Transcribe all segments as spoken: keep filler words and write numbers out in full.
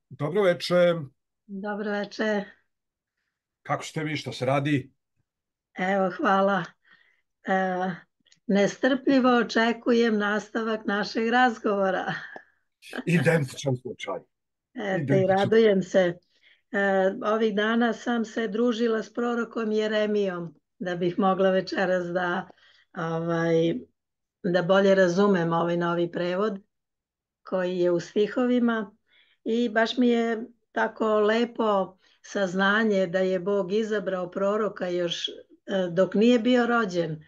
Dobro večer, Dobro večer. kako ste vi, šta se radi? Evo, hvala. E, nestrpljivo očekujem nastavak našeg razgovora. Identičan slučaj, Eto, i identičan. radujem se. E, ovih dana sam se družila s prorokom Jeremijom da bih mogla večeras da, ovaj, da bolje razumem ovaj novi prevod koji je u stihovima i baš mi je tako lepo saznanje da je Bog izabrao proroka još e, dok nije bio rođen,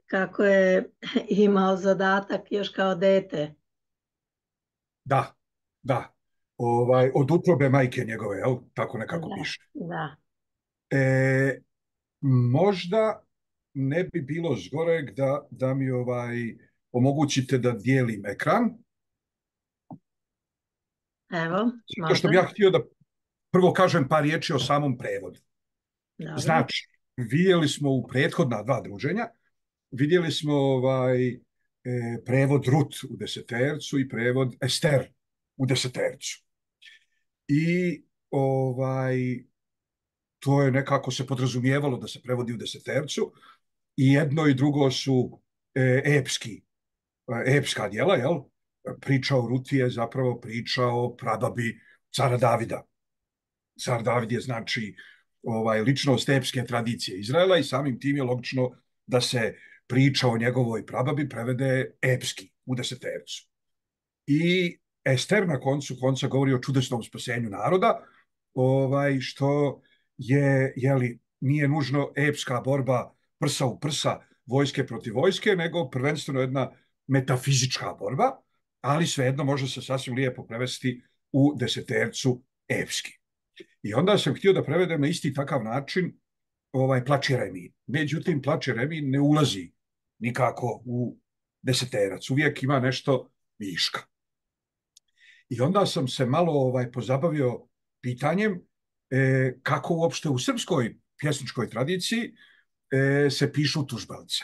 kako je imao zadatak još kao dete. Da, da, ovaj, od utrobe majke njegove, jel? Tako nekako Da, piše. da. E, možda ne bi bilo zgoreg da, da mi ovaj, omogućite da dijelim ekran, Evo, zato što može. bi ja htio da prvo kažem par riječi o samom prevodu. Dobro. Znači, vidjeli smo u prethodna dva druženja, vidjeli smo ovaj, e, prevod Rut u desetercu i prevod Ester u desetercu. I ovaj, to je nekako se podrazumijevalo da se prevodi u desetercu i jedno i drugo su e, epski, e, epska djela, jel? Priča o Ruti je zapravo priča o prababi cara Davida. Car David je znači ovaj, ličnost epske tradicije Izraela i samim tim je logično da se priča o njegovoj prababi prevede epski u desetercu. I Ester na koncu konca govori o čudesnom spasenju naroda, ovaj, što je, jeli, nije nužno epska borba prsa u prsa, vojske protiv vojske, nego prvenstveno jedna metafizička borba, ali svejedno može se sasvim lijepo prevesti u desetercu epski. I onda sam htio da prevedem na isti takav način ovaj Plač Jeremije. Međutim, Plač Jeremije ne ulazi nikako u deseterac. Uvijek ima nešto viška. I onda sam se malo ovaj pozabavio pitanjem e, kako uopšte u srpskoj pjesničkoj tradiciji e, se pišu tužbalce.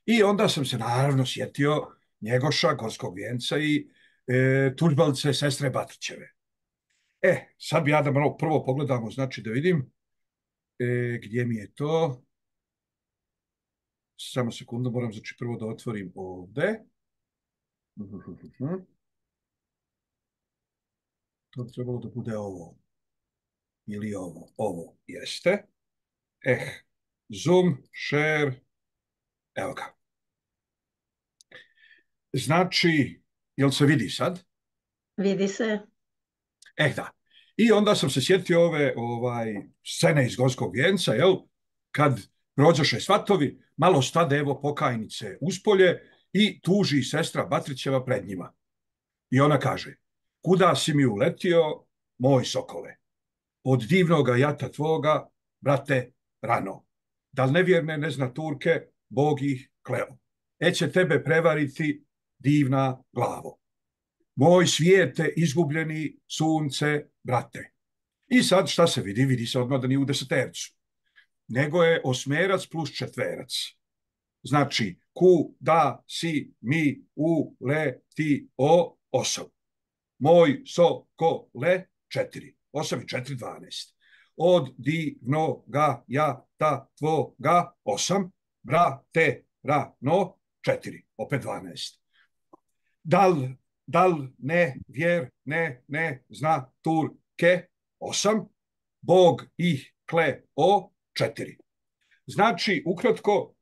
I onda sam se naravno sjetio Njegoša, Gorskog vijenca i e, tužbalce sestre Batrićeve. E, sad bi ja da malo prvo pogledamo, znači da vidim e, gdje mi je to. Samo sekundu, moram znači prvo da otvorim ovde. To bi trebalo da bude ovo. Ili ovo. Ovo jeste. Eh, Zoom, share, evo ga. Znači, jel se vidi sad? Vidi se. Eh da. I onda sam se sjetio ove ovaj, scene iz Gorskog vijenca, jel? Kad rođoše svatovi, malo stade evo pokajnice uspolje i tuži sestra Batrićeva pred njima. I ona kaže, kuda si mi uletio, moj sokole? Od divnoga jata tvoga, brate, rano. Da li nevjerne ne zna Turke, Bog ih kleo. Eće tebe prevariti divna glavo. Moj svijete izgubljeni sunce, brate. I sad šta se vidi? Vidi se odmah da nije u desetercu. Nego je osmerac plus četverac. Znači, ku, da, si, mi, u, le, ti, o, osam. Moj, so, ko, le, četiri. Osam i četiri, dvanaest. Od divnoga jata tvoga, osam. Brate, rano, četiri. Opet dvanaest. Dal, dal, ne, vjer, ne, ne, zna, Turke, osam. Bog ih kle, o, četiri. Znači, ukratko,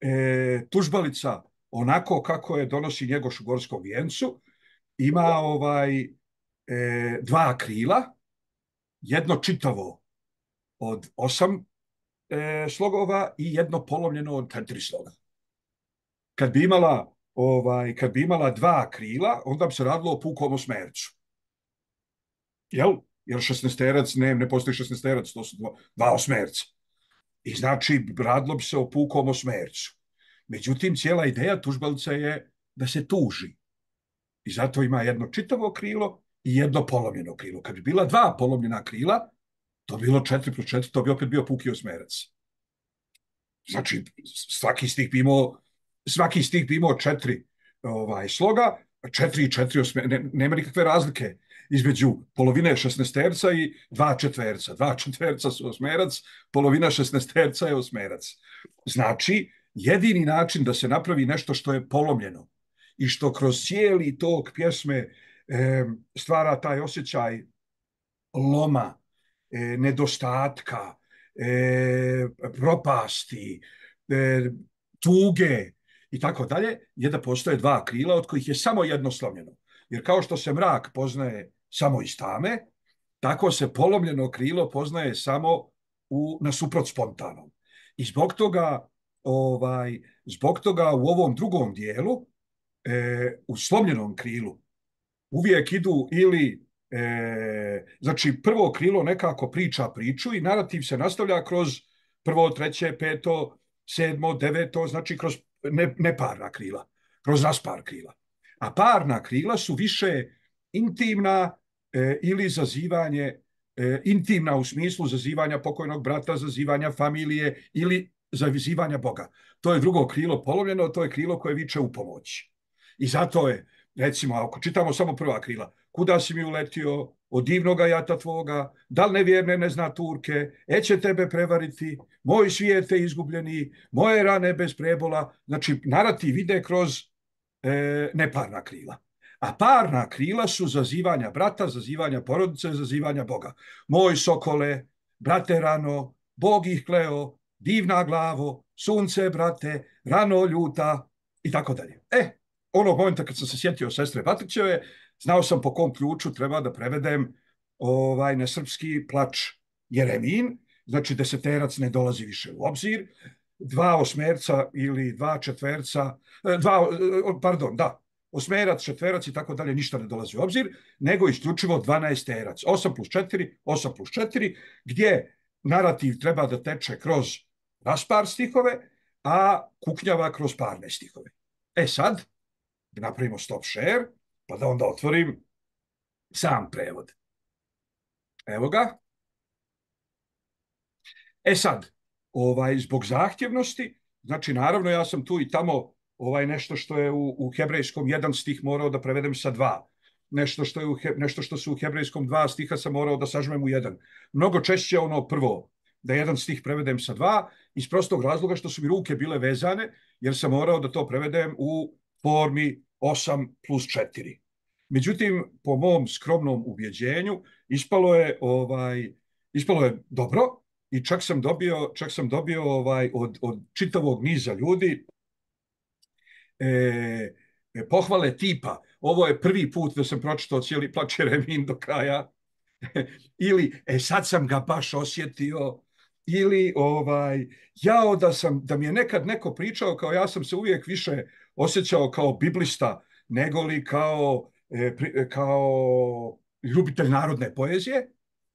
e, tužbalica onako kako je donosi Njegoš u Gorskom vijencu, ima ovaj e, dva krila, jedno čitavo od osam e, slogova i jedno polovljeno od četiri sloga. Kad bi imala ovaj, kad bi imala dva krila, onda bi se radilo o pukom osmercu. Jel? Jer šesnaesterac, ne, ne postoji šesnaesterac, to su dva, dva osmerca. I znači, radilo bi se o pukom osmercu. Međutim, cijela ideja tužbalca je da se tuži. I zato ima jedno čitavo krilo i jedno polomljeno krilo. Kad bi bila dva polomljena krila, to bi bilo četiri plus četiri, to bi opet bio puki osmerac. Znači, svaki stih bi imao, svaki stih bi imao četiri ovaj, sloga, četiri i četiri osme, ne, nema nikakve razlike između polovine šesnaesterca i dva četverca. Dva četverca su osmerac, polovina šesnaesterca je osmerac. Znači, jedini način da se napravi nešto što je polomljeno i što kroz cijeli tok pjesme e, stvara taj osjećaj loma, e, nedostatka, e, propasti, e, tuge i tako dalje, je da postoje dva krila od kojih je samo jedno slomljeno. Jer kao što se mrak poznaje samo iz tame, tako se polomljeno krilo poznaje samo u, nasuprot spontanom. I zbog toga, ovaj, zbog toga u ovom drugom dijelu, e, u slomljenom krilu, uvijek idu ili, e, znači prvo krilo nekako priča priču i narativ se nastavlja kroz prvo, treće, peto, sedmo, deveto, znači kroz ne, neparna krila, kroz raspar krila. A parna krila su više intimna e, ili zazivanje, e, intimna u smislu zazivanja pokojnog brata, zazivanja familije ili zazivanja Boga. To je drugo krilo polomljeno, to je krilo koje viče u pomoći. I zato je, recimo, ako čitamo samo prva krila, kuda si mi uletio, od divnoga jata tvoga, da li nevjerne ne zna Turke, e će tebe prevariti, moj svijet je izgubljeni, moje rane bez prebola. Znači, narativ ide kroz e, neparna krila. A parna krila su zazivanja brata, zazivanja porodice, zazivanja Boga. Moj sokole, brate rano, Bog ih kleo, divna glavo, sunce, brate, rano ljuta i tako dalje. E, onog momenta kad sam se sjetio sestre Batrićeve, znao sam po kom ključu treba da prevedem ovaj, na srpski plač Jeremin, znači deseterac ne dolazi više u obzir, dva osmerca ili dva četverca, dva, pardon, da, osmerac, četverac i tako dalje, ništa ne dolazi u obzir, nego isključivo dvanaesterac, osam plus četiri, osam plus četiri, gdje narativ treba da teče kroz raspar stihove, a kuknjava kroz parne stihove. E sad, da napravimo stop share, pa da onda otvorim sam prevod. Evo ga. E sad, ovaj, zbog zahtjevnosti, znači naravno ja sam tu i tamo ovaj, nešto što je u, u hebrejskom jedan stih morao da prevedem sa dva. Nešto što, je u, nešto što su u hebrejskom dva stiha sam morao da sažmem u jedan. Mnogo češće ono prvo, da jedan stih prevedem sa dva, iz prostog razloga što su mi ruke bile vezane, jer sam morao da to prevedem u formi osam plus četiri. Međutim, po mom skromnom ubjeđenju, ispalo je, ovaj, ispalo je dobro i čak sam dobio, čak sam dobio ovaj, od, od čitavog niza ljudi e, pohvale tipa, ovo je prvi put da sam pročitao cijeli plač Jeremin do kraja, ili e, sad sam ga baš osjetio, ili ovaj, jao da, sam, da mi je nekad neko pričao kao ja sam se uvijek više osjećao kao biblista nego li kao, e, kao ljubitelj narodne poezije,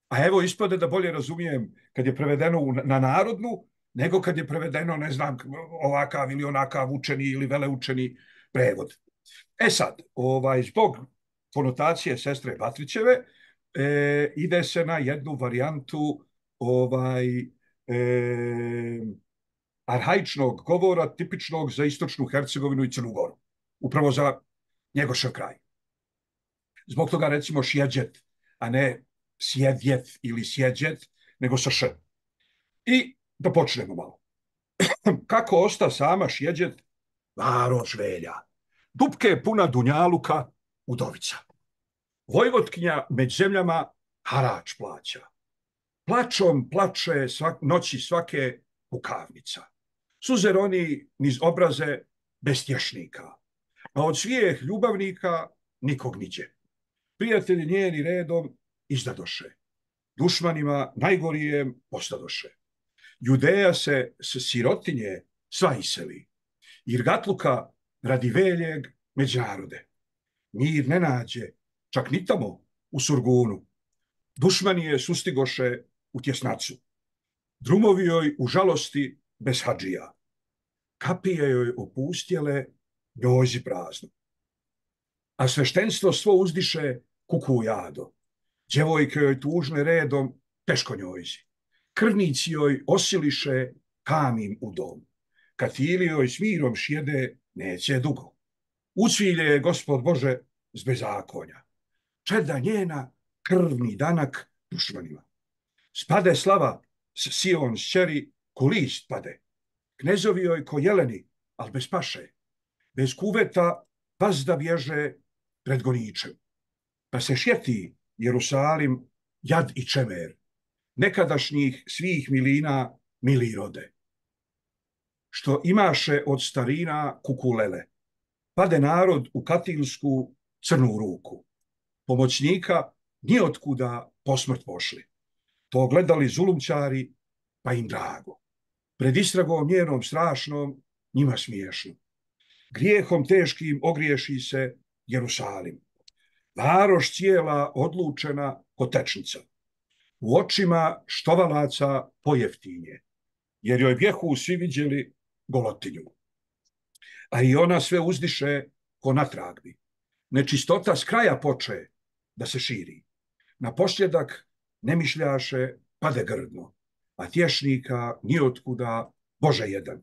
a evo ispade da bolje razumijem kad je prevedeno na narodnu nego kad je prevedeno, ne znam, ovakav ili onakav učeni ili veleučeni prevod. E sad, ovaj, zbog konotacije sestre Batrićeve e, ide se na jednu varijantu ovaj, e, arhaičnog govora tipičnog za istočnu Hercegovinu i Crnu Goru. Upravo za Njegošev kraj. Zbog toga recimo šjeđet, a ne sjedjet ili sjeđet, nego sa š. I da počnemo malo. Kako osta sama šjeđet, varoš velja. Dupke puna dunjaluka, udovica. Vojvotkinja među zemljama harač plaća. Plačom plače svak, noći svake pukavnica. Suze roni niz obraze bestješnika. A od svijeh ljubavnika nikog niđe. Prijatelji njeni redom izdadoše. Dušmanima najgorijem ostadoše. Judeja se s sirotinje sva iseli. Irgatluka radi veljeg među narode. Mir ne nađe, čak ni tamo u Surgunu. Dušmani je sustigoše u tjesnacu. Drumovi joj u žalosti bez hadžija. Kapije joj opustjele, njozi prazno. A sveštenstvo svo uzdiše kuku jado. Djevojke joj tužne redom teško njojzi. Krvnici joj osiliše kamin u dom. Katili joj s mirom šjede neće dugo. Ucvilje je Gospod Bože z bezakonja. Čeda njena krvni danak dušmanima. Spade slava s Sion šćeri ko list pade. Knezovi joj ko jeleni, al bez paše. Bez kuveta vazda bježe pred goničem. Pa se šjeti Jerusalim jad i čemer. Nekadašnjih svih milina mili rode. Što imaše od starina kukulele. Pade narod u katilsku crnu ruku. Pomoćnika ni otkuda posmrt pošli. To gledali zulumčari, pa im drago. Pred istragom njenom strašnom, njima smiješno. Grijehom teškim ogriješi se Jerusalim. Varoš cijela odlučena ko tečnica. U očima štovalaca pojeftinje, jer joj bjehu svi viđeli golotinju. A i ona sve uzdiše ko na tragbi. Nečistota s kraja poče da se širi. Na posljedak ne mišljaše pade grdno, a tješnika ni otkuda Bože jedan.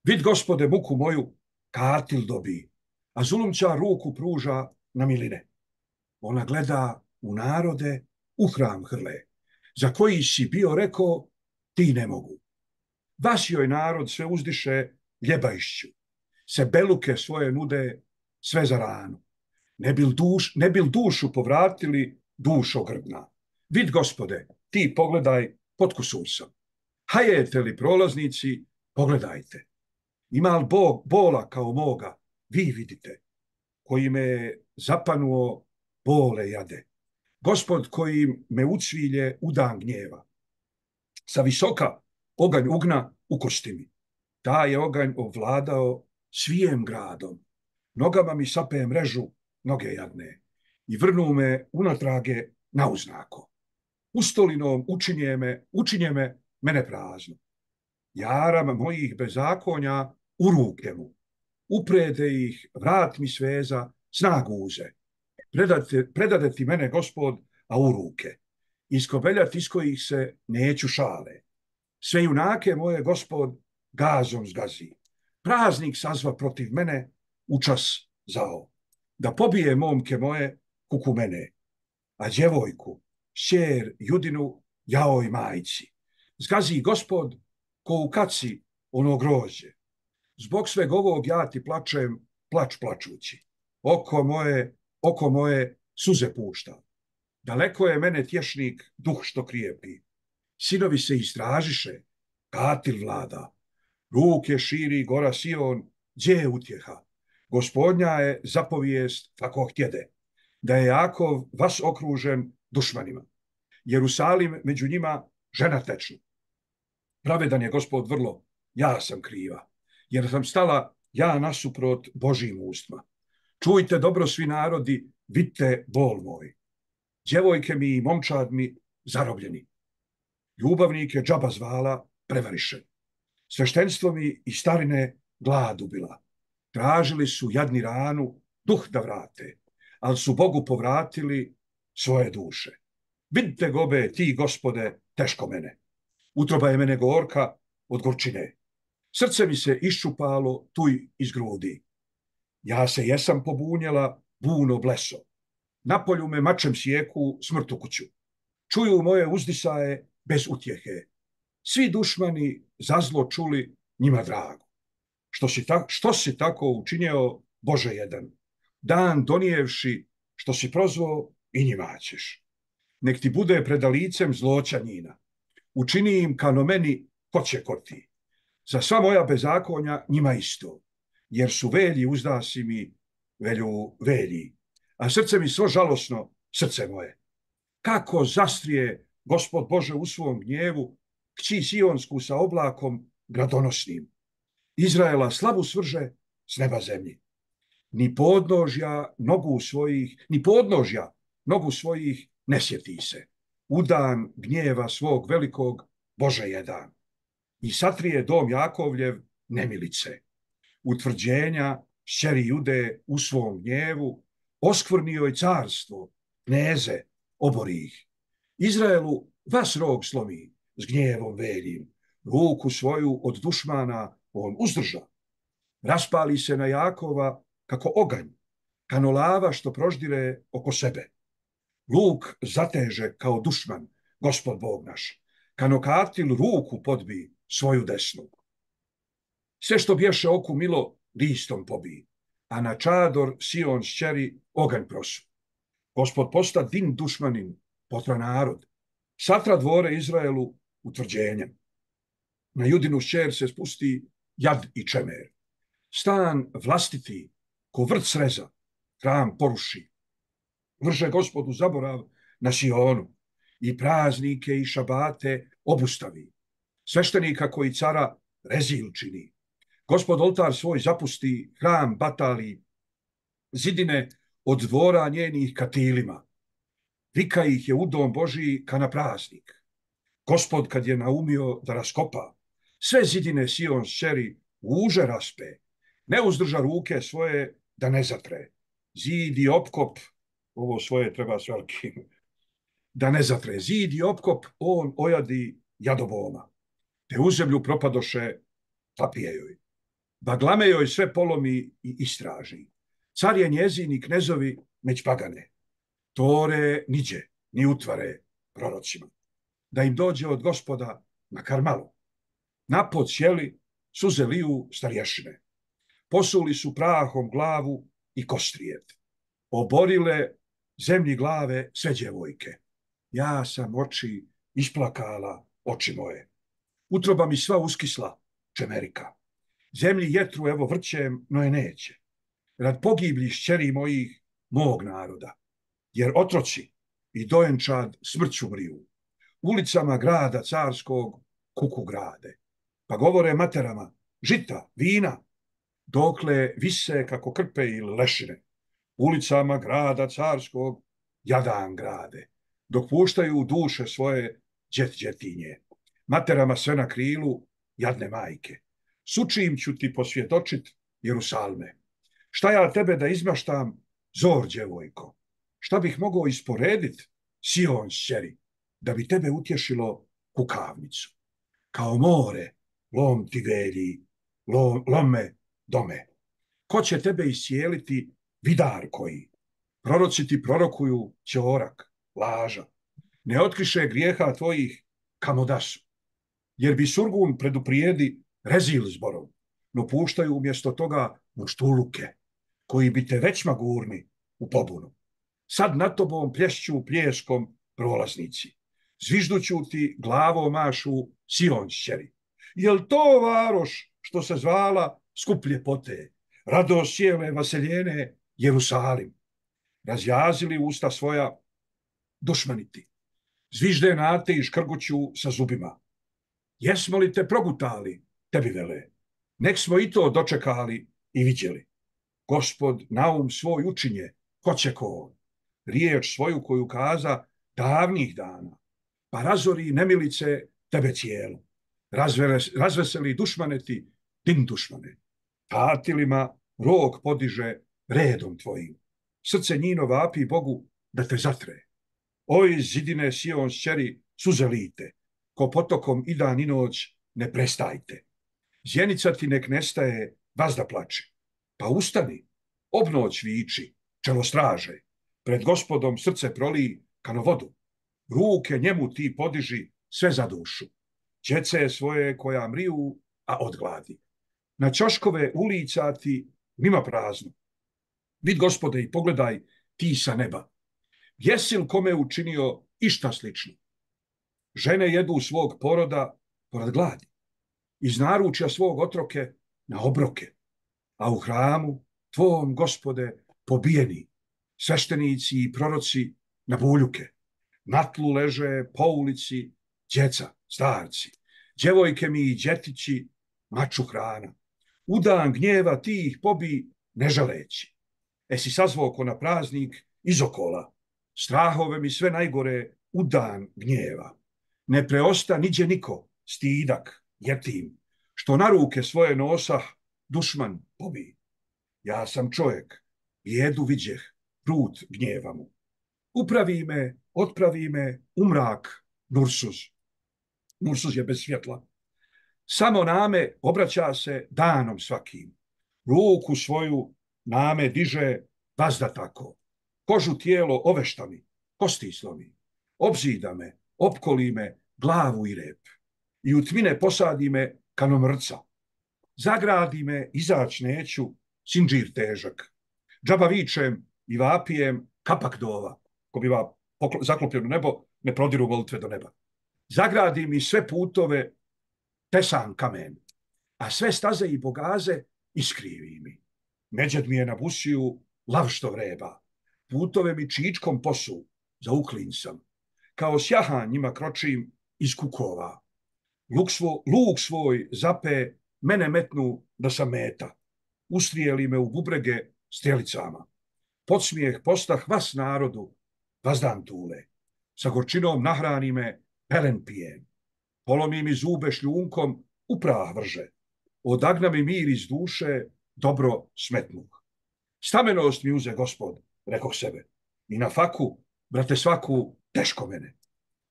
Vid Gospode muku moju, katil dobi, a zulumčar ruku pruža na miline. Ona gleda u narode, u hram hrle, za koji si bio rekao, ti ne mogu. Vas joj narod sve uzdiše ljebajšću, se beluke svoje nude sve za ranu. Ne bil, duš, ne bil dušu povratili dušo grdna. Vid Gospode, ti pogledaj pod kusursom. Hajete li prolaznici, pogledajte. Ima li Bog bola kao moga, vi vidite, koji me zapanuo bole jade. Gospod koji me ucvilje u dan gnjeva. Sa visoka oganj ugna ukosti mi. Taj je oganj ovladao svijem gradom. Nogama mi sape mrežu, noge jadne. I vrnu me unatrage na uznako. Ustolinom učinje me, učinje me mene prazno. Jaram mojih bezakonja u ruke mu. Uprede ih, vrat mi sveza, snagu uze. Predate, predade ti mene, Gospod, a u ruke. Iskobeljat iz kojih se neću šale. Sve junake moje, Gospod, gazom zgazi. Praznik sazva protiv mene u čas zao. Da pobije momke moje kuku mene, a djevojku, šćer Judinu, jaoj majci. Zgazi Gospod ko u kaci ono grožđe. Zbog sveg ovog ja ti plačem, plač plačući. Oko moje, oko moje suze pušta. Daleko je mene tješnik duh što krijepi. Sinovi se istražiše, katil vlada. Ruke širi gora Sion, gdje je utjeha. Gospodnja je zapovijest kako htjede, da je Jakov vas okružen dušmanima. Jerusalim među njima žena tečna. Pravedan je Gospod vrlo, ja sam kriva, jer sam stala ja nasuprot Božjim ustima. Čujte dobro svi narodi, vidite bol moj. Djevojke mi i momčad mi zarobljeni. Ljubavnike džaba zvala prevariše. Sveštenstvo mi i starine glad ubila. Tražili su jadni ranu, duh da vrate, ali su Bogu povratili svoje duše. Vidite gobe, ti, Gospode, teško mene. Utroba je mene gorka od gorčine. Srce mi se iščupalo tuj iz grudi. Ja se jesam pobunjela, buno bleso. Napolju me mačem sjeku, smrtu kuću. Čuju moje uzdisaje bez utjehe. Svi dušmani za zlo čuli njima drago. Što si, ta, što si tako učinio, Bože jedan? Dan donijevši što si prozvao i njima ćeš. Nek ti bude preda licem zloća njina. Učini im kano meni ko će ko ti. Za sva moja bezakonja njima isto. Jer su velji uzdasi mi velju velji. A srce mi svo žalosno, srce moje. Kako zastrije Gospod Bože u svom gnjevu kći Sionsku sa oblakom gradonosnim. Izraela slavu svrže s neba zemlji. Ni podnožja nogu svojih, ni podnožja nogu svojih ne sjeti se. U dan gnjeva svog velikog Bože jedan. I satrije dom Jakovljev nemilice. Utvrđenja šćeri Jude u svom gnjevu oskvrnio je carstvo, kneze, obori ih. Izraelu vas rog slomi s gnjevom veljim. Ruku svoju od dušmana on uzdrža. Raspali se na Jakova kako oganj, kano lava što proždire oko sebe. Luk zateže kao dušman, Gospod Bog naš, kano katil ruku podbi svoju desnu. Sve što bješe oku milo, listom pobi, a na čador Sion šćeri oganj prosu. Gospod posta din dušmanin, potra narod, satra dvore Izraelu utvrđenjem. Na Judinu šćer se spusti jad i čemer. Stan vlastiti, ko vrt sreza, hram poruši. Vrže Gospodu zaborav na Sionu i praznike i šabate obustavi. Sveštenika koji cara rezil čini. Gospod oltar svoj zapusti, hram batali, zidine od dvora njenih katilima. Vika ih je u dom Božiji ka na praznik. Gospod kad je naumio da raskopa, sve zidine Sion šćeri uže raspe, ne uzdrža ruke svoje da ne zatre. Zid i opkop, ovo svoje treba s velikim, da ne zatre. Zid i opkop on ojadi jadoboma, te u zemlju propadoše tapije joj. Baglame joj sve polomi i istraži. Car je njezin i knezovi meć pagane. Tore niđe, ni utvare prorocima. Da im dođe od Gospoda makar malo. Napod sjeli suze liju starješine. Posuli su prahom glavu i kostrijet. Oborile zemlji glave sve djevojke. Ja sam oči isplakala, oči moje. Utroba mi sva uskisla, čemerika. Zemlji jetru evo vrćem, no je neće. Rad pogibli šćeri mojih, mog naroda. Jer otroci i dojenčad smrću mriju. Ulicama grada carskog kuku grade. Pa govore materama, žita, vina, dokle vise kako krpe ili lešine. Ulicama grada carskog jadan grade, dok puštaju duše svoje đet đetinje. Materama sve na krilu, jadne majke. Sučim ću ti posvjetočit, Jerusalme. Šta ja tebe da izmaštam, zor djevojko? Šta bih mogao isporedit, Sion šćeri, da bi tebe utješilo kukavnicu? Kao more, lom ti velji, lom, lome dome. Ko će tebe iscijeliti, vidar koji? Proroci ti prorokuju ćorak, laža. Ne otkriše grijeha tvojih kamodasu. Jer bi surgun preduprijedi rezil zborov, no puštaju umjesto toga muštuluke, koji bi te već magurni u pobunu. Sad nad tobom plješću pljeskom prolaznici. Zvižduću ti glavo mašu Sion šćeri. Jel to varoš što se zvala skup ljepote, radost cijele vaseljene Jerusalim? Razjazili usta svoja dušmaniti. Zvižde nate i škrguću sa zubima. Jesmo li te progutali, tebi vele? Nek smo i to dočekali i viđeli. Gospod naum svoj učinje, ko će ko on. Riječ svoju koju kaza davnih dana. Pa razori nemilice tebe cijelu. Razveseli dušmaneti, din dušmane. Katilima rog podiže redom tvojim. Srce njino vapi Bogu da te zatre. Oj zidine Sion šćeri suze lite, ko potokom i dan i noć ne prestajte. Zjenica ti nek nestaje, vazda plače. Pa ustani, obnoć viči, čelo straže. Pred Gospodom srce proliji kano vodu. Ruke njemu ti podiži sve za dušu. Djece svoje koja mriju, a od gladi. Na ćoškove ulica ti nima prazno. Vid Gospode i pogledaj ti sa neba. Jesi li kome učinio išta slično? Žene jedu svog poroda porad gladi. Iz naručja svog otroke na obroke. A u hramu tvom, Gospode, pobijeni. Sveštenici i proroci na buljuke. Na tlu leže po ulici djeca, starci. Djevojke mi i djetići maču hrana. U dan gnjeva ti ih pobi ne žaleći. Esi sazvao ko na praznik iz okola. Strahove mi sve najgore u dan gnjeva. Ne preosta niđe niko, stidak, jetim, što na ruke svoje nosah dušman pobi. Ja sam čovjek, jedu viđeh, prut gnjeva mu. Upravi me, otpravi me u mrak, Nursuz. Nursuz je bez svjetla. Samo name obraća se danom svakim. Ruku svoju name diže vazda tako. Kožu tijelo ovešta mi, kosti slomi. Obzida me, opkoli me, glavu i rep. I u tmine posadi me kanomrca. Zagradi me, izać neću, sinđir težak. Džaba vičem i vapijem kapak dova, ko biva zaklopljeno nebo, ne prodiru molitve do neba. Zagradi mi sve putove, tesan kamen, a sve staze i bogaze iskrivi mi. Međed mi je na busiju lav što vreba. Putove mi čičkom posu, zauklin sam. Kao sjahan njima kročim iz kukova. Luk, svo, luk svoj zape, mene metnu da sam meta. Ustrijeli me u bubrege strjelicama. Podsmijeh postah vas narodu, vazdan tule. Sa gorčinom nahrani me, pelen pijem. Polomi mi zube šljunkom, u prah vrže. Odagna mi mir iz duše, dobro smetnuh. Stamenost mi uze gospod, rekoh sebe. I na faku, brate svaku, teško mene.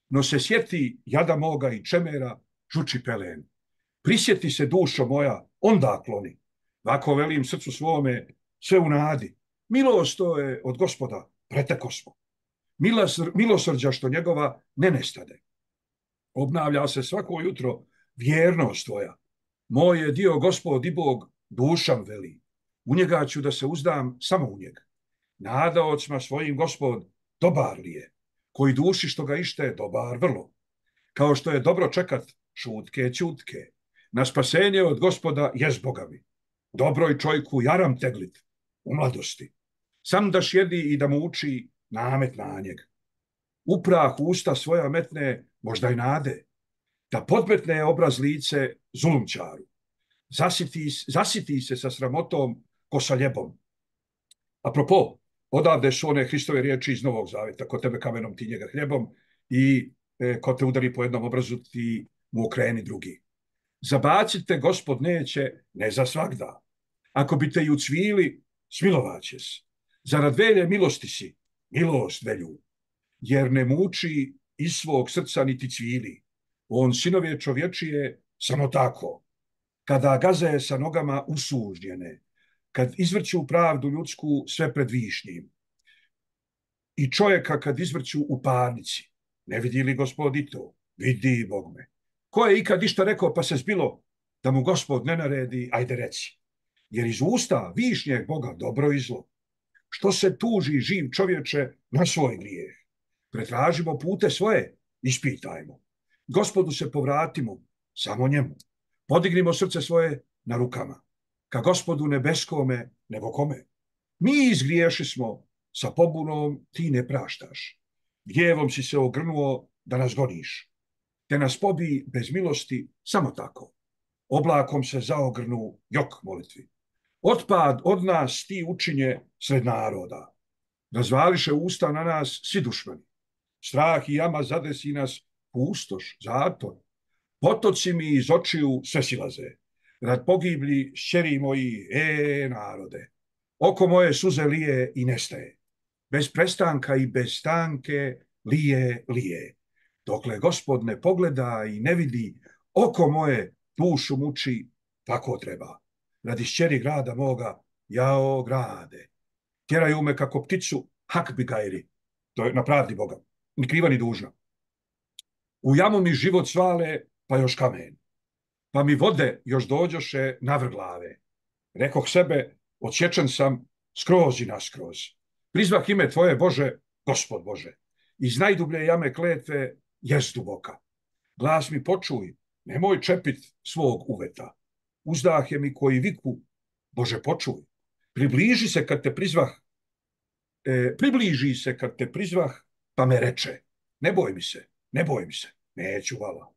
No se sjeti jada moga i čemera, žuči pelen. Prisjeti se dušo moja, onda kloni. Vako velim srcu svome, sve u nadi. Milost to je od gospoda, preteko smo. Milosr, milosrđa što njegova ne nestade. Obnavlja se svako jutro vjernost tvoja. Moj je dio gospod i Bog, dušam veli. U njega ću da se uzdam samo u njega. Nada ocma svojim gospod, dobar li je. Koji duši što ga ište, dobar vrlo. Kao što je dobro čekat šutke, ćutke. Na spasenje od gospoda jest Boga mi. Dobroj čojku jaram teglit u mladosti. Sam da sjedi i da mu uči namet na njeg. Uprah usta svoja metne, možda i nade. Da podmetne obraz lice zulumčaru. Zasiti, zasiti se sa sramotom ko sa ljebom. Apropo, odavde su one Hristove riječi iz Novog Zaveta. Ko tebe kamenom, ti njega hljebom. I e, ko te udari po jednom obrazu, ti mu okreni drugi. Zabacite, gospod neće, ne za svagda. Ako bi te i ucvili, smilovaće se. Zarad velje milosti si, milost velju. Jer ne muči iz svog srca niti cvili. On sinove čovječije samo tako. Kada gaze sa nogama usužnjene, kad izvrću pravdu ljudsku sve pred višnjim. I čovjeka kad izvrću u parnici. Ne vidi li gospod i to? Vidi, Bog me. Ko je ikad išta rekao pa se zbilo da mu gospod ne naredi, ajde reci. Jer iz usta višnjeg Boga dobro i zlo. Što se tuži živ čovječe na svoj grijeh? Pretražimo pute svoje, ispitajmo. Gospodu se povratimo, samo njemu. Podignimo srce svoje na rukama. Ka gospodu nebeskome, nego kome. Mi izgriješi smo, sa pobunom ti ne praštaš. Gjevom si se ogrnuo da nas goniš. Te nas pobi bez milosti samo tako. Oblakom se zaogrnu jok molitvi. Otpad od nas ti učinje sred naroda. Razvališe usta na nas svi dušmani. Strah i jama zadesi nas pustoš, zator. Potoci mi iz očiju sve silaze. Rad pogibli šćeri moji, e narode. Oko moje suze lije i nestaje. Bez prestanka i bez stanke lije, lije. Dokle gospod ne pogleda i ne vidi, oko moje dušu muči, tako treba. Radi šćeri grada moga, jao grade. Tjeraju me kako pticu, hak bi gajri. To je na pravdi Boga, ni kriva ni dužna. U jamu mi život svale, pa još kamen. Pa mi vode još dođoše navrh glave. Rekoh sebe, odsječen sam skroz i naskroz. Prizvah ime tvoje, Bože, Gospod Bože. Iz najdublje jame kletve jest duboka. Glas mi počuj, nemoj čepit svog uveta. Uzdah je mi koji viku, Bože počuj. Približi se kad te prizvah, e, približi se kad te prizvah, pa me reče, ne boj mi se, ne boj mi se, neću vala.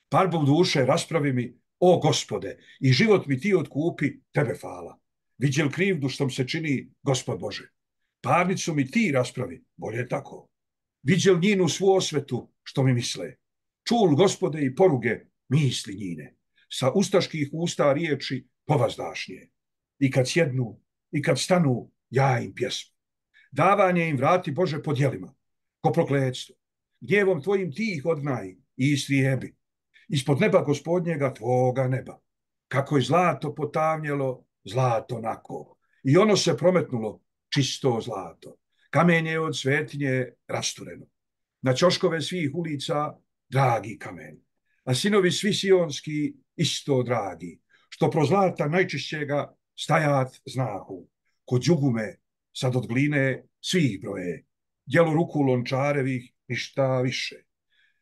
Parbom duše raspravi mi, o Gospode, i život mi ti otkupi, tebe fala. Viđel krivdu što mi se čini, Gospod Bože. Parnicu mi ti raspravi, bolje tako. Viđel njinu svu osvetu, što mi misle. Čul, Gospode, i poruge, misli njine. Sa ustaških usta riječi povazdašnje. I kad sjednu, i kad stanu, ja im pjesmu. Davanje im vrati, Bože, po djelima, ko prokletstvo. Gnjevom tvojim ti ih odnaj i istrijebi. Ispod neba gospodnjega tvoga neba. Kako je zlato potavnjelo, zlato nako. I ono se prometnulo čisto zlato. Kamenje je od svetinje rastureno. Na ćoškove svih ulica dragi kamen. A sinovi svi sionski isto dragi, što pro zlata najčišćega stajat znahu. Kod džugume sad od gline svih broje, djelo ruku lončarevih ništa više.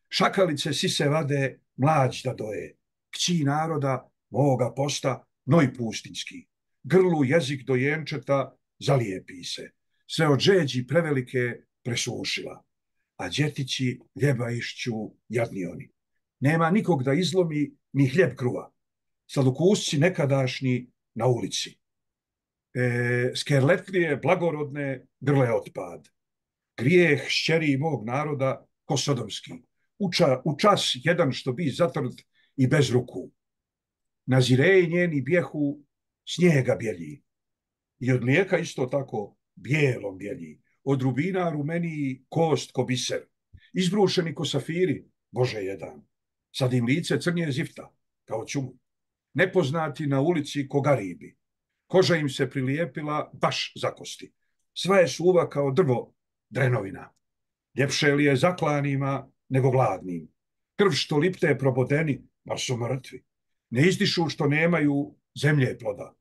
Šakalice sise vade mlađ da doje, kći naroda moga posta noj pustinjski. Grlu jezik dojenčeta zalijepi se, sve od žeđi prevelike presušila, a djetići ljeba išću jadni oni. Nema nikog da izlomi ni hljeb kruva. Sladokusci nekadašnji na ulici. E, skerletlije blagorodne grle otpad. Grijeh šćeri mog naroda ko sodomski. Uča, u čas jedan što bi zatrt i bez ruku. Na zireji njeni bjehu snijega bjelji. I od mlijeka isto tako bijelom bjelji. Od rubina rumeniji kost ko biser. Izbrušeni ko safiri, Bože jedan. Sad im lice crnje zifta, kao čumu. Nepoznati na ulici ko garibi. Koža im se prilijepila baš za kosti. Sva je suva kao drvo drenovina. Ljepše li je zaklanima nego gladnim. Krv što lipte probodeni, ma su mrtvi. Ne izdišu što nemaju zemlje ploda.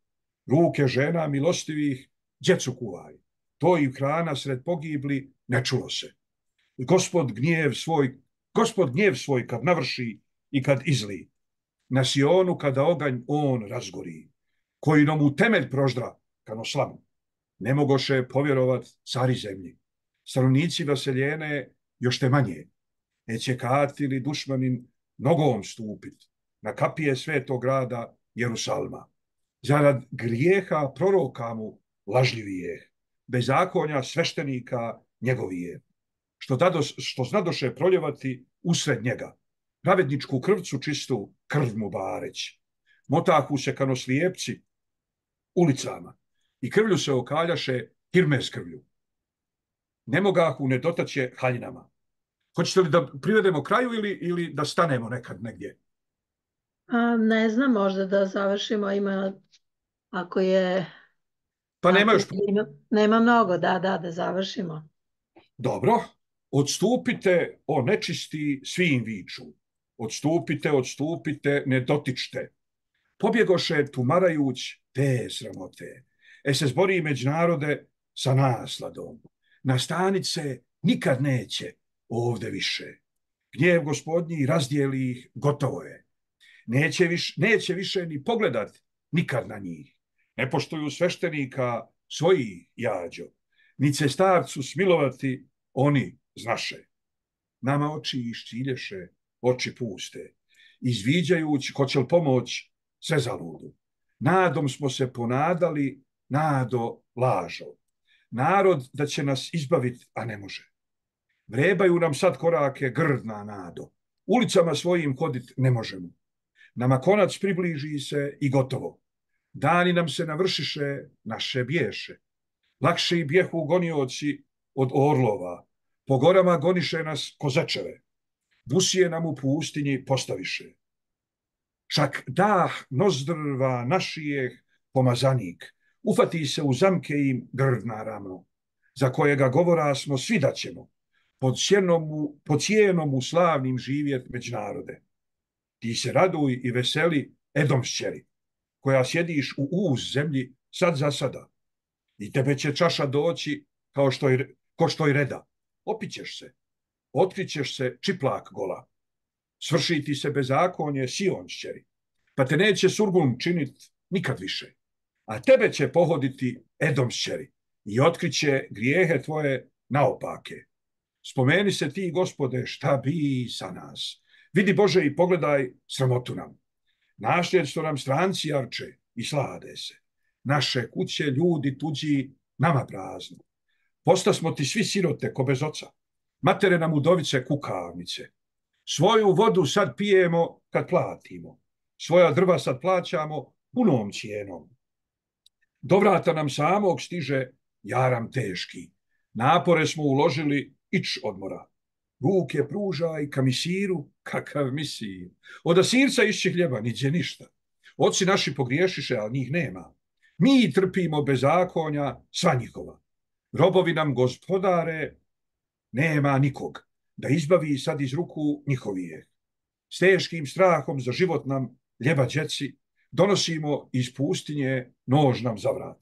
Ruke žena milostivih djecu kuvaj. To i hrana sred pogibli ne čulo se. Gospod gnjev svoj, gospod gnjev svoj kad navrši i kad izli. Na Sionu kada oganj on razgori. Koji nam u temelj proždra kano slamu. Ne mogoše povjerovat cari zemlji. Stanovnici vaseljene još te manje. Neće katili dušmanin nogom stupit na kapije svetog grada Jerusalma. Zarad grijeha proroka mu lažljivije, bezakonja sveštenika njegovije, što, dados, što znadoše proljevati usred njega, pravedničku krvcu čistu krv mu bareć. Motahu se kano slijepci ulicama i krvlju se okaljaše hirme s krvlju. Ne mogahu ne dotaće haljinama. Hoćete li da privedemo kraju ili, ili da stanemo nekad negdje? A, ne znam, možda da završimo, ima, ako je... Pa nema još... Ima, nema mnogo, da, da, da završimo. Dobro, odstupite, o nečisti, svim viču. Odstupite, odstupite, ne dotičte. Pobjegoše tumarajuć te sramote. E se zbori među narode sa nasladom. Nastanit se nikad neće ovde više. Gnjev gospodnji razdijeli ih, gotovo je. Neće, viš, neće više ni pogledat nikad na njih. Ne poštuju sveštenika svojih jađo. Ni se starcu smilovati oni znaše. Nama oči iščilješe, oči puste. Izviđajući ko će li pomoć sve zaludu. Nadom smo se ponadali, nado lažo. Narod da će nas izbaviti, a ne može. Vrebaju nam sad korake grdna nado. Ulicama svojim hodit ne možemo. Nama konac približi se i gotovo. Dani nam se navršiše, naše bješe. Lakše i bjehu gonioci od orlova. Po gorama goniše nas kozečeve. Busije nam u pustinji postaviše. Čak dah nozdrva našijeh pomazanik. Ufati se u zamke im grdna ramo. Za kojega govora smo svi da ćemo. Pod, pod cijenom u slavnim živjet među narode. Ti se raduj i veseli Edomšćeri, koja sjediš u uz zemlji sad za sada. I tebe će čaša doći kao što je, ko što je reda. Opićeš se, otkrićeš se čiplak gola. Svrši ti se bezakonje Sionšćeri, pa te neće surgun činit nikad više. A tebe će pohoditi Edomšćeri i otkriće grijehe tvoje naopake. Spomeni se ti, Gospode, šta bi sa nas. Vidi Bože i pogledaj sramotu nam. Nasljedstvo nam stranci arče i slade se. Naše kuće, ljudi tuđi, nama prazno. Posta smo ti svi sirote ko bez oca. Matere nam udovice kukavnice. Svoju vodu sad pijemo kad platimo. Svoja drva sad plaćamo punom cijenom. Do vrata nam samog stiže jaram teški. Napore smo uložili ić odmora. Ruke pružaj ka misiru, kakav misir. Od asirca išće hljeba, niđe ništa. Oci naši pogriješiše, ali njih nema. Mi trpimo bezakonja sva njihova. Robovi nam gospodare, nema nikog da izbavi sad iz ruku njihovije. S teškim strahom za život nam ljeba djeci, donosimo iz pustinje nož nam za vrat.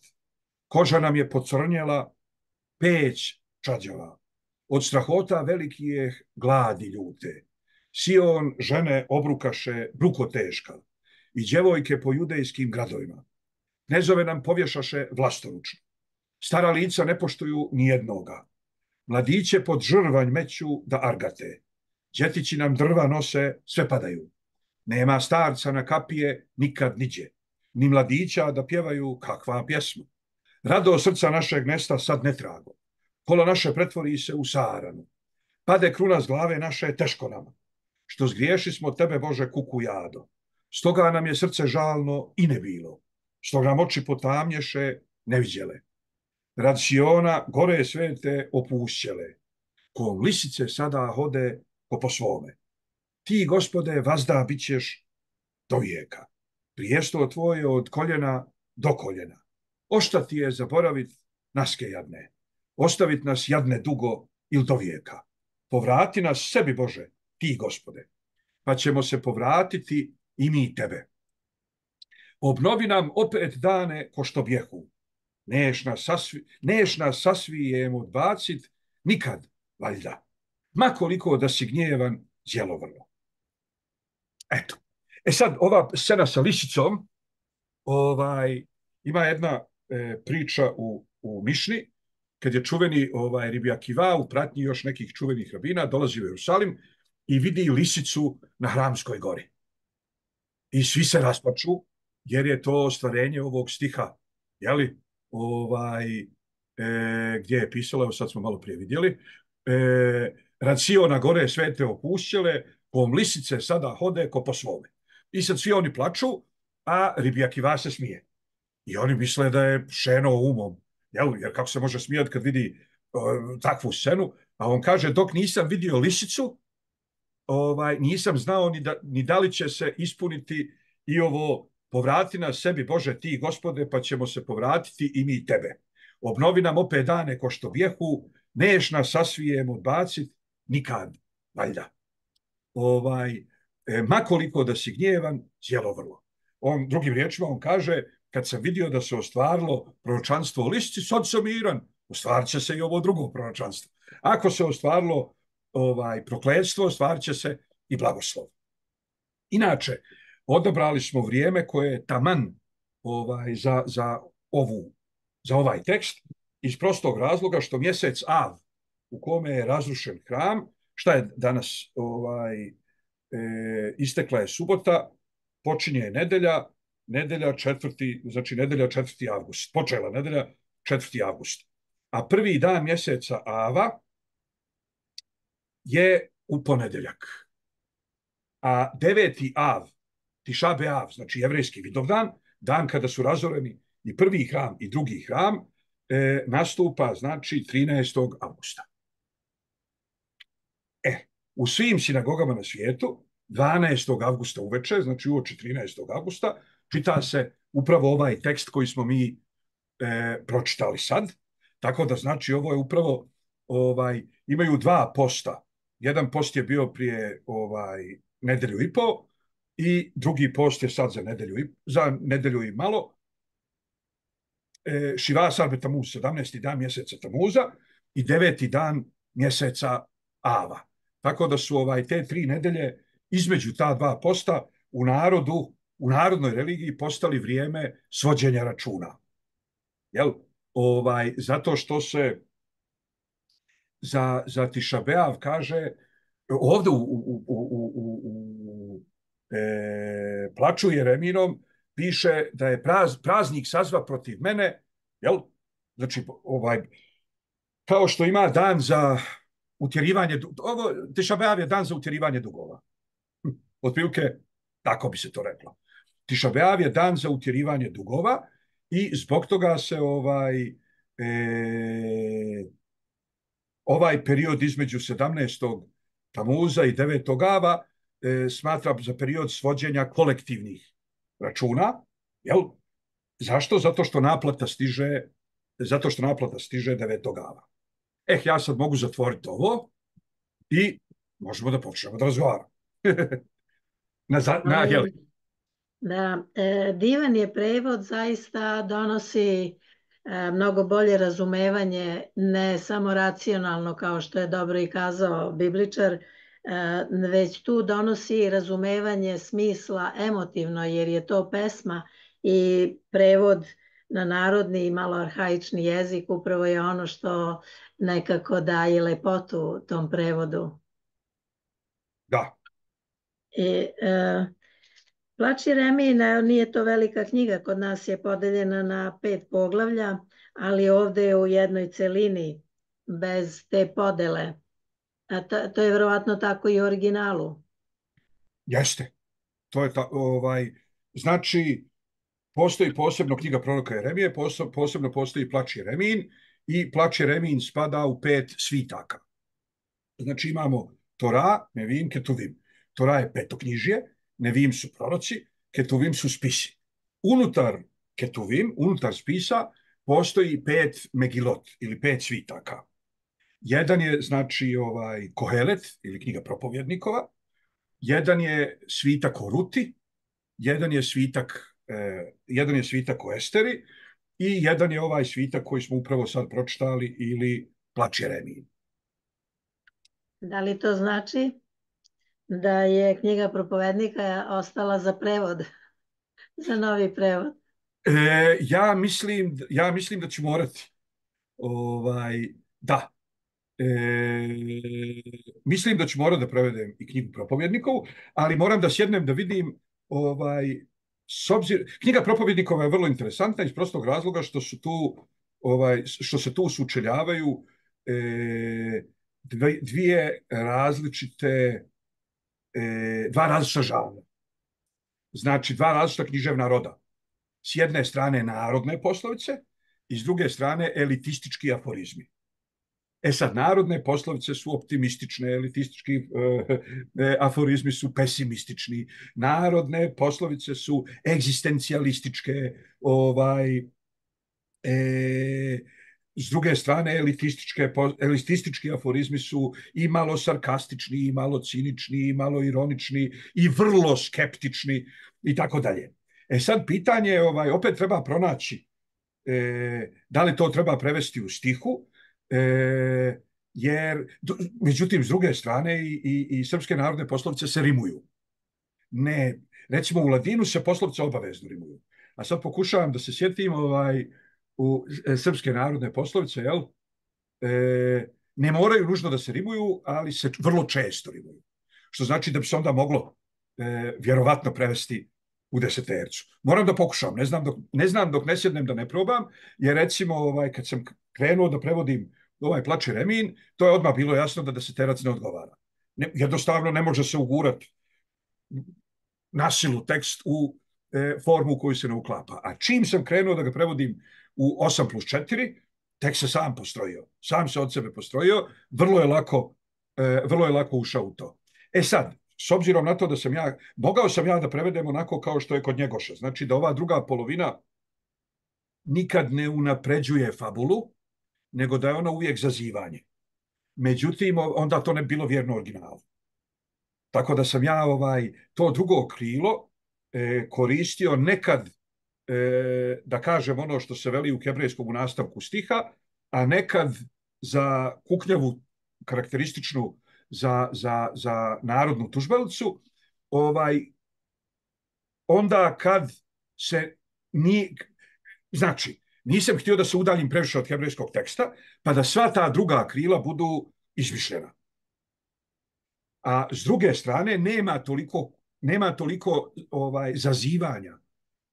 Koža nam je pocrnjela, peć čađava. Od strahota velikih gladi ljute. Sion žene obrukaše bruko teška i djevojke po judejskim gradovima. Knezove nam povješaše vlastoručno. Stara lica ne poštuju ni jednoga. Mladiće pod žrvanj meću da argate. Djetići nam drva nose, sve padaju. Nema starca na kapije nikad niđe. Ni mladića da pjevaju kakva pjesma. Rado srca našeg nesta sad netrago. Kolo naše pretvori se u saranu. Pade kruna s glave naše teško nama. Što zgriješi smo tebe, Bože, kuku jado. Stoga nam je srce žalno i ne bilo. Stoga nam oči potamnješe, ne vidjele. Rad Siona gore svete opušćele. Kom lisice sada hode ko po svome. Ti, Gospode, vazda bit ćeš do vijeka. Prijesto tvoje od koljena do koljena. Ošta ti je zaboravit naske jadne. Ostavit nas jadne dugo ili do vijeka. Povrati nas sebi, Bože, ti, Gospode, pa ćemo se povratiti i mi tebe. Obnovi nam opet dane ko što bjehu. Neš nas, sasvi, neš nas sasvijem odbacit nikad, valjda. Ma koliko da si gnjevan, zjelovrlo. Eto. E sad, ova scena sa lisicom, ovaj, ima jedna e, priča u, u Mišni, kad je čuveni ovaj, Rabi Akiva u pratnji još nekih čuvenih rabina, dolazi u Jerusalim i vidi lisicu na Hramskoj gori. I svi se rasplaču, jer je to ostvarenje ovog stiha, jeli? Ovaj, e, gdje je pisalo, evo sad smo malo prije vidjeli, e, rad Siona gore svete opušćele, kom lisice sada hode ko po svome. I sad svi oni plaču, a Rabi Akiva se smije. I oni misle da je šeno umom, jel? Jer kako se može smijati kad vidi uh, takvu scenu, a on kaže dok nisam vidio lisicu, ovaj, nisam znao ni da, ni da li će se ispuniti i ovo povrati nas sebi, Bože, ti, Gospode, pa ćemo se povratiti i mi tebe. Obnovi nam opet dane ko što bjehu, neš nas sasvijem odbacit, nikad, valjda. Ovaj, e, makoliko da si gnjevan, cijelo vrlo. On, drugim riječima, on kaže, kad sam vidio da se ostvarilo proročanstvo o lisici, sad sam miran, ostvarit će se i ovo drugo proročanstvo. Ako se ostvarilo ovaj, prokletstvo, ostvarit će se i blagoslov. Inače, odabrali smo vrijeme koje je taman ovaj, za, za, ovu, za ovaj tekst iz prostog razloga što mjesec Av u kome je razrušen hram, šta je danas, ovaj, e, istekla je subota, počinje nedelja, nedelja četvrti, znači nedelja četvrti avgust, počela nedelja četvrti avgust. A prvi dan mjeseca Ava je u ponedjeljak. A deveti Av, Tiša B'Av, znači jevrejski Vidovdan, dan kada su razoreni i prvi hram i drugi hram, e, nastupa znači trinaestog avgusta. E, u svim sinagogama na svijetu, dvanaestog avgusta uveče, znači uoči trinaestog avgusta, čita se upravo ovaj tekst koji smo mi e, pročitali sad. Tako da znači ovo je upravo, ovaj, imaju dva posta. Jedan post je bio prije ovaj, nedelju i po i drugi post je sad za nedelju i, za nedelju i malo. E, Šiva Sarbe Tamuz, sedamnaesti dan mjeseca Tamuza i deveti dan mjeseca Ava. Tako da su ovaj, te tri nedelje između ta dva posta u narodu, u narodnoj religiji postali vrijeme svođenja računa. Jel? Ovaj, zato što se za, za Tiša B'Av kaže ovdje u, u, u, u, u, u e, plaču Jereminom piše da je praz, praznik sazva protiv mene, jel? Znači, ovaj, kao što ima dan za utjerivanje, ovo, Tiša B'Av je dan za utjerivanje dugova. Otprilike, tako bi se to reklo. Tiša B'Av je dan za utjerivanje dugova i zbog toga se ovaj, e, ovaj period između sedamnaestog Tamuza i devetog Ava e, smatra za period svođenja kolektivnih računa, jel? Zašto? Zato što naplata stiže, zato što naplata stiže devetog ava. Eh, ja sad mogu zatvoriti ovo i možemo da počnemo da razgovaramo. na, za, na, jeli. Da, e, divan je prevod, zaista donosi e, mnogo bolje razumevanje, ne samo racionalno kao što je dobro i kazao Bibličar, e, već tu donosi razumevanje smisla emotivno, jer je to pesma i prevod na narodni i malo arhaični jezik upravo je ono što nekako daje lepotu tom prevodu. Da. I, e, Plač Jeremijina nije to velika knjiga, kod nas je podeljena na pet poglavlja, ali ovde je u jednoj celini, bez te podele. A to, to je verovatno tako i u originalu. Jeste. To je ta, ovaj, znači, postoji posebno knjiga proroka Jeremije, posebno postoji Plač Jeremijin i Plač Jeremijin spada u pet svitaka. Znači imamo Tora, Nevim, Ketuvim. Tora je petoknjižje, Nevim su proroci, Ketuvim su spisi. Unutar Ketuvim, unutar spisa, postoji pet Megilot ili pet svitaka. Jedan je, znači, ovaj, Kohelet ili knjiga propovjednikova, jedan je svitak o Ruti, jedan je svitak, eh, jedan je svitak o Esteri i jedan je ovaj svitak koji smo upravo sad pročitali ili Plač Jeremijin. Da li to znači da je knjiga propovednika ostala za prevod, za novi prevod? E, ja, mislim, ja mislim da ću morati. Ovaj, da. E, mislim da ću morati da prevedem i knjigu propovjednikovu, ali moram da sjednem da vidim ovaj, s obzir... Knjiga propovjednikova je vrlo interesantna iz prostog razloga što su tu ovaj, što se tu sučeljavaju e, dvije različite e, dva različita žanra. Znači dva različita književna roda. S jedne strane narodne poslovice i s druge strane elitistički aforizmi. E sad, narodne poslovice su optimistične, elitistički e, aforizmi su pesimistični, narodne poslovice su egzistencijalističke, ovaj, e, s druge strane elitističke, elitistički aforizmi su i malo sarkastični, i malo cinični, i malo ironični, i vrlo skeptični, i tako dalje. E sad, pitanje, ovaj, opet treba pronaći e, da li to treba prevesti u stihu, E, jer, međutim, s druge strane i, i, i srpske narodne poslovice se rimuju. Ne, recimo u ladinu se poslovice obavezno rimuju. A sad pokušavam da se sjetim ovaj, u srpske narodne poslovice, jel? E, ne moraju nužno da se rimuju, ali se vrlo često rimuju. Što znači da bi se onda moglo e, vjerovatno prevesti u desetercu. Moram da pokušam, ne znam dok ne, znam dok ne sjednem da ne probam, jer recimo ovaj, kad sam krenuo da prevodim ovaj Plač Jeremijin, to je odmah bilo jasno da deseterac ne odgovara. Ne, jednostavno ne može se ugurati na silu tekst u e, formu u koju se ne uklapa. A čim sam krenuo da ga prevodim u osam plus četiri, tekst se sam postrojio. Sam se od sebe postrojio, vrlo je lako, e, vrlo je lako ušao u to. E sad, s obzirom na to da sam ja, mogao sam ja da prevedem onako kao što je kod Njegoša. Znači da ova druga polovina nikad ne unapređuje fabulu, nego da je ona uvijek zazivanje. Međutim, onda to ne bi bilo vjerno originalu. Tako da sam ja ovaj, to drugo krilo e, koristio nekad e, da kažem ono što se veli u hebrejskom u nastavku stiha, a nekad za kuknjavu karakterističnu za, za, za narodnu tužbalicu, ovaj, onda kad se ni, znači, nisam htio da se udaljim previše od hebrejskog teksta, pa da sva ta druga krila budu izmišljena. A s druge strane, nema toliko, nema toliko ovaj, zazivanja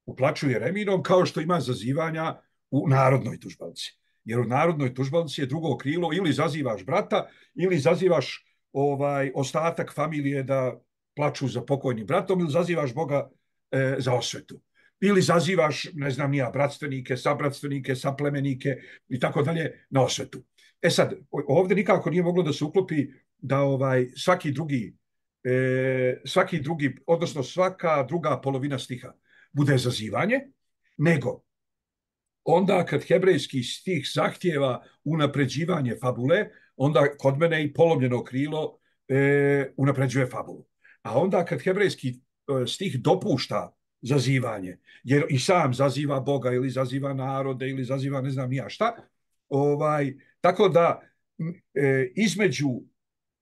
u Plaču Jeremijinom kao što ima zazivanja u narodnoj tužbalci. Jer u narodnoj tužbalci je drugo krilo ili zazivaš brata, ili zazivaš ovaj, ostatak familije da plaču za pokojnim bratom, ili zazivaš Boga e, za osvetu. Ili zazivaš, ne znam nija, bratstvenike, sabratstvenike, saplemenike i tako dalje na osvetu. E sad, ovdje nikako nije moglo da se uklopi da ovaj, svaki drugi, e, svaki drugi, odnosno svaka druga polovina stiha bude zazivanje, nego onda kad hebrejski stih zahtjeva unapređivanje fabule, onda kod mene i polomljeno krilo e, unapređuje fabulu. A onda kad hebrejski e, stih dopušta zazivanje, jer i sam zaziva Boga ili zaziva narode ili zaziva ne znam ja šta, ovaj, tako da e, između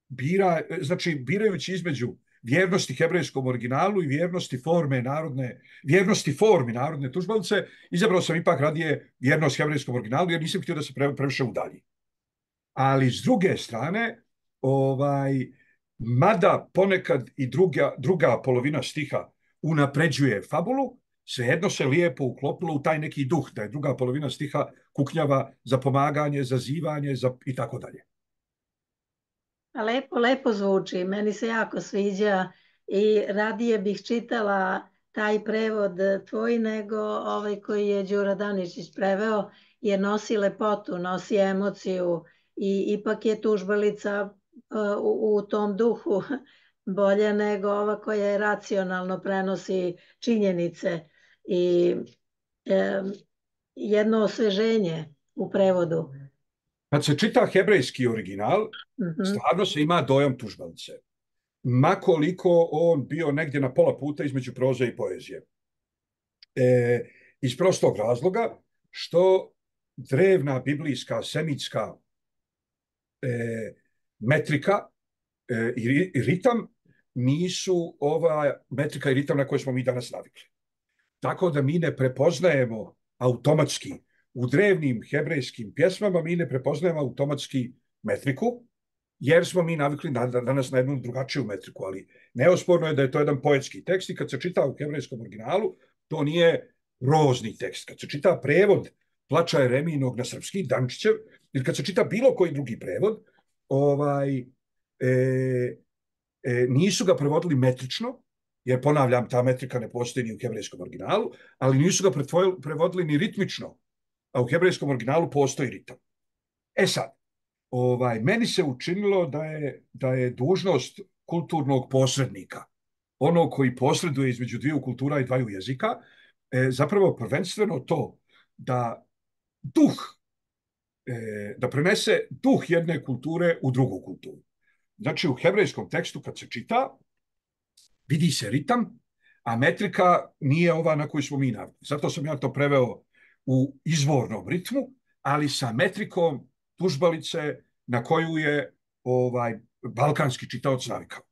bira, znači birajući između vjernosti hebrejskom originalu i vjernosti forme narodne, vjernosti formi narodne tužbalice, izabrao sam ipak radije vjernost hebrejskom originalu jer nisam htio da se pre, previše udalji. Ali s druge strane, ovaj, mada ponekad i druga, druga polovina stiha unapređuje fabulu, svejedno se lijepo uklopilo u taj neki duh, da je druga polovina stiha kuknjava za pomaganje, zazivanje za, i tako dalje. Lepo, lepo zvuči, meni se jako sviđa i radije bih čitala taj prevod tvoj nego ovaj koji je Đura Daničić preveo, jer nosi lepotu, nosi emociju i ipak je tužbalica uh, u, u tom duhu bolja nego ova koja je racionalno prenosi činjenice i um, jedno osveženje u prevodu. Kad se čita hebrejski original, mm-hmm. stvarno se ima dojam tužbalice. Makoliko on bio negdje na pola puta između proze i poezije. E, iz prostog razloga što drevna biblijska semitska e, metrika e, i, i ritam nisu ova metrika i ritam na koje smo mi danas navikli. Tako da mi ne prepoznajemo automatski u drevnim hebrejskim pjesmama mi ne prepoznajemo automatski metriku, jer smo mi navikli na, danas na jednu drugačiju metriku, ali neosporno je da je to jedan poetski tekst i kad se čita u hebrejskom originalu, to nije rozni tekst. Kad se čita prevod Plača Jeremijinog na srpski, Dančićev, ili kad se čita bilo koji drugi prevod, ovaj, e, e, nisu ga prevodili metrično, jer ponavljam, ta metrika ne postoji ni u hebrejskom originalu, ali nisu ga prevodili ni ritmično, a u hebrejskom originalu postoji ritam. E sad, ovaj, meni se učinilo da je, da je dužnost kulturnog posrednika, ono koji posreduje između dviju kultura i dvaju jezika, e, zapravo prvenstveno to da duh, e, da prenese duh jedne kulture u drugu kulturu. Znači, u hebrejskom tekstu kad se čita, vidi se ritam, a metrika nije ova na koju smo mi navikli. Zato sam ja to preveo u izvornom ritmu, ali sa metrikom tužbalice na koju je ovaj balkanski čitaoc navikao.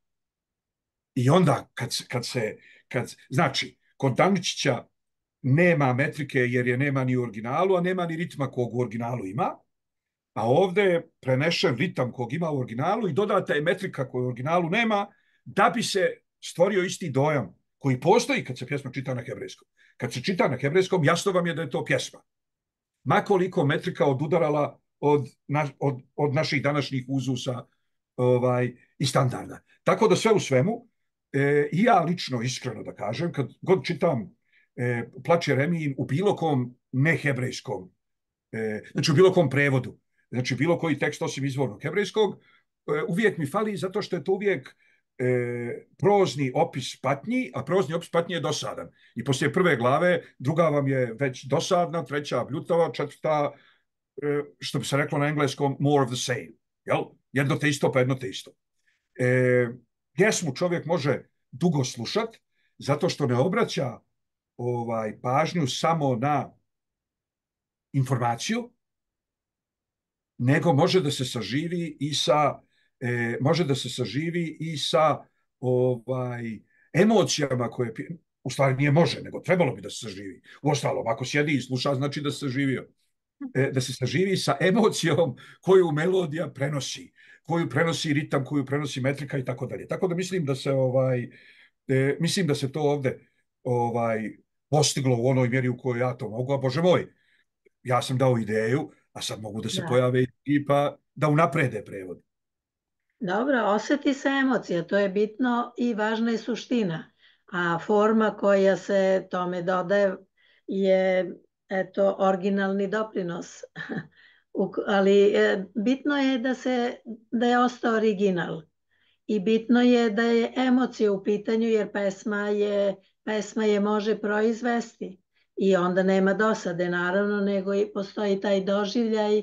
I onda kad, kad se, kad, znači, kod Daničića nema metrike jer je nema ni u originalu, a nema ni ritma kog u originalu ima, a ovdje je prenešen ritam kog ima u originalu i dodata je metrika koju u originalu nema, da bi se stvorio isti dojam koji postoji kad se pjesma čita na hebrejskom. Kad se čita na hebrejskom, jasno vam je da je to pjesma. Makoliko metrika odudarala od, na, od, od naših današnjih uzusa ovaj, i standarda. Tako da sve u svemu, e, i ja lično, iskreno da kažem, kad god čitam e, Plač Jeremijin u bilo kom nehebrejskom, e, znači u bilo kom prevodu, znači bilo koji tekst osim izvornog hebrejskog, e, uvijek mi fali zato što je to uvijek E, prozni opis patnji, a prozni opis patnji je dosadan. I poslije prve glave, druga vam je već dosadna, treća bljutava, četvrta, e, što bi se reklo na engleskom, more of the same. Jel? Jedno te isto, pa jedno te isto. E, pjesmu čovjek može dugo slušat, zato što ne obraća ovaj, pažnju samo na informaciju, nego može da se saživi i sa E, može da se saživi i sa ovaj, emocijama koje, u stvari nije može, nego trebalo bi da se saživi. Uostalom, ako sjedi i sluša, znači da se saživio. E, da se saživi sa emocijom koju melodija prenosi, koju prenosi ritam, koju prenosi metrika i tako dalje. Tako da mislim da se ovaj, e, mislim da se to ovde ovaj, postiglo u onoj mjeri u kojoj ja to mogu, a Bože moj, ja sam dao ideju, a sad mogu da se da. pojave i pa da unaprede prevod. Dobro, osjeti se emocija, to je bitno i važna je suština, a forma koja se tome dodaje je eto, originalni doprinos, ali bitno je da, se, da je ostao original i bitno je da je emocija u pitanju jer pesma je, pesma je može proizvesti I onda nema dosade, naravno, nego i postoji taj doživljaj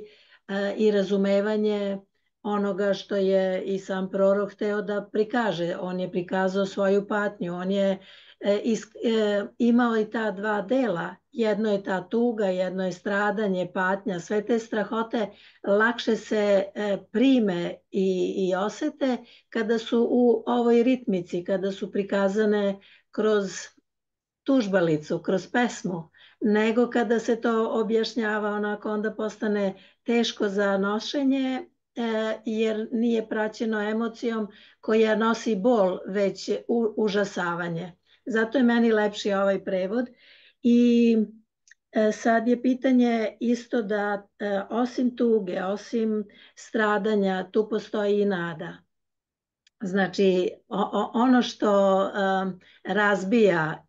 i razumevanje onoga što je i sam prorok hteo da prikaže. On je prikazao svoju patnju, on je imao i ta dva dela. Jedno je ta tuga, jedno je stradanje, patnja. Sve te strahote lakše se prime i, i osete kada su u ovoj ritmici, kada su prikazane kroz tužbalicu, kroz pesmu, nego kada se to objašnjava onako, onda postane teško za nošenje, jer nije praćeno emocijom koja nosi bol, već užasavanje. Zato je meni lepši ovaj prevod. I sad je pitanje isto da osim tuge, osim stradanja, tu postoji i nada. Znači, ono što razbija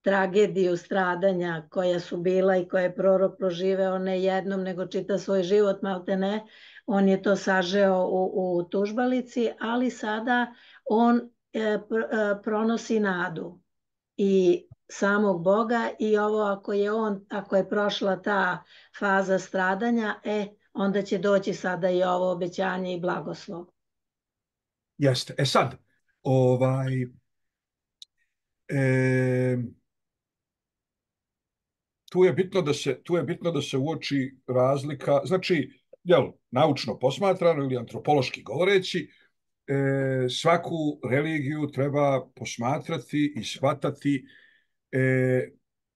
tragediju stradanja koja su bila i koje je prorok proživeo ne jednom, nego čita svoj život, malte ne, on je to sažeo u, u tužbalici, ali sada on e, pronosi nadu i samog Boga i ovo ako je on, ako je prošla ta faza stradanja, e, onda će doći sada i ovo obećanje i blagoslov. Jeste. E sad, ovaj... E... Tu je bitno da se, tu je bitno da se uoči razlika, znači, jel, naučno posmatrano ili antropološki govoreći, e, svaku religiju treba posmatrati i shvatati, e,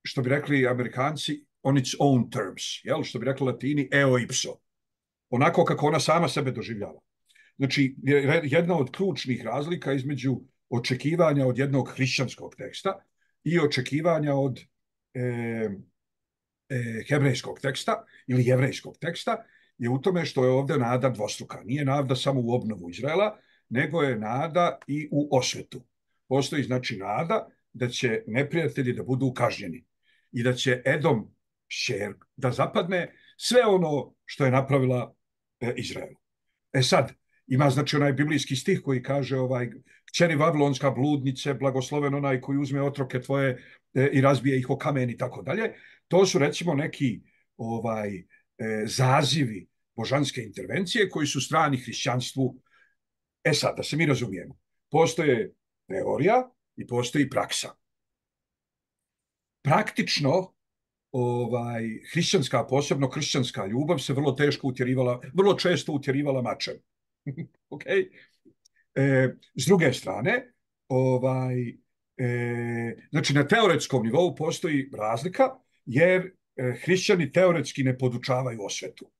što bi rekli Amerikanci, on its own terms, jel, što bi rekli Latini, eo ipso, onako kako ona sama sebe doživljava. Znači, jedna od ključnih razlika između očekivanja od jednog hrišćanskog teksta i očekivanja od e, hebrejskog teksta ili jevrejskog teksta je u tome što je ovdje nada dvostruka. Nije nada samo u obnovu Izraela, nego je nada i u osvetu. Postoji znači nada da će neprijatelji da budu kažnjeni i da će Edom šer da zapadne sve ono što je napravila e, Izraelu. E sad, ima znači onaj biblijski stih koji kaže ovaj, kćeri Vavilonska bludnice, blagosloven onaj koji uzme otroke tvoje e, i razbije ih o kamen i tako dalje. To su recimo neki ovaj, e, zazivi božanske intervencije koji su strani hrišćanstvu. E sad, da se mi razumijemo, postoje teorija i postoji praksa. Praktično, ovaj, hrišćanska, posebno hrišćanska ljubav se vrlo teško utjerivala, vrlo često utjerivala mačem. Okay? E, s druge strane, ovaj, e, znači na teoretskom nivou postoji razlika, jer e, hrišćani teoretski ne podučavaju osvetu.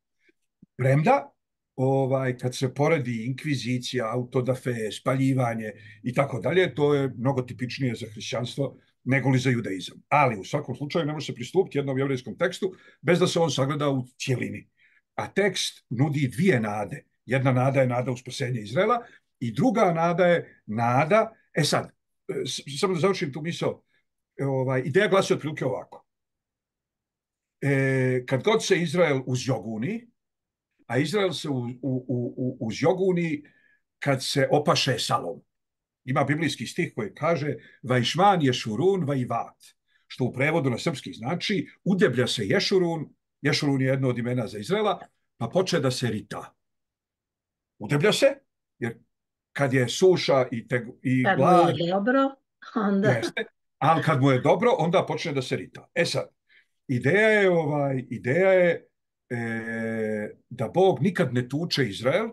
Premda, ovaj, kad se poredi inkvizicija, autodafe, spaljivanje i tako dalje, to je mnogo tipičnije za hrišćanstvo nego li za judaizam. Ali u svakom slučaju ne može se pristupiti jednom jevrejskom tekstu bez da se on sagleda u cijelini. A tekst nudi dvije nade. Jedna nada je nada u spasenje Izraela i druga nada je nada, e sad, samo da završim tu misao, ovaj, ideja glasi otprilike ovako. E, kad god se Izrael uzjoguni, a Izrael se u, u, u, uzjoguni kad se opaše salom. Ima biblijski stih koji kaže Vajšman Ješurun vajvat, što u prevodu na srpski znači udeblja se Ješurun, Ješurun je jedno od imena za Izraela, pa poče da se rita. Udeblja se, jer kad je suša i, te, i kad glad, mu je dobro, onda... Jeste, ali kad mu je dobro, onda počne da se rita. E sad, ideja je, ovaj, ideja je e, da Bog nikad ne tuče Izrael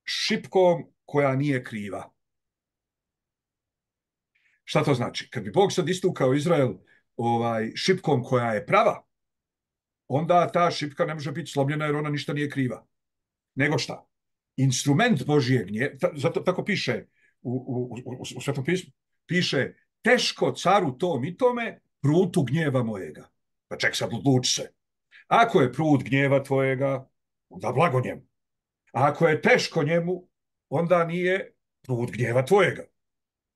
šipkom koja nije kriva. Šta to znači? Kad bi Bog sad istukao Izrael ovaj, šipkom koja je prava, onda ta šipka ne može biti slomljena jer ona ništa nije kriva. Nego šta? Instrument Božijeg gnjeva, zato tako piše u, u, u, u Svetom pismu, piše teško caru tom i tome prutu gnjeva mojega. Pa ček sad odluči se. Ako je prut gnjeva tvojega, onda blago njemu. A ako je teško njemu, onda nije prut gnjeva tvojega.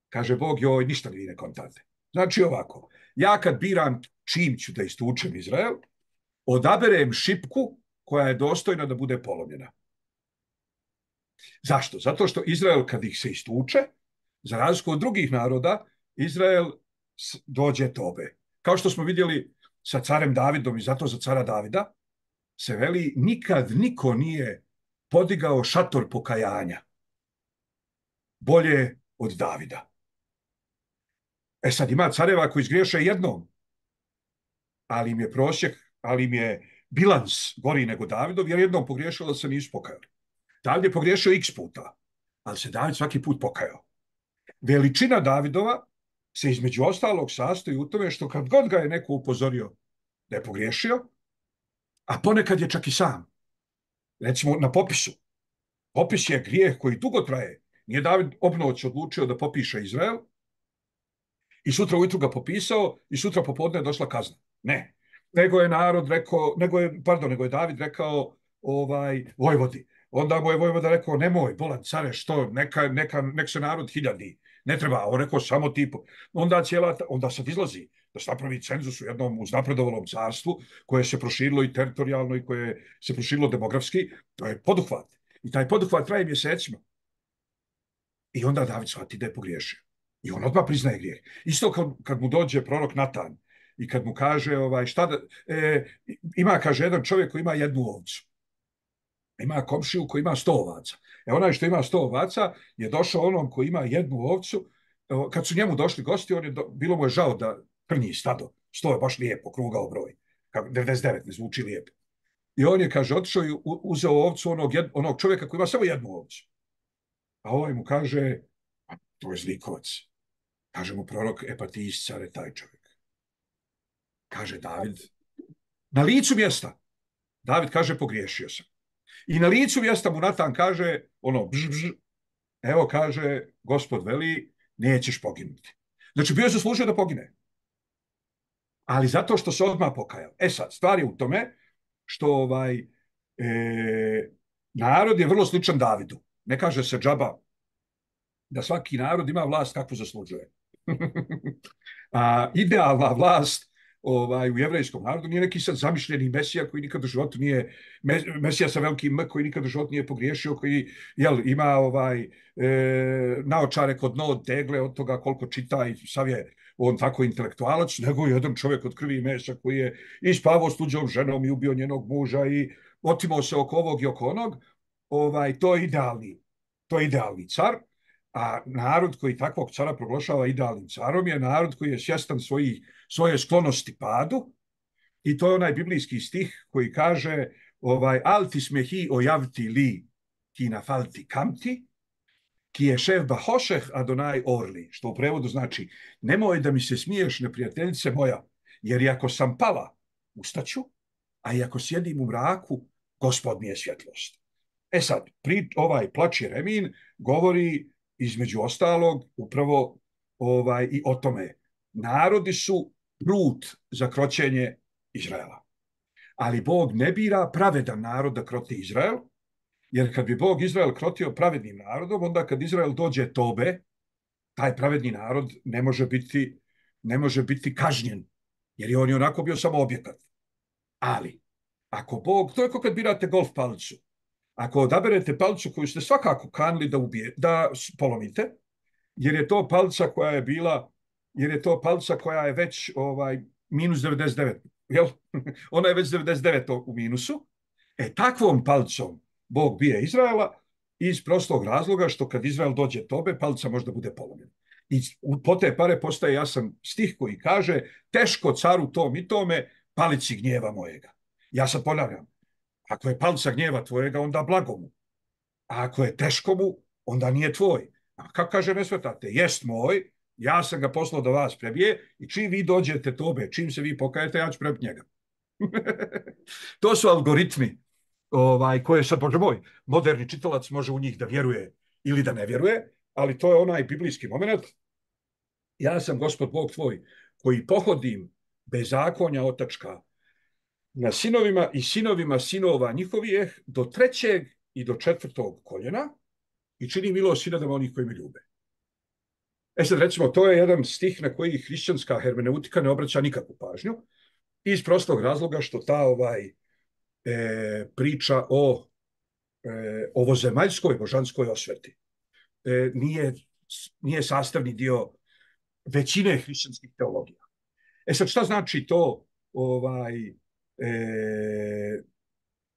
Kaže Bog, joj, ništa vi ne kontate. Znači ovako, ja kad biram čim ću da istučem Izrael, odaberem šipku koja je dostojna da bude polomljena. Zašto? Zato što Izrael kad ih se istuče, za razliku od drugih naroda, Izrael dođe tobe. Kao što smo vidjeli sa carem Davidom i zato za cara Davida se veli nikad niko nije podigao šator pokajanja bolje od Davida. E sad ima careva koji izgriješe jednom, ali im je prosjek, ali im je bilans gori nego Davidov, jer jednom pogriješilo da se nisu pokajali. David je pogriješio x puta, ali se David svaki put pokajao. Veličina Davidova se između ostalog sastoji u tome što kad god ga je neko upozorio da je pogriješio, a ponekad je čak i sam. Recimo na popisu. Popis je grijeh koji dugo traje. Nije David obnoć odlučio da popiše Izrael i sutra ujutru ga popisao i sutra popodne je došla kazna. Ne. Nego je narod rekao, nego je, pardon, nego je David rekao ovaj, vojvodi. Onda mu je vojvoda rekao, nemoj, bolan care, što, neka, neka, nek se narod hiljadi. Ne treba, on rekao samo tipo. Onda, cijela, onda sad izlazi da se napravi cenzus u jednom uznapredovalom carstvu koje se proširilo i teritorijalno i koje se proširilo demografski. To je poduhvat. I taj poduhvat traje mjesecima. I onda David shvati da je pogriješio. I on odmah priznaje grijeh. Isto kad, kad mu dođe prorok Natan i kad mu kaže, ovaj, šta da, e, ima, kaže, jedan čovjek koji ima jednu ovcu. Ima komšiju koji ima sto ovaca. E onaj što ima sto ovaca je došao onom koji ima jednu ovcu. Kad su njemu došli gosti, on je do, bilo mu je žao da krnji stado. Sto je baš lijepo, krugao broj. devedeset devet ne zvuči lijepo. I on je, kaže, otišao i uzeo ovcu onog, jed, onog čovjeka koji ima samo jednu ovcu. A ovaj mu kaže, a to je zlikovac. Kaže mu prorok, e pa ti iscare taj čovjek. Kaže David, na licu mjesta. David kaže, pogriješio sam. I na licu mjesta mu Natan kaže, ono, bž, bž, evo kaže, Gospod veli, nećeš poginuti. Znači, bio je zaslužio da pogine. Ali zato što se odmah pokajao. E sad, stvar je u tome što ovaj, e, narod je vrlo sličan Davidu. Ne kaže se džaba da svaki narod ima vlast kakvu zaslužuje. A idealna vlast ovaj, u jevrejskom narodu nije neki sad zamišljeni mesija koji nikad u životu nije, mesija sa velikim M koji nikad u životu nije pogriješio, koji jel, ima ovaj, e, naočare kod dno od tegle od toga koliko čita i sav je on tako intelektualac, nego jedan čovjek od krvi i mesa koji je i spavao s tuđom ženom i ubio njenog muža i otimao se oko ovog i oko onog. Ovaj, to je idealni, to je idealni car. A narod koji takvog cara proglašava idealnim carom je narod koji je svjestan svoji, svoje sklonosti padu i to je onaj biblijski stih koji kaže ovaj, alti smehi ojavti li ki nafalti kamti ki je šef bahošeh adonaj orli, što u prevodu znači nemoj da mi se smiješ neprijateljice moja, jer iako sam pala ustaću, a iako sjedim u mraku, Gospod mi je svjetlost. E sad, pri, ovaj plač Jeremin govori između ostalog upravo ovaj, i o tome. Narodi su prut za kroćenje Izraela. Ali Bog ne bira pravedan narod da kroti Izrael, jer kad bi Bog Izrael krotio pravednim narodom, onda kad Izrael dođe tobe, taj pravedni narod ne može biti, ne može biti kažnjen, jer je on i onako bio samo objekat. Ali, ako Bog, to je kao kad birate golf palicu, ako odaberete palicu koju ste svakako kanili da, ubije, da polomite, jer je to palica koja je bila, jer je to palica koja je već ovaj, minus devedeset devet, jel? Ona je već devedeset devet u minusu, e takvom palicom Bog bije Izraela iz prostog razloga što kad Izrael dođe tobe, palica možda bude polomljena. I po te pare postaje jasan stih koji kaže teško caru tom i tome, palici gnjeva mojega. Ja sad ponavljam, ako je palica gnjeva tvojega, onda blago mu. A ako je teško mu, onda nije tvoj. A kako kaže ne svetate? Jest moj, ja sam ga poslao da vas prebije i čim vi dođete tobe, čim se vi pokajete, ja ću prebiti njega. To su algoritmi ovaj, koje sad, bože moj, moderni čitalac može u njih da vjeruje ili da ne vjeruje, ali to je onaj biblijski moment. Ja sam Gospod Bog tvoj koji pohodim bezakonja otačka na sinovima i sinovima sinova njihovih do trećeg i do četvrtog koljena i čini milost sinadama onih koji me ljube. E sad recimo, to je jedan stih na koji hrišćanska hermeneutika ne obraća nikakvu pažnju iz prostog razloga što ta ovaj, e, priča o e, ovozemaljskoj božanskoj osveti e, nije, nije sastavni dio većine hrišćanskih teologija. E sad, šta znači to ovaj, e,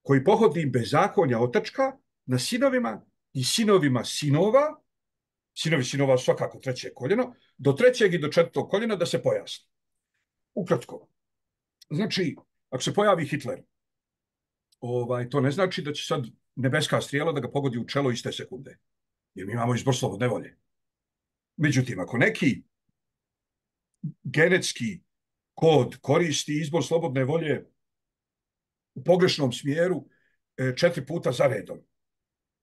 koji pohodi bezakonja otačka na sinovima i sinovima sinova, sinovi sinova svakako treće koljeno, do trećeg i do četvrtog koljena da se pojasni. Ukratko. Znači, ako se pojavi Hitler, ovaj, to ne znači da će sad nebeska strijela da ga pogodi u čelo iste sekunde. Jer mi imamo izbor slobodne volje. Međutim, ako neki genetski kod koristi izbor slobodne volje u pogrešnom smjeru četiri puta za redom,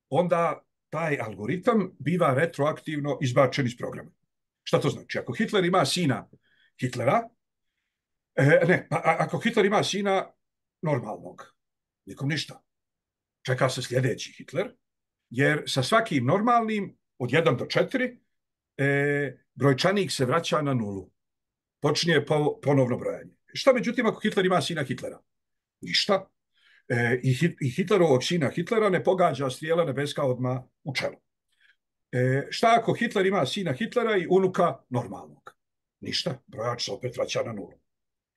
onda taj algoritam biva retroaktivno izbačen iz programa. Šta to znači? Ako Hitler ima sina Hitlera, e, ne, a, ako Hitler ima sina normalnog, nikom ništa. Čeka se sljedeći Hitler, jer sa svakim normalnim od jedan do četiri e, brojčanik se vraća na nulu. Počinje po, ponovno brojanje. Šta međutim ako Hitler ima sina Hitlera? Ništa. E, i, hit, I Hitlerovog sina Hitlera ne pogađa strijela nebeska odmah u čelo. E, šta ako Hitler ima sina Hitlera i unuka normalnog? Ništa. Brojač se opet vraća na nulu.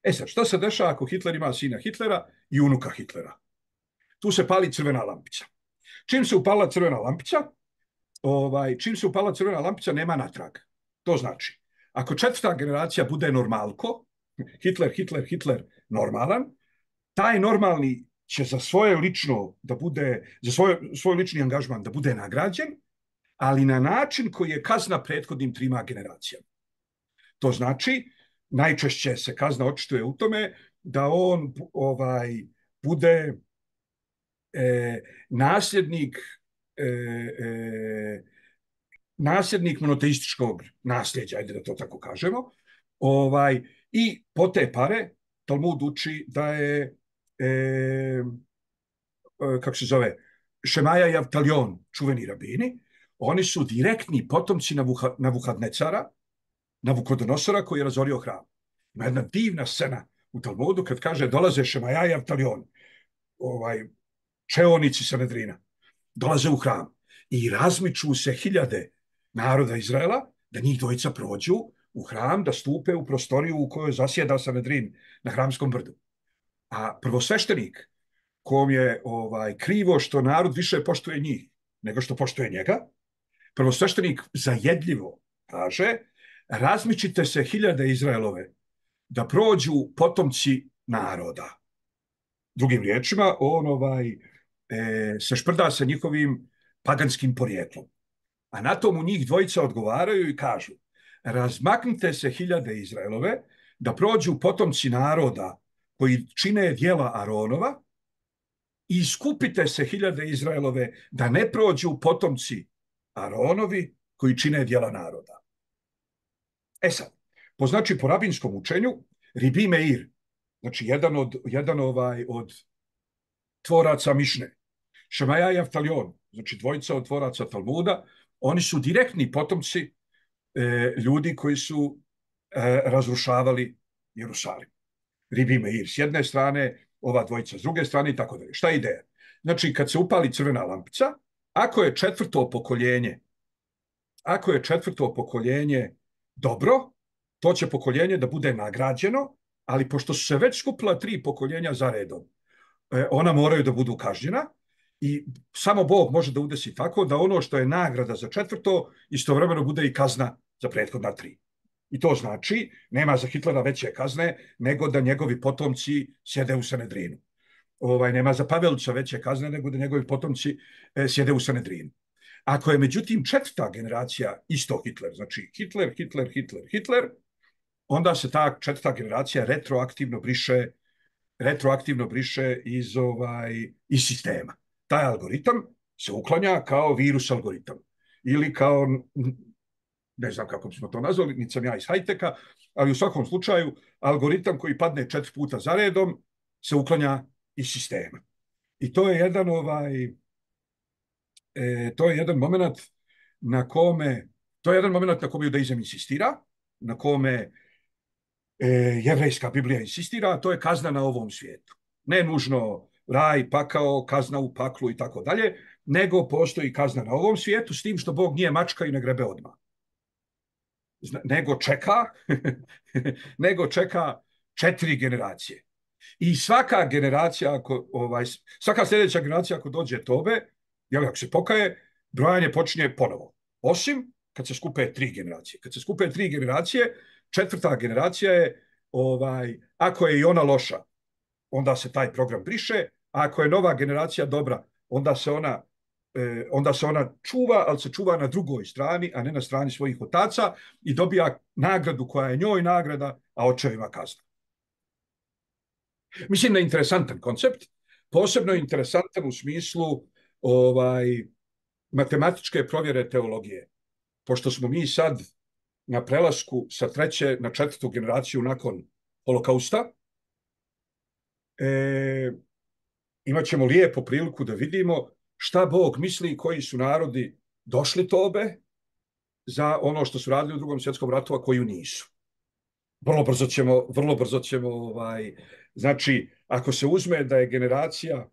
E sad, šta se dešava ako Hitler ima sina Hitlera i unuka Hitlera? Tu se pali crvena lampica. Čim se upala crvena lampica, ovaj, čim se upala crvena lampica, nema natrag. To znači, ako četvrta generacija bude normalko, Hitler, Hitler, Hitler normalan, taj normalni će za svoje lično da bude, za svoj, svoj lični angažman da bude nagrađen, ali na način koji je kazna prethodnim trima generacijama. To znači, najčešće se kazna očituje u tome da on ovaj, bude e, nasljednik e, e, nasljednik monoteističkog nasljeđa, ajde da to tako kažemo, ovaj, i po te pare Talmud uči da je e, kako se zove, Šemaja i Avtaljon, čuveni rabini, oni su direktni potomci Navuhadnecara, Navukodonosora koji je razorio hram. Ima jedna divna scena u Talmudu kad kaže dolaze Šemaja i Avtaljon, ovaj, čeonici Sanedrina, dolaze u hram i razmiču se hiljade naroda Izraela da njih dvojica prođu u hram, da stupe u prostoriju u kojoj zasjeda Sanedrin na hramskom brdu. A prvosveštenik, kom je ovaj, krivo što narod više poštuje njih nego što poštuje njega, prvosveštenik zajedljivo kaže, razmičite se hiljade Izraelove da prođu potomci naroda. Drugim riječima, on ovaj, e, se šprda sa njihovim paganskim porijeklom. A na tomu njih dvojica odgovaraju i kažu, razmaknite se hiljade Izraelove da prođu potomci naroda koji čine djela Aronova i iskupite se hiljade Izraelove da ne prođu potomci Aronovi koji čine djela naroda. E sad, po znači po rabinskom učenju, Ribi Meir, znači jedan od, jedan ovaj, od tvoraca Mišne, Šemaja i Avtaljon, znači dvojica od tvoraca Talmuda, oni su direktni potomci e, ljudi koji su e, razrušavali Jerusalim. Ribi Meir s jedne strane, ova dvojica s druge strane i tako dalje. Šta je ideja? Znači, kad se upali crvena lampica, ako je četvrto pokoljenje, ako je četvrto pokoljenje dobro, to će pokoljenje da bude nagrađeno, ali pošto su se već skupila tri pokoljenja za redom, ona moraju da budu kažnjena i samo Bog može da udesi tako da ono što je nagrada za četvrto istovremeno bude i kazna za prethodna tri. I to znači, nema za Hitlera veće kazne nego da njegovi potomci sjede u Sanedrinu. Ovaj, nema za Pavelića veće kazne nego da njegovi potomci e, sjede u Sanedrinu. Ako je međutim četvrta generacija isto Hitler, znači Hitler, Hitler, Hitler, Hitler, onda se ta četvrta generacija retroaktivno briše, retroaktivno briše iz, ovaj, iz sistema. Taj algoritam se uklanja kao virus algoritam ili kao, ne znam kako bismo to nazvali, niti sam ja iz high-teka, ali u svakom slučaju algoritam koji padne četiri puta za redom se uklanja iz sistema. I to je jedan ovaj, e, to je jedan moment na kome, to je jedan moment na kome judaizam insistira, na kome e, jevrejska Biblija insistira, a to je kazna na ovom svijetu. Ne nužno raj, pakao, kazna u paklu i tako dalje, nego postoji kazna na ovom svijetu s tim što Bog nije mačka i ne grebe odmah. nego čeka, nego čeka četiri generacije. I svaka generacija, ako, ovaj, svaka sljedeća generacija ako dođe tobe, jel, ako se pokaje, brojanje počinje ponovo. Osim kad se skupe tri generacije. Kad se skupe tri generacije, četvrta generacija je, ovaj, ako je i ona loša, onda se taj program briše, a ako je nova generacija dobra, onda se ona, eh, onda se ona čuva, ali se čuva na drugoj strani, a ne na strani svojih otaca i dobija nagradu koja je njoj nagrada, a očevima kazna. Mislim da je interesantan koncept, posebno interesantan u smislu ovaj, matematičke provjere teologije. Pošto smo mi sad na prelasku sa treće na četvrtu generaciju nakon holokausta, e, imat ćemo lijepo priliku da vidimo šta Bog misli koji su narodi došli tobe za ono što su radili u drugom svjetskom ratu, a koju nisu. Vrlo brzo ćemo, vrlo brzo ćemo ovaj, znači, ako se uzme da je generacija,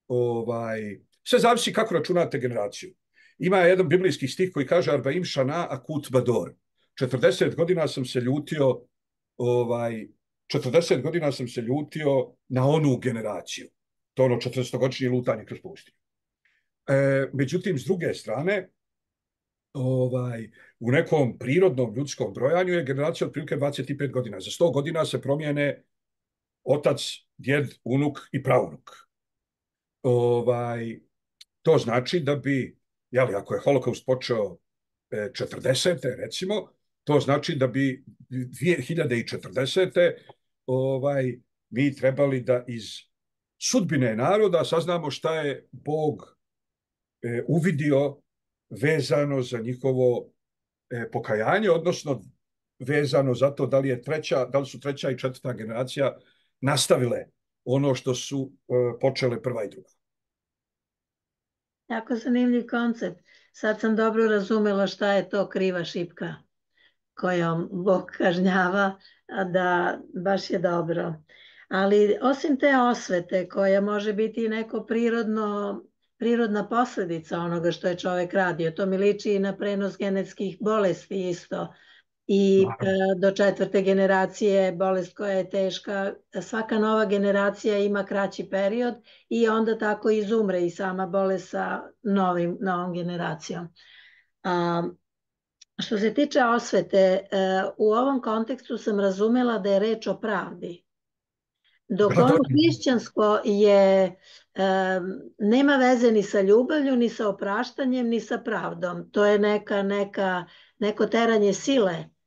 ovaj, sve zavisi kako računate generaciju. Ima jedan biblijski stih koji kaže Arbaim šana akut bador. četrdeset godina sam se ljutio, ovaj, četrdeset godina sam se ljutio na onu generaciju. To ono četrdesetogodišnje lutanje kroz pustinju. E, međutim, s druge strane, ovaj, u nekom prirodnom ljudskom brojanju je generacija otprilike dvadeset pet godina. Za sto godina se promijene otac, djed, unuk i praunuk. Ovaj, to znači da bi, jeli, ako je holokaust počeo četrdesete recimo, to znači da bi dvije hiljade četrdesete ovaj, mi trebali da iz sudbine naroda saznamo šta je Bog e, uvidio vezano za njihovo e, pokajanje, odnosno vezano za to da li je treća, da li su treća i četvrta generacija nastavile ono što su e, počele prva i druga. Jako zanimljiv koncept. Sad sam dobro razumela šta je to kriva šipka kojom Bog kažnjava, a da baš je dobro. Ali osim te osvete koja može biti neko prirodno, prirodna posljedica onoga što je čovjek radio, to mi liči i na prenos genetskih bolesti isto. I e, do četvrte generacije bolest koja je teška, svaka nova generacija ima kraći period i onda tako izumre i sama bolest sa novim, novom generacijom. A, što se tiče osvete, e, u ovom kontekstu sam razumela da je reč o pravdi. Dok ono hrišćansko je, e, nema veze ni sa ljubavlju, ni sa opraštanjem, ni sa pravdom. To je neka, neka, neko teranje sile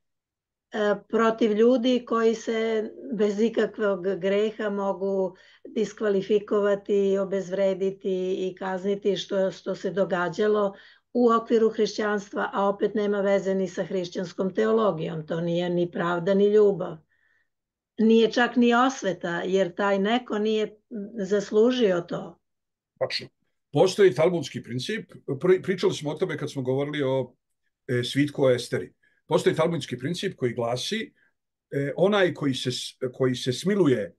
protiv ljudi koji se bez ikakvog greha mogu diskvalifikovati, obezvrediti i kazniti što, što se događalo u okviru hrišćanstva, a opet nema veze ni sa hrišćanskom teologijom. To nije ni pravda ni ljubav. Nije čak ni osveta, jer taj neko nije zaslužio to. Tačno. Postoji talmudski princip, pričali smo o tome kad smo govorili o e, svitku o Esteri. Postoji talmudski princip koji glasi eh, onaj koji se, koji se smiluje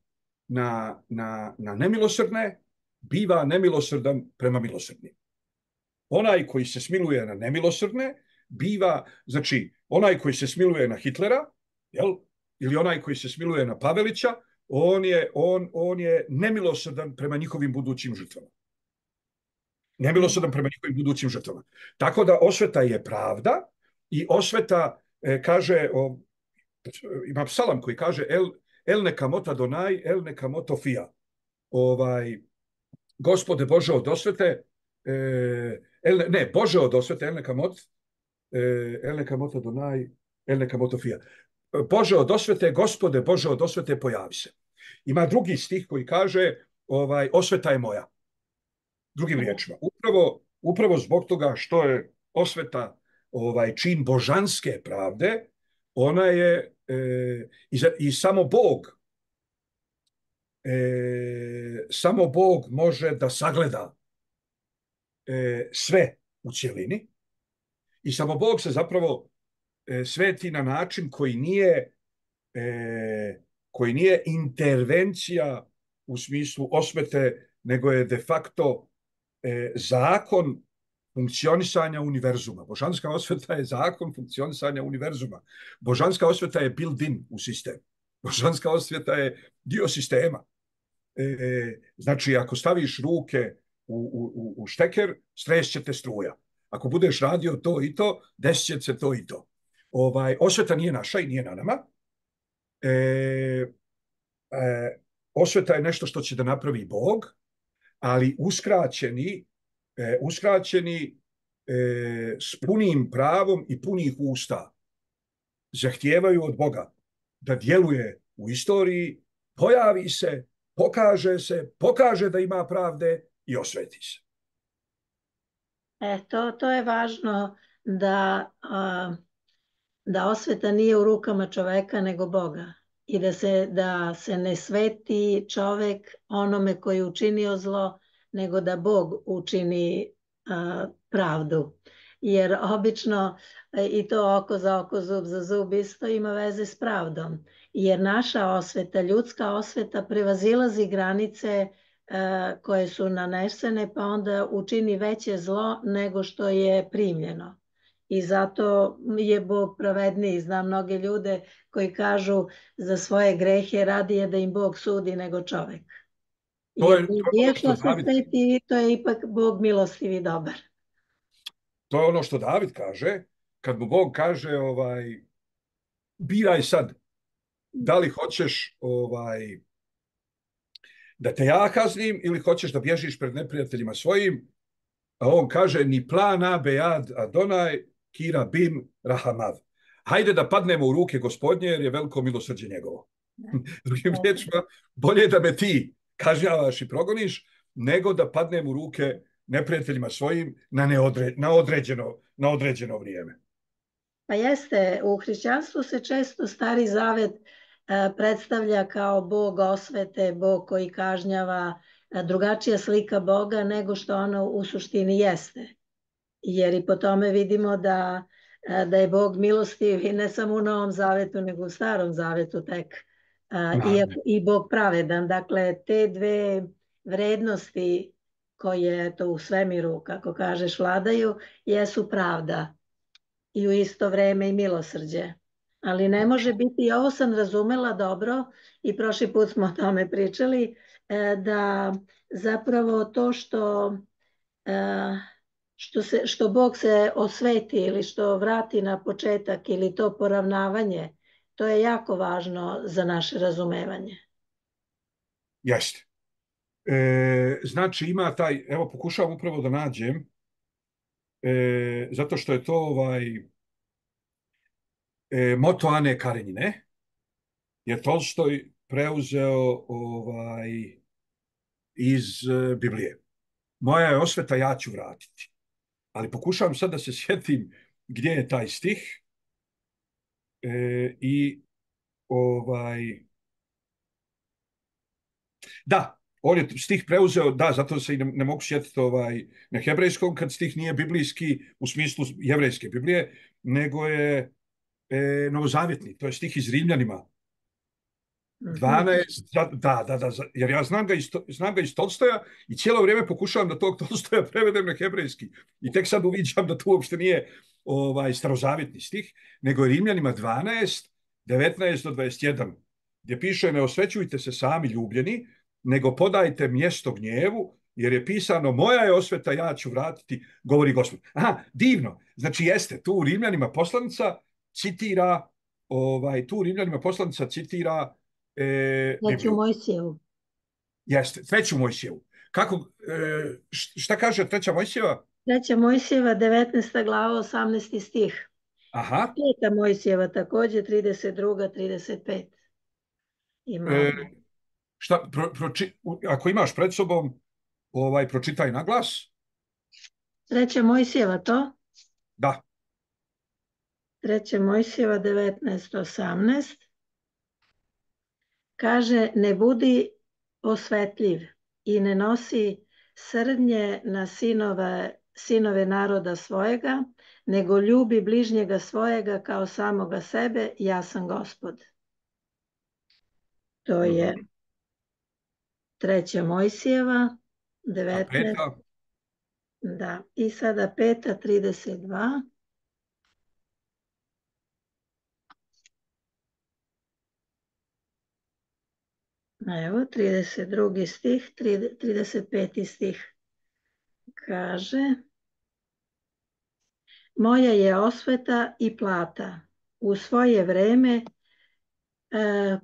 na, na, na nemilosrdne, biva nemilosrdan prema milosrdnim. Onaj koji se smiluje na nemilosrdne, biva, znači, onaj koji se smiluje na Hitlera, jel, ili onaj koji se smiluje na Pavelića, on je, on, on je nemilosrdan prema njihovim budućim žrtvama. Nemilosrdan prema njihovim budućim žrtvama. Tako da osveta je pravda i osveta E, kaže, o, ima psalam koji kaže el, el nekamot Adonai, el nekamot Ofija. Ovaj, Gospode Bože od osvete, e, el, ne, Bože od osvete, el nekamot, e, el nekamot Adonai, el nekamot Ofija. Bože od osvete, Gospode Bože od osvete, pojavi se. Ima drugi stih koji kaže, ovaj, osveta je moja. Drugim riječima. Upravo, upravo zbog toga što je osveta ovaj čin božanske pravde, ona je e, i, za, i samo Bog e, samo Bog može da sagleda e, sve u cjelini i samo Bog se zapravo e, sveti na način koji nije e, koji nije intervencija u smislu osvete, nego je de facto e, zakon funkcionisanja univerzuma. Božanska osveta je zakon funkcionisanja univerzuma. Božanska osveta je built-in u sistem. Božanska osveta je dio sistema. E, znači, ako staviš ruke u, u, u šteker, strešće te struja. Ako budeš radio to i to, desit će se to i to. Ovaj, osveta nije naša i nije na nama. E, e, osveta je nešto što će da napravi Bog, ali uskraćeni, e, uskraćeni e, s punim pravom i punih usta zahtijevaju od Boga da djeluje u istoriji, pojavi se, pokaže se, pokaže da ima pravde i osveti se. E, to, to je važno da, a, da osveta nije u rukama čoveka nego Boga i da se, da se ne sveti čovek onome koji je učinio zlo, nego da Bog učini a, pravdu. Jer obično i to oko za oko, zub za zub isto ima veze s pravdom. Jer naša osveta, ljudska osveta prevazilazi granice koje su nanesene, pa onda učini veće zlo nego što je primljeno. I zato je Bog pravedniji. Znam mnoge ljude koji kažu za svoje grehe radije da im Bog sudi nego čovek. To je, Jer to je ono što se David, sveti, to je ipak Bog milostiv i dobar. to je ono što David kaže, kad mu Bog kaže ovaj, biraj sad, da li hoćeš ovaj, da te ja kaznim ili hoćeš da bježiš pred neprijateljima svojim, a on kaže ni plana bejad Adonaj kira bim rahamav. Hajde da padnemo u ruke gospodnje jer je veliko milosrđe njegovo. Drugim riječima, bolje da me ti kažnjavaš i progoniš nego da padnem u ruke neprijateljima svojim na, neodre, na, određeno, na određeno vrijeme. Pa jeste, u hrišćanstvu se često Stari Zavet predstavlja kao Bog osvete, Bog koji kažnjava, drugačija slika Boga nego što ono u suštini jeste. Jer i po tome vidimo da, da je Bog milostiv i ne samo u Novom Zavetu, nego u Starom Zavetu tek. I, i Bog pravedan. Dakle, te dve vrednosti koje to u svemiru, kako kažeš, vladaju, jesu pravda i u isto vreme i milosrđe. Ali ne može biti, i ovo sam razumela dobro i prošli put smo o tome pričali, da zapravo to što, što, se, što Bog se osveti ili što vrati na početak ili to poravnavanje, to je jako važno za naše razumevanje. Jeste. E, znači ima taj, evo pokušavam upravo da nađem, e, zato što je to ovaj, e, moto Ane Karenjine, je Tolstoj preuzeo ovaj, iz e, Biblije. Moja je osveta, ja ću vratiti. Ali pokušavam sad da se sjetim gdje je taj stih e, i ovaj... Da, on je stih preuzeo, da, zato se i ne, ne mogu sjetiti ovaj, na hebrejskom, kad stih nije biblijski u smislu jevrejske Biblije, nego je e, novozavjetni, to je stih iz Rimljanima. dvanaest, da, da, da, jer ja znam ga, iz, znam ga iz Tolstoja i cijelo vrijeme pokušavam da tog Tolstoja prevedem na hebrejski. I tek sad uviđam da to uopšte nije ovaj, starozavjetni stih, nego je Rimljanima dvanaest, devetnaest do dvadeset jedan, gdje piše ne osvećujte se sami ljubljeni, nego podajte mjesto gnjevu, jer je pisano moja je osveta, ja ću vratiti, govori Gospod. Aha, divno. Znači jeste, tu u Rimljanima poslanica citira, ovaj, tu u Rimljanima poslanica citira E, Treću Mojsijevu. Jeste, treću Mojsijevu. Kako, e, šta kaže treća Mojsijeva? Treća Mojsijeva, devetnaesta glava, osamnaesti stih. Aha. Peta Mojsijeva također, trideset druga, trideset pet. Ima. E, šta, pro, proči, ako imaš pred sobom, ovaj, pročitaj na glas. Treća Mojsijeva to? Da. Treća Mojsijeva, devetnaest osamnaest. Kaže, ne budi osvetljiv i ne nosi srdnje na sinove, sinove naroda svojega, nego ljubi bližnjega svojega kao samoga sebe, ja sam Gospod. To je treća Mojsijeva, devetnaest. Da, i sada peta, trideset dva. Evo, trideset drugi stih, trideset peti stih kaže: Moja je osveta i plata, u svoje vreme e,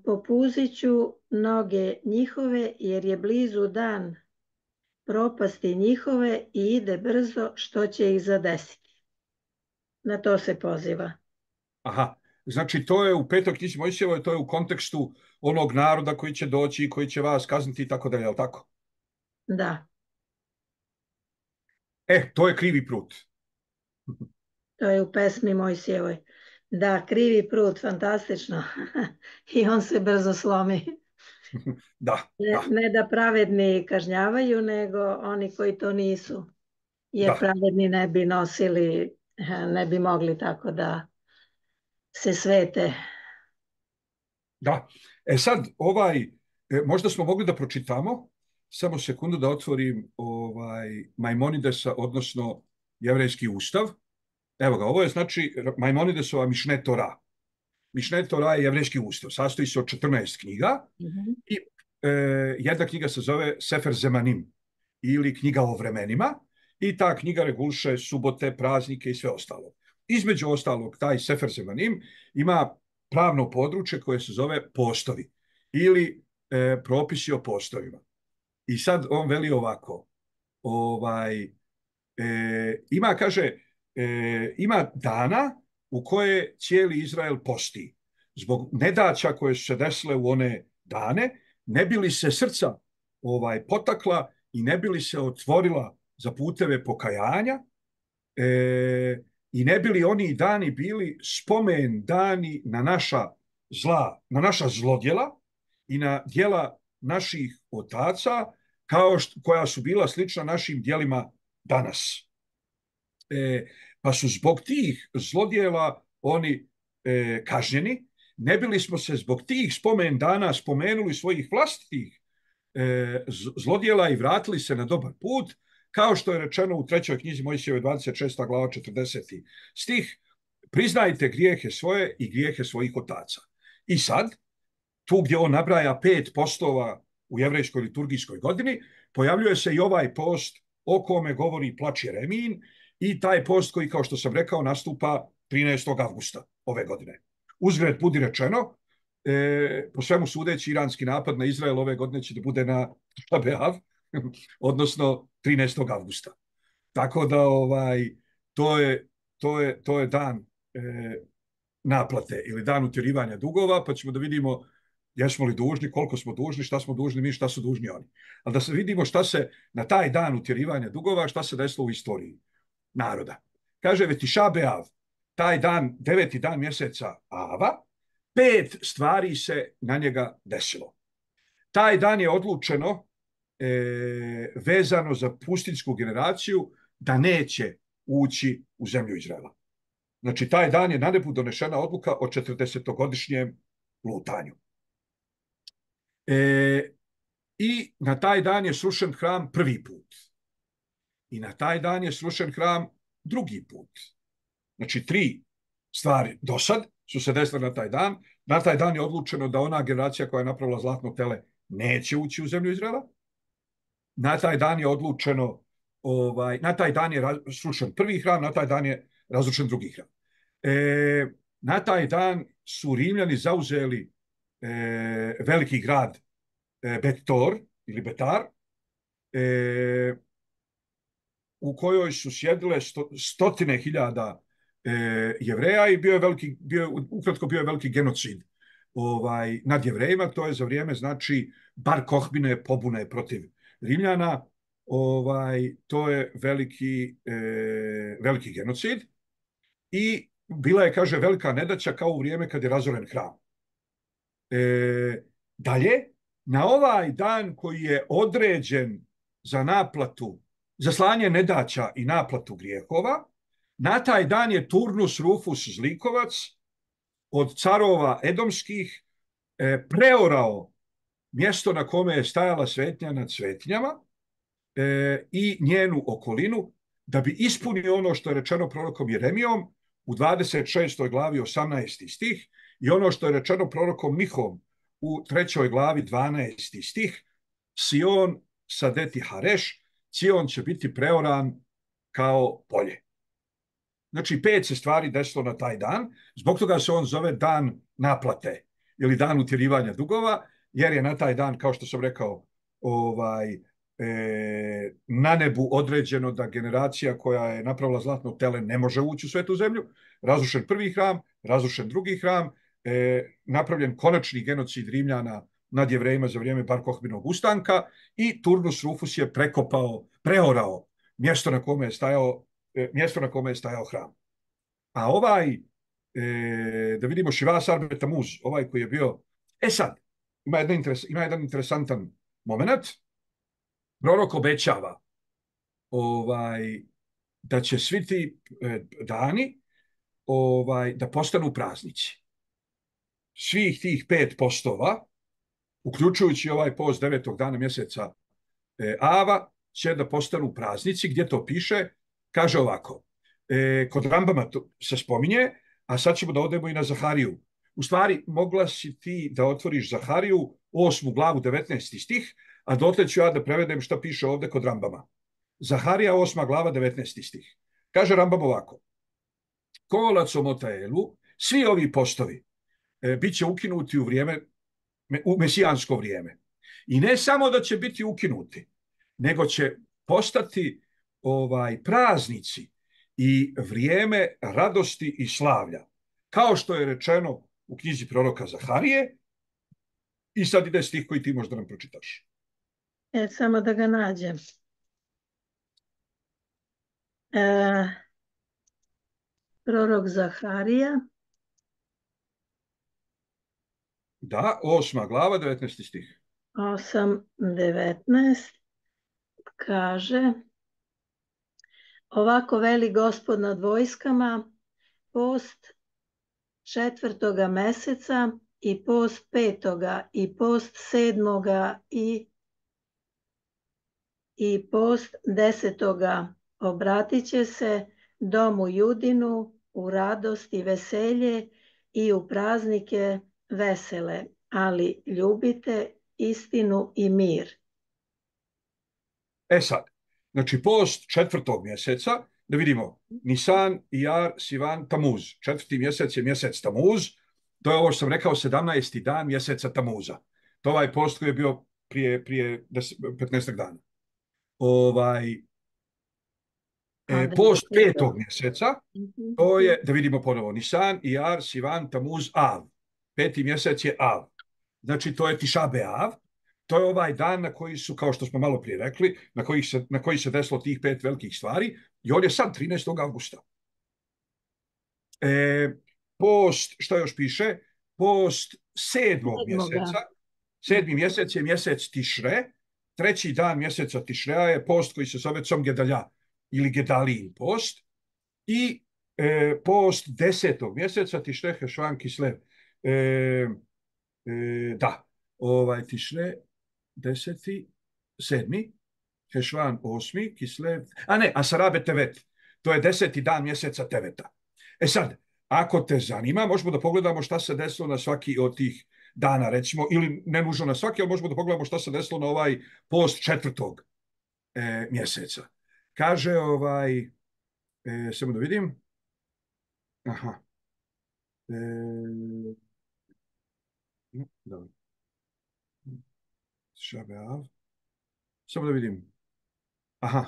popuzit ću noge njihove, jer je blizu dan propasti njihove i ide brzo, što će ih zadesiti. Na to se poziva. Aha, znači to je u petoj knjizi Mojsijevoj, to je u kontekstu onog naroda koji će doći i koji će vas kazniti i tako dalje, je li tako? Da, E, to je krivi prut. to je u pesmi Mojsijevoj. Da, krivi prut, fantastično. I on se brzo slomi. Da, Ne, da, ne da pravedni kažnjavaju, nego oni koji to nisu. Jer da, pravedni ne bi nosili, ne bi mogli tako da se svete. da. E sad, ovaj, e, možda smo mogli da pročitamo, samo sekundu da otvorim ovaj, Maimonidesa, odnosno Jevrejski ustav. Evo ga, ovo je znači Maimonidesova Mišne Tora. Mišne Tora je Jevrejski ustav, sastoji se od četrnaest knjiga Mhm. i e, jedna knjiga se zove Sefer Zemanim ili knjiga o vremenima i ta knjiga reguliše subote, praznike i sve ostalo. Između ostalog, taj Sefer Zemanim ima pravno područje koje se zove postovi ili e, propisi o postovima. I sad on veli ovako, ovaj, e, ima, kaže, e, ima dana u koje cijeli Izrael posti. Zbog nedaća koje su se desile u one dane, ne bi li se srca ovaj, potakla i ne bi li se otvorila za puteve pokajanja, e, i ne bi li oni dani bili spomen dani na naša zla, na naša zlodjela i na djela naših otaca, kao što, koja su bila slična našim djelima danas. E, pa su zbog tih zlodjela oni e, kažnjeni. Ne bili smo se zbog tih spomen dana spomenuli svojih vlastitih e, zlodjela i vratili se na dobar put, kao što je rečeno u trećoj knjizi Mojsijeve dvadeset šesta glava četrdeseti stih, priznajte grijehe svoje i grijehe svojih otaca. I sad, tu gdje on nabraja pet postova u jevrejskoj liturgijskoj godini, pojavljuje se i ovaj post o kome govori plač Jeremijin i taj post koji, kao što sam rekao, nastupa trinaestog avgusta ove godine. Uzgred budi rečeno, e, po svemu sudeći, iranski napad na Izrael ove godine će da bude na Šabeav, odnosno trinaestog avgusta. Tako da ovaj, to, je, to, je, to je dan e, naplate ili dan utjerivanja dugova, pa ćemo da vidimo jesmo li dužni, koliko smo dužni, šta smo dužni mi, šta su dužni oni. Ali da se vidimo šta se na taj dan utjerivanja dugova, šta se desilo u istoriji naroda. Kaže Vetiša Beav, taj dan, deveti dan mjeseca Ava, pet stvari se na njega desilo. Taj dan je odlučeno e, vezano za pustinjsku generaciju da neće ući u zemlju Izraela. Znači, taj dan je na nebu donešena odluka o četrdesetogodišnjem lutanju. E, I na taj dan je srušen hram prvi put. I na taj dan je srušen hram drugi put. Znači, tri stvari do sad su se desile na taj dan. Na taj dan je odlučeno da ona generacija koja je napravila zlatno tele neće ući u zemlju Izraela. Na taj dan je odlučeno, ovaj, na taj dan je srušen prvi hram, na taj dan je razrušen drugi hram. E, na taj dan su Rimljani zauzeli e, veliki grad e, Bet-Tor ili Betar, e, u kojoj su sjedile sto, stotine hiljada e, Jevreja i bio je veliki, bio je, ukratko bio je veliki genocid ovaj, nad Jevrejima. To je za vrijeme, znači, Bar Kohbine pobune protiv Rimljana. Ovaj, to je veliki, e, veliki genocid i bila je, kaže, velika nedaća kao u vrijeme kad je razoren hram. E, dalje, na ovaj dan koji je određen za naplatu, za slanje nedaća i naplatu grijehova, na taj dan je Turnus Rufus Zlikovac od carova edomskih e, preorao mjesto na kome je stajala svetnja nad svetinjama e, i njenu okolinu, da bi ispunio ono što je rečeno prorokom Jeremijom u dvadeset šestoj glavi osamnaesti stih i ono što je rečeno prorokom Mihom u trećoj glavi dvanaesti stih, Sion sadeti hareš, Sion će biti preoran kao polje. Znači, pet se stvari desilo na taj dan, zbog toga se on zove dan naplate ili dan utjerivanja dugova, jer je na taj dan, kao što sam rekao, ovaj, e, na nebu određeno da generacija koja je napravila zlatno tele ne može ući u svetu zemlju, razrušen prvi hram, razrušen drugi hram, e, napravljen konačni genocid Rimljana nad Jevrejima za vrijeme Bar Kohbinog ustanka i Turnus Rufus je prekopao, preorao mjesto na kome je stajao, e, mjesto na kome je stajao hram. A ovaj, e, da vidimo Šivas Arbe Tamuz, ovaj koji je bio, e sad, ima jedan, interes, ima jedan interesantan moment. Prorok obećava ovaj, da će svi ti e, dani ovaj, da postanu praznici. Svih tih pet postova, uključujući ovaj post devetog dana mjeseca e, Ava, će da postanu praznici. Gdje to piše? Kaže ovako, e, kod Rambama to se spominje, a sad ćemo da odemo i na Zahariju. U stvari, mogla si ti da otvoriš Zahariju, osmu glavu, devetnaesti stih, a dotle ću ja da prevedem šta piše ovde kod Rambama. Zaharija, osma glava, devetnaesti stih. Kaže Rambam ovako, kolac o Motaelu, svi ovi postovi e, bit će ukinuti u vrijeme, u mesijansko vrijeme. I ne samo da će biti ukinuti, nego će postati ovaj praznici i vrijeme radosti i slavlja. Kao što je rečeno u knjizi proroka Zaharije, i sad ide stih koji ti možda nam pročitaš. E, samo da ga nađem. E, prorok Zaharija. Da, osma glava, devetnaesti stih. osam, devetnaest kaže ovako veli Gospod nad vojskama, post četvrtoga meseca i post petoga i post sedmoga i, i post desetoga obratit će se domu Judinu u radost i veselje i u praznike vesele, ali ljubite istinu i mir. E sad, znači post četvrtog mjeseca, da vidimo, Nisan, Ijar, Sivan, Tamuz. Četvrti mjesec je mjesec Tamuz, to je ovo što sam rekao, sedamnaesti dan mjeseca Tamuza. To je ovaj post koji je bio prije, prije petnaest dana. Ovaj, e, post petog mjeseca, to je, da vidimo ponovo, Nisan, Ijar, Sivan, Tamuz, Av. Peti mjesec je Av. Znači, to je Tiša Beav. To je ovaj dan na koji su, kao što smo malo prije rekli, na koji se, na koji se desilo tih pet velikih stvari, i on je sad trinaestog avgusta. E, post, što još piše? Post sedmog mjeseca, sedmi mjesec je mjesec Tišre, treći dan mjeseca Tišreja je post koji se zove Com Gedalja ili Gedalijin post, i e, post desetog mjeseca Tišre Hešvan Kislev. E, e, da, ovaj Tišre deseti, sedmi, Hešvan osmi, Kislev, a ne, Asarabe Tevet, to je deseti dan mjeseca Teveta. E sad, ako te zanima, možemo da pogledamo šta se desilo na svaki od tih dana, recimo, ili ne nužno na svaki, ali možemo da pogledamo šta se desilo na ovaj post četvrtog e, mjeseca. Kaže ovaj, e, samo da vidim, aha, e, dobro. Šabeav. Samo da vidim. Aha.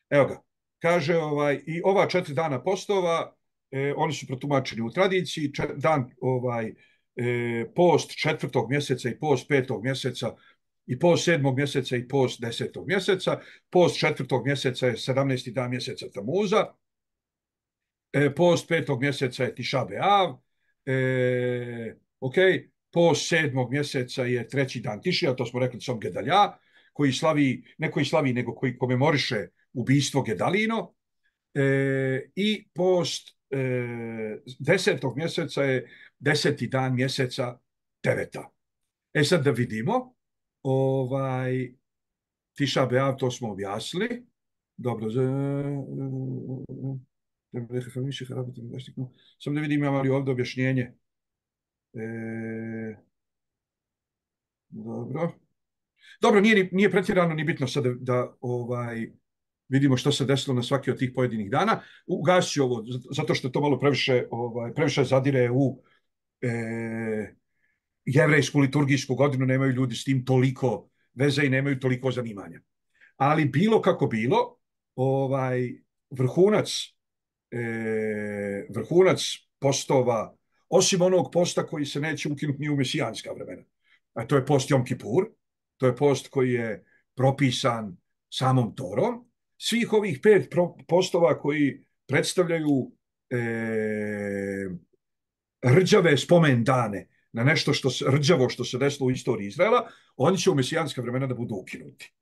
Evo ga. Kaže, ovaj, i ova četiri dana postova, eh, oni su protumačeni u tradiciji, čet, dan, ovaj, eh, post četvrtog mjeseca i post petog mjeseca i post sedmog mjeseca i post desetog mjeseca. Post četvrtog mjeseca je sedamnaesti dan mjeseca Tamuza. Eh, post petog mjeseca je Tiša Beav. Eh, ok. Post sedmog mjeseca je treći dan Tišija, to smo rekli Com Gedalja, koji slavi, ne koji slavi, nego koji komemoriše ubistvo Gedalino. E, I post e, desetog mjeseca je deseti dan mjeseca Teveta. E sad da vidimo, ovaj, Tiša Beav, to smo objasnili. Dobro. Samo da vidim imam li ovdje objašnjenje. E, dobro. Dobro, nije, nije pretjerano ni bitno sad da, da ovaj, vidimo što se desilo na svaki od tih pojedinih dana. Ugasit ću ovo, zato što to malo previše, ovaj, previše zadire u e, jevrejsku liturgijsku godinu, nemaju ljudi s tim toliko veze i nemaju toliko zanimanja. Ali bilo kako bilo, ovaj, vrhunac, e, vrhunac postova, osim onog posta koji se neće ukinuti ni u mesijanska vremena, a to je post Jom Kipur, to je post koji je propisan samom Torom. Svih ovih pet postova koji predstavljaju e, rđave spomen dane na nešto što se, rđavo što se desilo u istoriji Izraela, oni će u mesijanska vremena da budu ukinuti.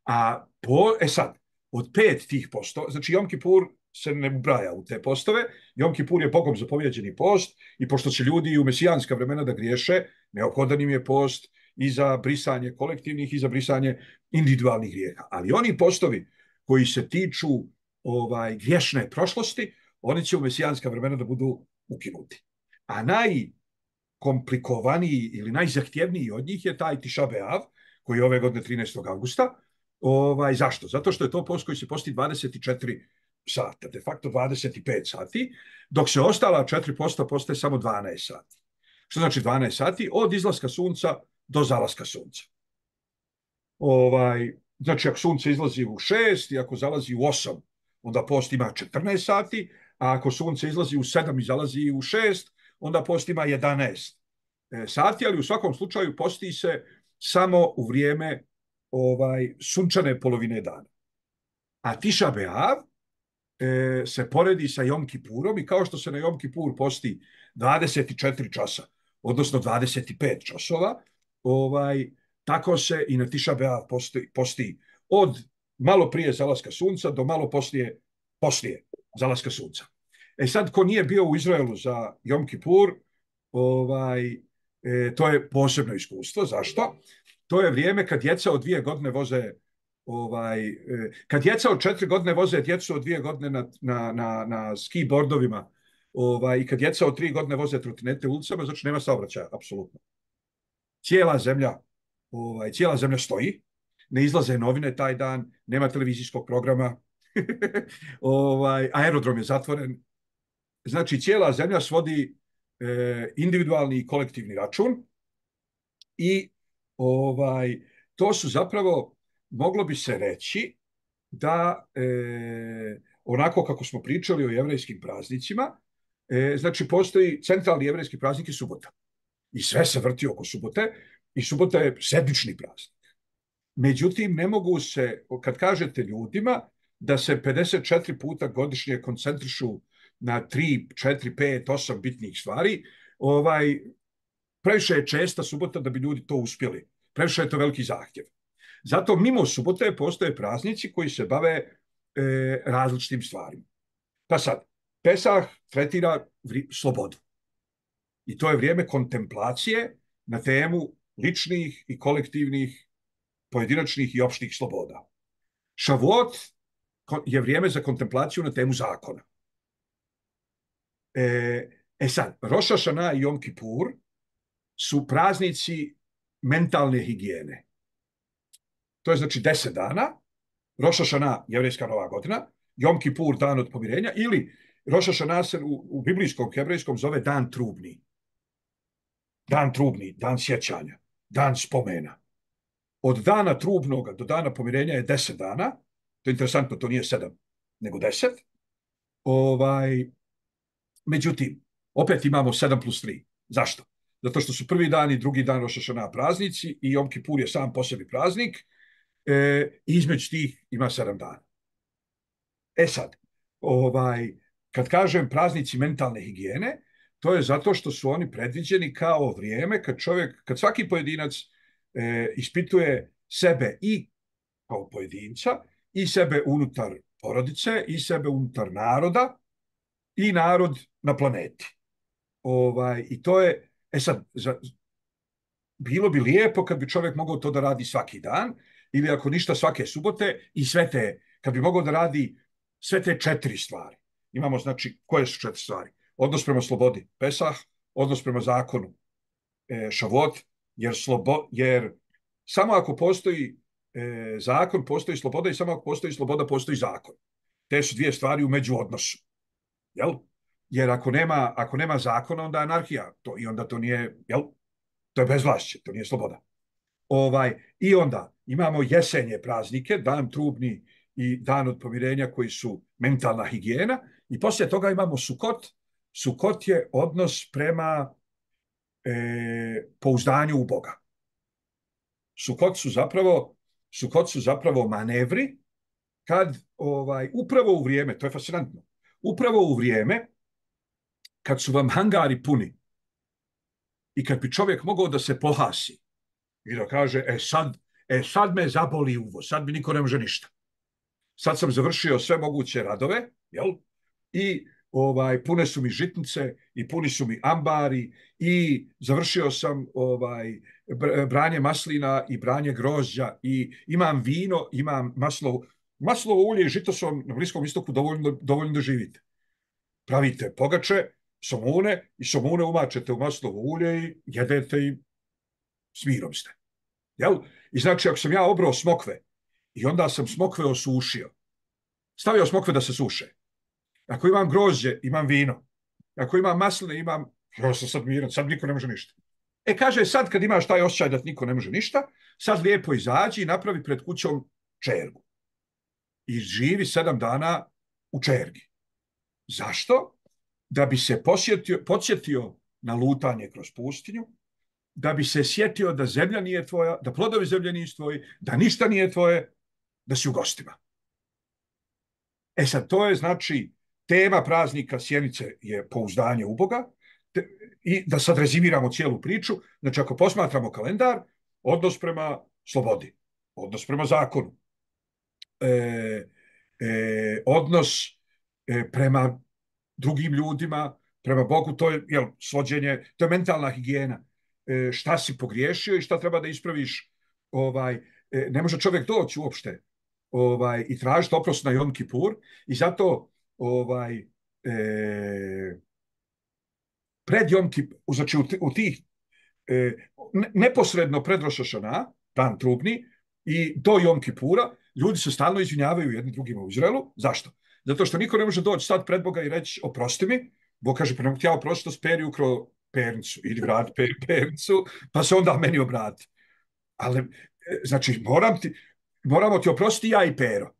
A po, e sad, od pet tih postova, znači Jom Kipur se ne ubraja u te postove, Jom Kipur je Bogom zapovjeđeni post i pošto će ljudi u mesijanska vremena da griješe, neophodan im je post i za brisanje kolektivnih i za brisanje individualnih grijeha. Ali oni postovi koji se tiču ovaj, griješne prošlosti, oni će u mesijanska vremena da budu ukinuti. A najkomplikovaniji ili najzahtjevniji od njih je taj Tiša Beav, koji je ove godine trinaestog avgusta. Ovaj, zašto? Zato što je to post koji se posti dvadeset četiri sata, de facto dvadeset pet sati, dok se ostala četiri posta postaje samo dvanaest sati. Što znači dvanaest sati? Od izlaska sunca do zalaska sunca. Ovaj, znači, ako sunce izlazi u šest i ako zalazi u osam, onda post ima četrnaest sati, a ako sunce izlazi u sedam i zalazi u šest, onda post ima jedanaest sati, ali u svakom slučaju posti se samo u vrijeme ovaj, sunčane polovine dana. A Tiša Beav e, se poredi sa Jom Kipurom i kao što se na Jom Kipur posti dvadeset četiri časa, odnosno dvadeset pet časova, ovaj, tako se i na Tiša Beav posti, posti od malo prije zalaska sunca do malo poslije, poslije zalaska sunca. E sad, ko nije bio u Izraelu za Jom Kipur, ovaj, e, to je posebno iskustvo. Zašto? To je vrijeme kad djeca od dvije godine voze, ovaj, e, kad djeca od četiri godine voze djecu od dvije godine na, na, na, na ski bordovima, ovaj, i kad djeca od tri godine voze trotinete ulicama, znači nema saobraćaja, apsolutno. Cijela zemlja, ovaj, cijela zemlja stoji, ne izlaze novine taj dan, nema televizijskog programa, ovaj, aerodrom je zatvoren. Znači, cijela zemlja svodi e, individualni i kolektivni račun i ovaj, to su zapravo, moglo bi se reći da e, onako kako smo pričali o jevrejskim praznicima, e, znači postoji centralni jevrejski praznik i subota. I sve se vrti oko subote i subota je sedmični praznik. Međutim, ne mogu se, kad kažete ljudima da se pedeset četiri puta godišnje koncentrišu na tri, četiri, pet, osam bitnih stvari, ovaj, previše je česta subota da bi ljudi to uspjeli. Previše je to veliki zahtjev. Zato mimo subote postoje praznici koji se bave e, različitim stvarima. Pa sad, Pesah tretira vri, slobodu. I to je vrijeme kontemplacije na temu ličnih i kolektivnih, pojedinačnih i opštih sloboda. Šavuot je vrijeme za kontemplaciju na temu zakona. E, e sad, Roš hašana i Jom Kipur su praznici mentalne higijene. To je znači deset dana, Roš hašana, jevrejska nova godina, Jom Kipur, dan od pomirenja, ili Roš hašana se u, u biblijskom hebrejskom zove dan trubni. Dan trubni, dan sjećanja, dan spomena. Od dana trubnoga do dana pomirenja je deset dana, to je interesantno, to nije sedam, nego deset. Ovaj, međutim, opet imamo sedam plus tri. Zašto? Zato što su prvi dan i drugi dan Roš hašana praznici i Jom Kipur je sam po sebi praznik, e, i između tih ima sedam dana. E sad, ovaj, kad kažem praznici mentalne higijene, to je zato što su oni predviđeni kao vrijeme kad čovjek, kad svaki pojedinac e, ispituje sebe i kao pojedinca, i sebe unutar porodice, i sebe unutar naroda, i narod na planeti. Ovaj, I to je, e sad, za, bilo bi lijepo kad bi čovjek mogao to da radi svaki dan, ili ako ništa svake subote i sve te, kad bi mogao da radi sve te četiri stvari. Imamo, znači, koje su četiri stvari? Odnos prema slobodi, Pesah, odnos prema zakonu, e, Šavot, jer, slobo, jer samo ako postoji e, zakon, postoji sloboda i samo ako postoji sloboda, postoji zakon. Te su dvije stvari u međuodnosu. Jel? Jer ako nema, ako nema zakona, onda je anarhija. To, I onda to nije, jel? To je bezvlašće, to nije sloboda. Ovaj, I onda imamo jesenje praznike, dan trubni i dan od pomirenja koji su mentalna higijena. I poslije toga imamo Sukot. Sukot je odnos prema e, pouzdanju u Boga. Sukot su zapravo, Sukot su zapravo manevri kad ovaj, upravo u vrijeme, to je fascinantno, upravo u vrijeme kad su vam hangari puni i kad bi čovjek mogao da se pohasi i da kaže, e sad, e sad me zaboli uvo, sad mi niko ne može ništa. Sad sam završio sve moguće radove, jel? I ovaj, pune su mi žitnice i puni su mi ambari i završio sam ovaj, branje maslina i branje grožđa i imam vino, imam maslovo, maslovo ulje i žito su vam na Bliskom istoku dovoljno, dovoljno da živite. Pravite pogače, somune i somune umačete u maslovo ulje i jedete i s mirom ste. Jel? I znači, ako sam ja obrao smokve i onda sam smokve osušio, stavio smokve da se suše. Ako imam grožđe, imam vino. Ako imam masline, imam... Ja sam sad miran, sad niko ne može ništa. E, kaže, sad kad imaš taj osjećaj da niko ne može ništa, sad lijepo izađi i napravi pred kućom čergu. I živi sedam dana u čergi. Zašto? Da bi se posjetio, podsjetio na lutanje kroz pustinju, da bi se sjetio da zemlja nije tvoja, da plodovi zemlje nisu tvoji, da ništa nije tvoje, da si u gostima. E sad, to je znači tema praznika Sjenice je pouzdanje u Boga te, i da sad rezimiramo cijelu priču. Znači, ako posmatramo kalendar, odnos prema slobodi, odnos prema zakonu, e, e, odnos e, prema drugim ljudima, prema Bogu, to je jel, svođenje, to je mentalna higijena. E, šta si pogriješio i šta treba da ispraviš. Ovaj, e, ne može čovjek doći uopšte ovaj, i tražiti oprost na Jom Kipur i zato ovaj, e, pred Jom Kipur, znači u, u tih e, neposredno pred Roš haŠaná, dan trubni, i do Jom Kipura, ljudi se stalno izvinjavaju jedni drugima u Izraelu. Zašto? Zato što niko ne može doći sad pred Boga i reći oprosti mi. Bog kaže, pa ne mogu ti ja oprostiti, speri ukro pernicu, ili vrati per, pernicu, pa se onda meni obrati. Ali, znači, moram ti, moramo ti oprostiti ja i Pero.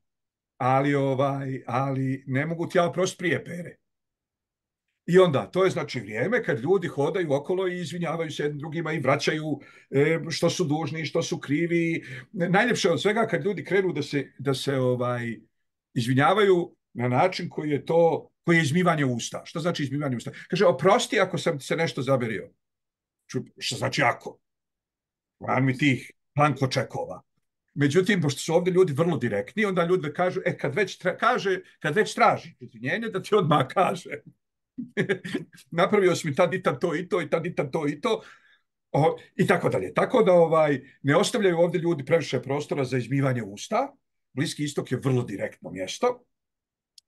Ali, ovaj, ali ne mogu ti ja oprostiti prije Pere. I onda, to je znači vrijeme kad ljudi hodaju okolo i izvinjavaju se jednim drugima i vraćaju e, što su dužni, što su krivi. Najljepše od svega kad ljudi krenu da se, da se ovaj, izvinjavaju na način koji je to, koji je izmivanje usta. Što znači izmivanje usta? Kaže, oprosti ako sam se nešto zaberio. Što znači ako? Van mi tih planko čekova. Međutim, pošto su ovdje ljudi vrlo direktni, onda ljudi kažu, e, kad već, tra, kaže, kad već traži izvinjenje, da ti odmah kaže. Napravio sam mi tad i tad to i to i tad i tad to i to o, i tako dalje. Tako da ovaj, ne ostavljaju ovdje ljudi previše prostora za izmivanje usta. Bliski istok je vrlo direktno mjesto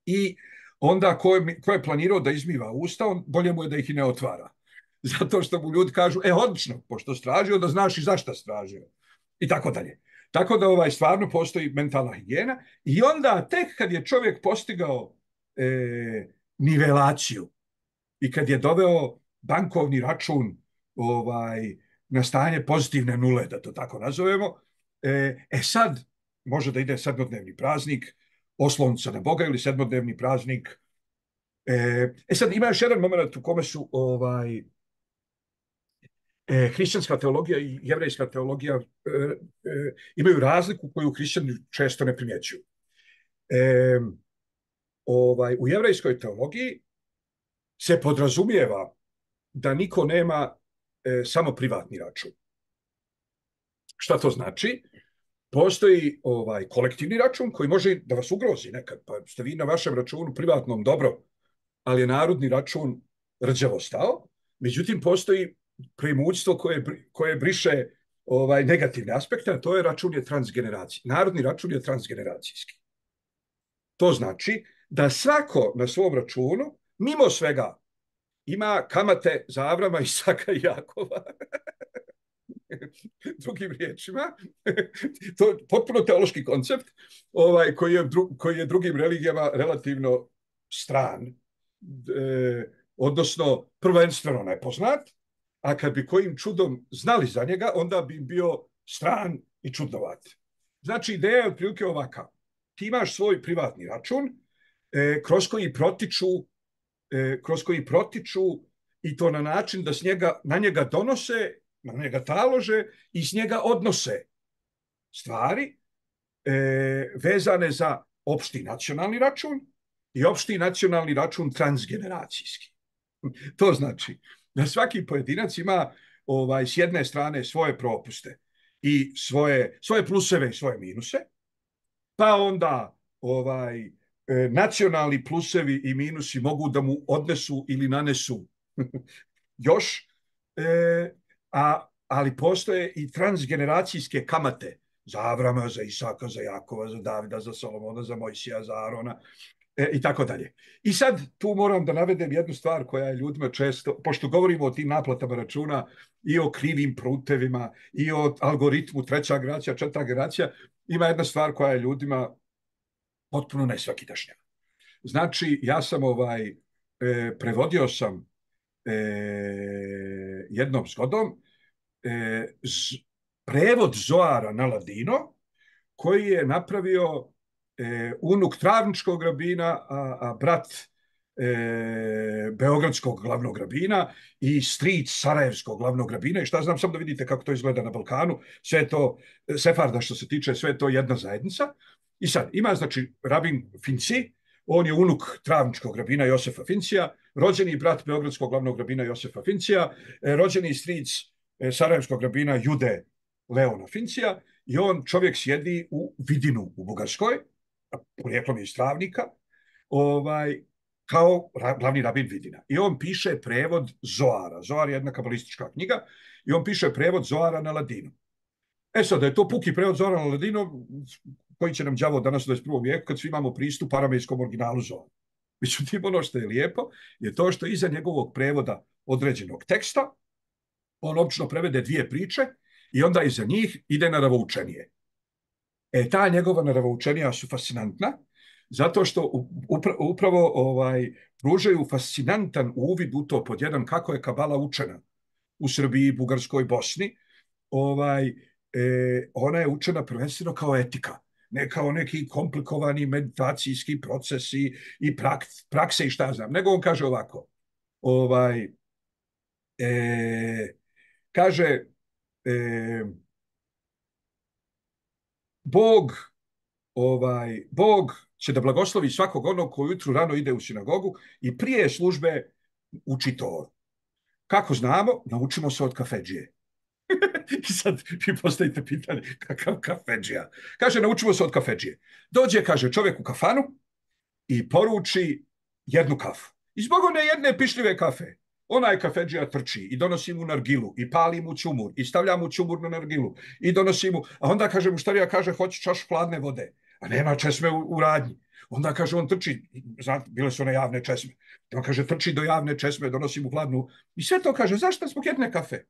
i onda ko je, ko je planirao da izmiva usta, on, bolje mu je da ih i ne otvara. Zato što mu ljudi kažu, e, odlično, pošto stražio, da znaš i zašto stražio. I tako dalje. Tako da ovaj, stvarno postoji mentalna higijena i onda tek kad je čovjek postigao e, nivelaciju i kad je doveo bankovni račun ovaj, na stanje pozitivne nule, da to tako nazovemo, e, e sad može da ide sedmodnevni praznik, oslonca na Boga ili sedmodnevni praznik. E, e sad ima još jedan moment u kome su ovaj, e, hrišćanska teologija i jevrejska teologija e, e, imaju razliku koju hrišćani često ne primjećuju. E, ovaj, u jevrejskoj teologiji se podrazumijeva da niko nema e, samo privatni račun. Šta to znači? Postoji ovaj kolektivni račun koji može da vas ugrozi nekad, pa ste vi na vašem računu privatnom dobro, ali je narodni račun rđavo stao. Međutim, postoji premućstvo koje, koje briše ovaj, negativne aspekte, a to je račun je transgeneracijski. Narodni račun je transgeneracijski. To znači da svako na svom računu, mimo svega, ima kamate za Avrama, Isaka i Jakova. Drugim riječima, to je potpuno teološki koncept ovaj, koji, je dru, koji je drugim religijama relativno stran, e, odnosno prvenstveno nepoznat, a kad bi kojim čudom znali za njega, onda bi bio stran i čudnovat. Znači, ideja je otprilike ovaka. Ti imaš svoj privatni račun e, kroz koji protiču e, kroz koji protiču i to na način da s njega, na njega donose, na njega talože i s njega odnose stvari e, vezane za opšti nacionalni račun i opšti nacionalni račun transgeneracijski. To znači da svaki pojedinac ima ovaj, s jedne strane svoje propuste i svoje, svoje pluseve i svoje minuse, pa onda ovaj, nacionalni plusevi i minusi mogu da mu odnesu ili nanesu još, e, a, ali postoje i transgeneracijske kamate za Avrama, za Isaka, za Jakova, za Davida, za Solomona, za Mojsija, za Arona e, i tako dalje. I sad tu moram da navedem jednu stvar koja je ljudima često, pošto govorimo o tim naplatama računa i o krivim prutevima i o algoritmu treća generacija, četvrta generacija, ima jedna stvar koja je ljudima potpuno nesvakidašnja. Znači, ja sam ovaj, e, prevodio sam e, jednom zgodom e, z, prevod Zoara na ladino, koji je napravio e, unuk Travničkog rabina, a, a brat e, Beogradskog glavnog rabina i stric Sarajevskog glavnog rabina. I šta znam, samo da vidite kako to izgleda na Balkanu. Sve je to, Sefarda što se tiče, sve je to jedna zajednica. I sad, ima znači rabin Finci, on je unuk Travničkog rabina Josefa Fincija, rođeni brat Beogradskog glavnog rabina Josefa Fincija, rođeni stric Sarajevskog rabina Jude Leona Fincija, i on čovjek sjedi u Vidinu u Bugarskoj, porijeklom je iz Travnika, ovaj, kao glavni rabin Vidina. I on piše prevod Zoara. Zoar je jedna kabalistička knjiga i on piše prevod Zoara na ladinu. E sad, da je to puki prevod Zoara na ladinu, koji će nam đavo danas u dvadeset prvom vijeku kad svi imamo pristup aramejskom originalu Zoara. Međutim, ono što je lijepo je to što iza njegovog prevoda određenog teksta on obično prevede dvije priče i onda iza njih ide naravoučenije. E, ta njegova naravoučenija su fascinantna, zato što upravo ovaj, pružaju fascinantan uvid u to, pod jedan, kako je kabala učena u Srbiji, Bugarskoj, Bosni. Ovaj, e, ona je učena prvenstveno kao etika, ne kao neki komplikovani meditacijski procesi i prak, prakse i šta znam. Nego on kaže ovako, ovaj, e, kaže, e, Bog, ovaj, Bog će da blagoslovi svakog onog koji ujutru rano ide u sinagogu i prije službe uči Toru. Kako znamo? Naučimo se od kafedžije. I sad vi postavite pitanje, kakav kafedžija? Kaže, naučimo se od kafedžije. Dođe, kaže, čovjek u kafanu i poruči jednu kafu. I zbog one jedne pišljive kafe, onaj kafedžija trči i donosi mu nargilu i pali mu ćumur i stavlja mu ćumur na nargilu i donosi mu, a onda kaže mu štarija, kaže, hoće čaš hladne vode, a nema česme u, u radnji. Onda kaže, on trči, znate, bile su one javne česme, on kaže, trči do javne česme, donosi mu hladnu, i sve to kaže, zašto zbog jedne kafe?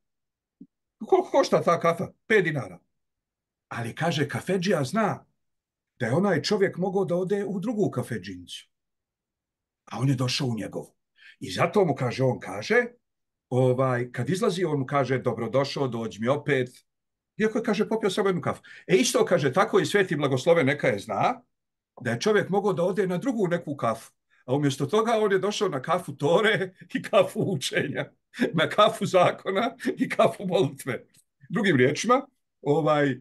Koliko košta ta kafa? Pet dinara. Ali kaže, kafedžija zna da je onaj čovjek mogao da ode u drugu kafedžinicu, a on je došao u njegovu. I zato mu kaže, on kaže, ovaj, kad izlazi, on mu kaže, dobrodošao, dođi mi opet. Iako je, kaže, popio samo jednu kafu. E isto, kaže, tako i Sveti Blagoslove neka je zna da je čovjek mogao da ode na drugu neku kafu. A umjesto toga on je došao na kafu Tore i kafu učenja, na kafu zakona i kafu molitve. Drugim riječima, ovaj, e,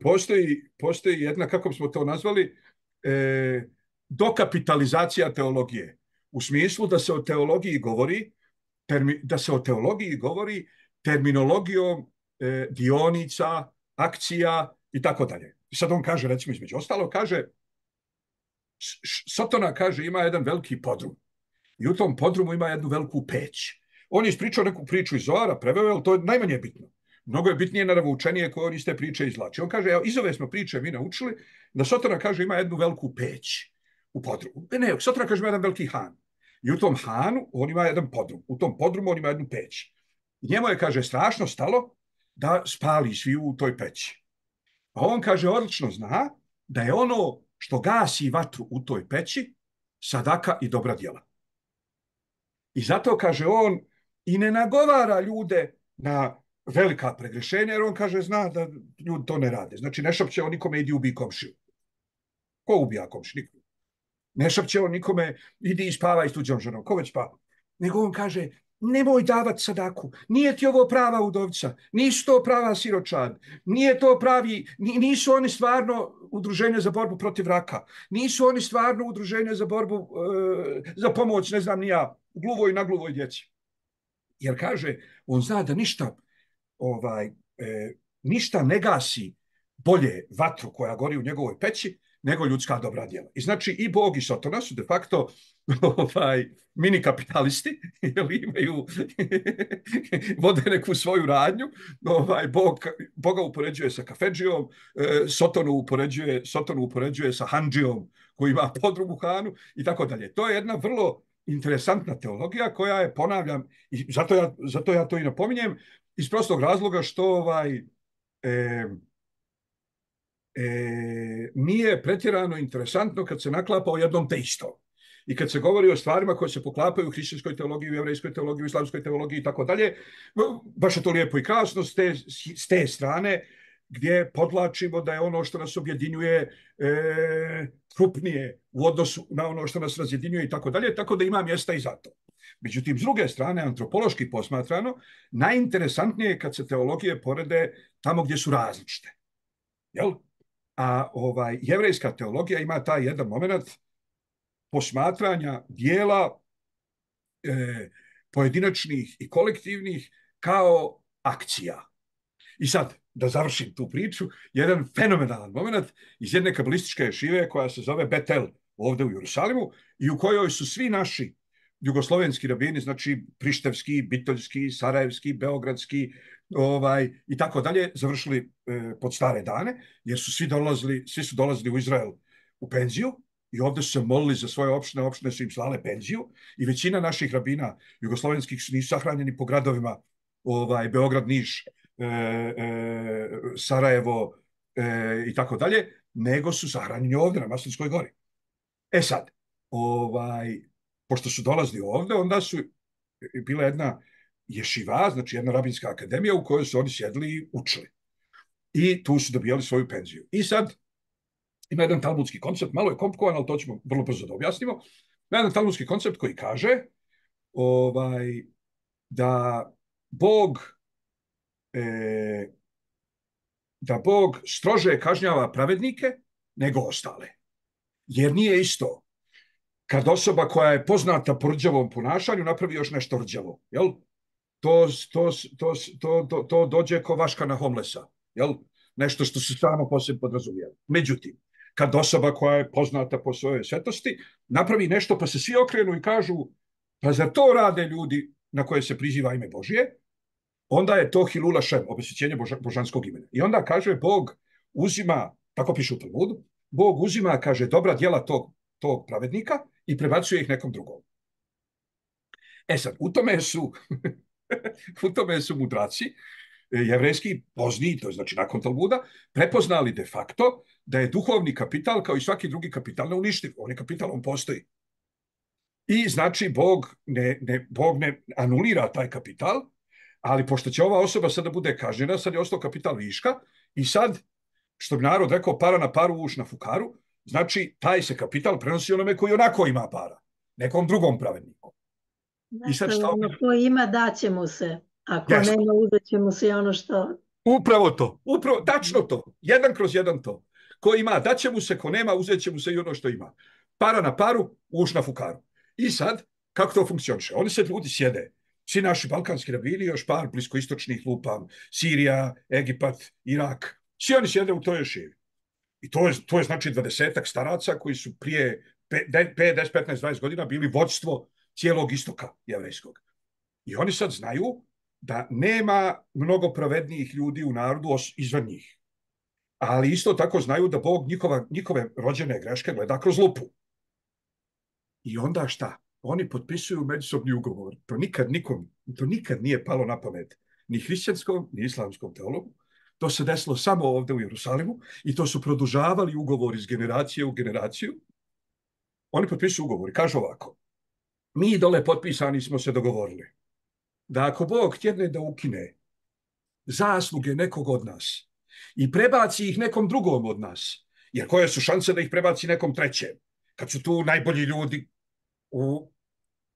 postoji, postoji jedna, kako smo to nazvali, e, dokapitalizacija teologije. U smislu da se o teologiji govori, termi, da se o teologiji govori terminologijom e, dionica, akcija i tako dalje. I sad on kaže, recimo, između ostalo, kaže, Sotona, kaže, ima jedan veliki podrum. I u tom podrumu ima jednu veliku peć. On je ispričao neku priču iz Zoara, preveo, ali to je najmanje bitno. mnogo je bitnije naravoučenije koje on iz te priče izvlači. On kaže, evo, iz ove smo priče mi naučili da Sotona, kaže, ima jednu veliku peć u podrumu. Ne, ne, Sotona, kaže, ima jedan veliki han. I u tom hanu on ima jedan podrum. U tom podrumu on ima jednu peć. I njemu je, kaže, strašno stalo da spali svi u toj peći. A on, kaže, odlično zna da je ono što gasi vatru u toj peći sadaka i dobra djela. I zato, kaže, on i ne nagovara ljude na velika pregrešenja, jer on, kaže, zna da ljudi to ne rade. Znači, ne šapće on nikome idi ubi komšiju. Ko ubija komšiju? Niko. Ne šapće on nikome idi i spavaj s tuđom ženom. Ko već spava? Nego on kaže, nemoj davati sadaku. Nije ti ovo prava udovica. Nisu to prava siročad. Nije to pravi, nisu oni stvarno udruženje za borbu protiv raka. Nisu oni stvarno udruženje za borbu, e, za pomoć, ne znam ni ja, gluvoj i nagluvoj djeci. Jer, kaže, on zna da ništa, ovaj, e, ništa ne gasi bolje vatru koja gori u njegovoj peći nego ljudska dobra djela. I znači i Bog i Sotona su de facto ovaj, mini kapitalisti, jer imaju vode neku svoju radnju. Ovaj, Bog, Boga upoređuje sa kafedžijom, e, Sotonu upoređuje, Sotonu upoređuje sa handžijom koji ima podrum u hanu i tako dalje. To je jedna vrlo interesantna teologija koja je, ponavljam, i zato ja, zato ja to i napominjem, iz prostog razloga što ovaj, e, e, nije pretjerano interesantno kad se naklapa o jednom te istom. I kad se govori o stvarima koje se poklapaju u hrišćanskoj teologiji, u jevrejskoj teologiji, u islamskoj teologiji i tako dalje, baš je to lijepo i krasno s te, s te strane gdje podlačimo da je ono što nas objedinjuje e, krupnije u odnosu na ono što nas razjedinjuje i tako dalje, tako da ima mjesta i za to. Međutim, s druge strane, antropološki posmatrano, najinteresantnije je kad se teologije porede tamo gdje su različite. Jel? A ovaj, jevrejska teologija ima taj jedan moment posmatranja dijela e, pojedinačnih i kolektivnih kao akcija. I sad, da završim tu priču, jedan fenomenalan moment iz jedne kabalističke ješive koja se zove Betel ovdje u Jerusalimu i u kojoj su svi naši jugoslovenski rabini, znači prištevski, bitoljski, sarajevski, beogradski ovaj, i tako dalje, završili e, pod stare dane, jer su svi dolazili, svi su dolazili u Izrael u penziju i ovdje su se molili za svoje opštine, opštine su im slale penziju i većina naših rabina jugoslovenskih su nisu sahranjeni po gradovima ovaj, Beograd, Niš, e, e, Sarajevo e, i tako dalje, nego su sahranjeni ovdje na Maslinskoj gori. E sad, ovaj, pošto su dolazili ovdje, onda su bila jedna ješiva, znači jedna rabinska akademija u kojoj su oni sjedli i učili. I tu su dobijali svoju penziju. I sad ima jedan talmudski koncept, malo je komplikovan, ali to ćemo vrlo brzo da objasnimo. Ima jedan talmudski koncept koji kaže ovaj, da Bog e, da Bog strože kažnjava pravednike nego ostale. Jer nije isto kad osoba koja je poznata po rđavom ponašanju napravi još nešto rđavo, jel? To, to, to, to, to, to dođe ko vaška na homlesa, jel? Nešto što se samo posebno podrazumijeva. Međutim, kad osoba koja je poznata po svojoj svetosti napravi nešto pa se svi okrenu i kažu pa zar to rade ljudi na koje se priziva ime Božije, onda je to hilula šem, obesvećenje boža, božanskog imena. I onda kaže Bog uzima, tako piše u Talmudu, Bog uzima, kaže, dobra djela tog, tog pravednika i prebacuje ih nekom drugom. E sad, u tome su, u tome su mudraci jevrejski pozniji, to je znači nakon Talmuda, prepoznali de facto da je duhovni kapital kao i svaki drugi kapital neuništiv. On je kapital, on postoji. I znači Bog ne, ne, Bog ne anulira taj kapital, ali pošto će ova osoba sada bude kažnjena, sad je ostao kapital viška i sad, što bi narod rekao, para na paru, uš na fukaru, znači taj se kapital prenosi onome koji onako ima para, nekom drugom pravedniku. I sad šta... Ono ko ima, daće mu se. Ako yes. nema, uzet će mu se ono što... Upravo to, upravo, tačno to, jedan kroz jedan to. Ko ima, daće mu se, ko nema, uzet će mu se i ono što ima. Para na paru, uš na fukaru. I sad, kako to funkcioniše? Oni se ljudi sjede, svi naši balkanski rabini, još par bliskoistočnih lupam, Sirija, Egipat, Irak, svi oni sjede u toj ješivi. I to je, to je znači dvadesetak staraca koji su prije pet, deset, petnaest, dvadeset godina bili vođstvo cijelog istoka jevrejskog. I oni sad znaju da nema mnogo pravednijih ljudi u narodu izvan njih. Ali isto tako znaju da Bog njihova, njihove rođene greške gleda kroz lupu. I onda šta? Oni potpisuju međusobni ugovor. To nikad nikom, to nikad nije palo na pamet. Ni hrišćanskom, ni islamskom teologu. To se desilo samo ovde u Jerusalimu i to su produžavali ugovor iz generacije u generaciju. Oni potpisuju ugovor i kažu ovako. Mi dole potpisani smo se dogovorili da ako Bog htjedne da ukine zasluge nekog od nas i prebaci ih nekom drugom od nas, jer koje su šanse da ih prebaci nekom trećem, kad su tu najbolji ljudi u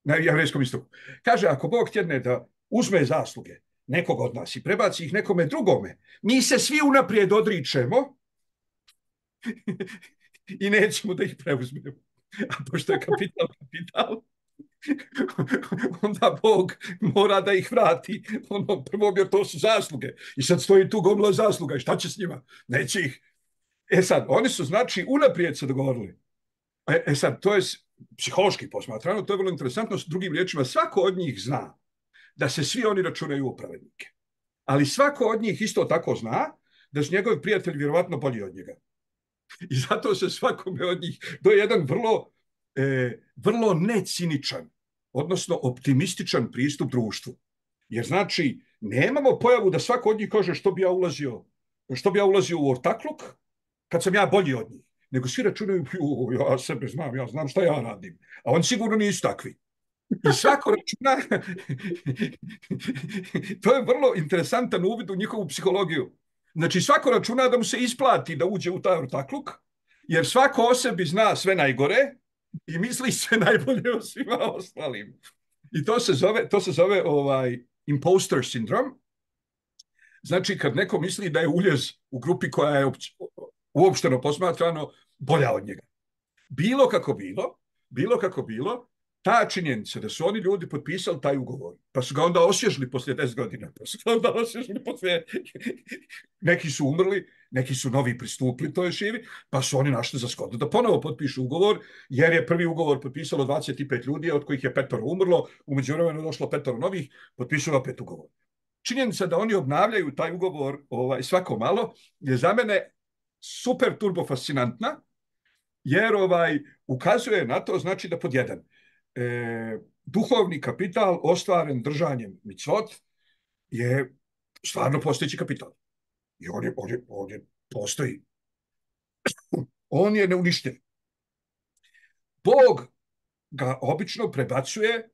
na jevrejskom istoku. Kaže, ako Bog htjedne da uzme zasluge nekog od nas i prebaci ih nekome drugome, mi se svi unaprijed odričemo i nećemo da ih preuzmemo. A pošto je kapital kapital, onda Bog mora da ih vrati ono prvo, jer to su zasluge. I sad stoji tu gomila zasluga i šta će s njima? Neće ih. E sad, oni su znači unaprijed se dogovorili. E, e sad, to je psihološki posmatrano, to je vrlo interesantno. S drugim riječima, svako od njih zna da se svi oni računaju u pravednike. Ali svako od njih isto tako zna da su njegovi prijatelji vjerovatno bolji od njega. I zato se svakome od njih, to je jedan vrlo, e, vrlo neciničan, odnosno optimističan pristup društvu. Jer znači, nemamo pojavu da svako od njih kaže što bi ja ulazio, što bi ja ulazio u ortakluk kad sam ja bolji od njih. Nego svi računaju, ja sebe znam, ja znam šta ja radim. A oni sigurno nisu takvi. I svako računa, to je vrlo interesantan uvid u njihovu psihologiju. Znači svako računa da mu se isplati da uđe u taj ortakluk, jer svako o sebi zna sve najgore i misli sve najbolje o svima ostalim. I to se zove, to se zove ovaj imposter sindrom. Znači kad neko misli da je uljez u grupi koja je uopšteno posmatrano bolja od njega. Bilo kako bilo, bilo kako bilo, ta činjenica da su oni ljudi potpisali taj ugovor, pa su ga onda osvježili poslije deset godina, pa su ga onda osvježili poslije... Neki su umrli, neki su novi pristupili toj živi, pa su oni našli za shodno da ponovo potpišu ugovor, jer je prvi ugovor potpisalo dvadeset pet ljudi, od kojih je petoro umrlo, u međuvremenu došlo petoro novih, potpisalo pet ugovor. Činjenica da oni obnavljaju taj ugovor ovaj, svako malo je za mene super turbo fascinantna, jer ovaj, ukazuje na to, znači da pod jedan, e, duhovni kapital ostvaren držanjem micvot je stvarno postojeći kapital. I on je, on je, on je postoji. On je neuništen. Bog ga obično prebacuje,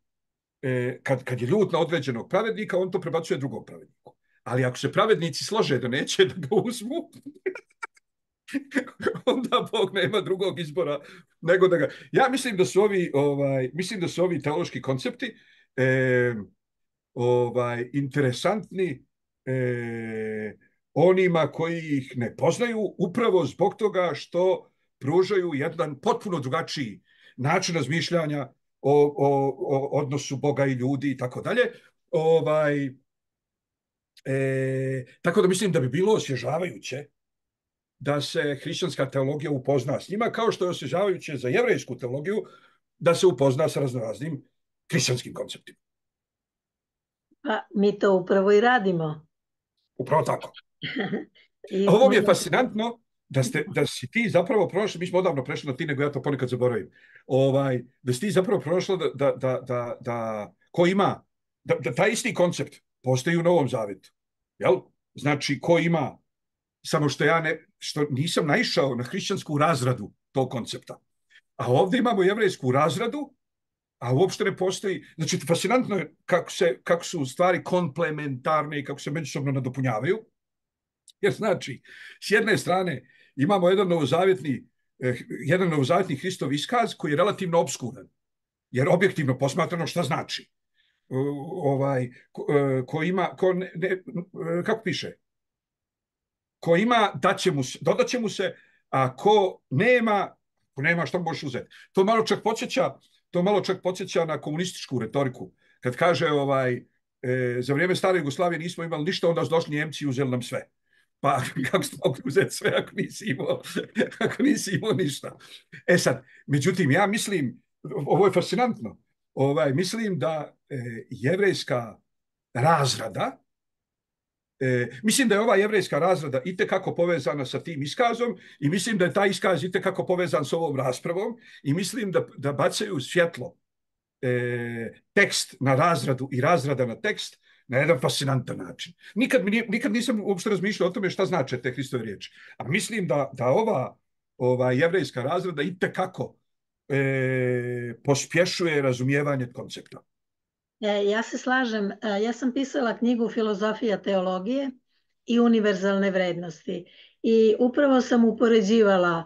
e, kad, kad je ljut na određenog pravednika, on to prebacuje drugom pravedniku. Ali ako se pravednici slože da neće da ga uzmu, onda Bog nema drugog izbora nego da ga... Ja mislim da su ovi, ovaj, mislim da su ovi teološki koncepti e, ovaj, interesantni e, onima koji ih ne poznaju, upravo zbog toga što pružaju jedan potpuno drugačiji način razmišljanja o, o, o odnosu Boga i ljudi i tako dalje. Ovaj, e, tako da mislim da bi bilo osvježavajuće da se hrišćanska teologija upozna s njima, kao što je osvježavajuće za jevrejsku teologiju da se upozna sa raznoraznim hrišćanskim konceptima. Pa mi to upravo i radimo. Upravo tako. I ovo mi je fascinantno da, ste, da si ti zapravo prošla, mi smo odavno prešli na ti, nego ja to ponekad zaboravim, ovaj, da si ti zapravo prošla da, da, da, da, da ko ima, da, da taj isti koncept postoji u Novom Zavetu. Jel? Znači, ko ima, samo što ja ne, što nisam naišao na hrišćansku razradu tog koncepta. A ovdje imamo jevrejsku razradu, a uopšte ne postoji. Znači, fascinantno je kako, se, kako su stvari komplementarne i kako se međusobno nadopunjavaju. Jer znači, s jedne strane imamo jedan novozavjetni, eh, jedan novozavjetni Hristov iskaz koji je relativno obskuran. Jer objektivno posmatrano šta znači? Uh, ovaj, ko, uh, ko ima, ko ne, ne, uh, kako piše? Ko ima, daće mu se, dodaće mu se, a ko nema, ko nema, što možeš uzeti? To malo čak podsjeća, to malo čak podsjeća na komunističku retoriku. Kad kaže, ovaj, e, za vrijeme stare Jugoslavije nismo imali ništa, onda su došli Njemci i uzeli nam sve. Pa kako ste mogli uzeti sve ako nisi imao, ako nisi imao ništa? E sad, međutim, ja mislim, ovo je fascinantno, ovaj, mislim da e, jevrejska razrada. E, mislim da je ova jevrejska razrada itekako povezana sa tim iskazom i mislim da je taj iskaz itekako povezan s ovom raspravom i mislim da, da bacaju svjetlo e, tekst na razradu i razrada na tekst na jedan fascinantan način. Nikad, mi nije, nikad nisam uopšte razmišljao o tome šta znače te Hristove riječi. A mislim da, da ova, ova jevrejska razrada itekako e, pospješuje razumijevanje koncepta. Ja se slažem. Ja sam pisala knjigu Filozofija teologije i univerzalne vrednosti. I upravo sam upoređivala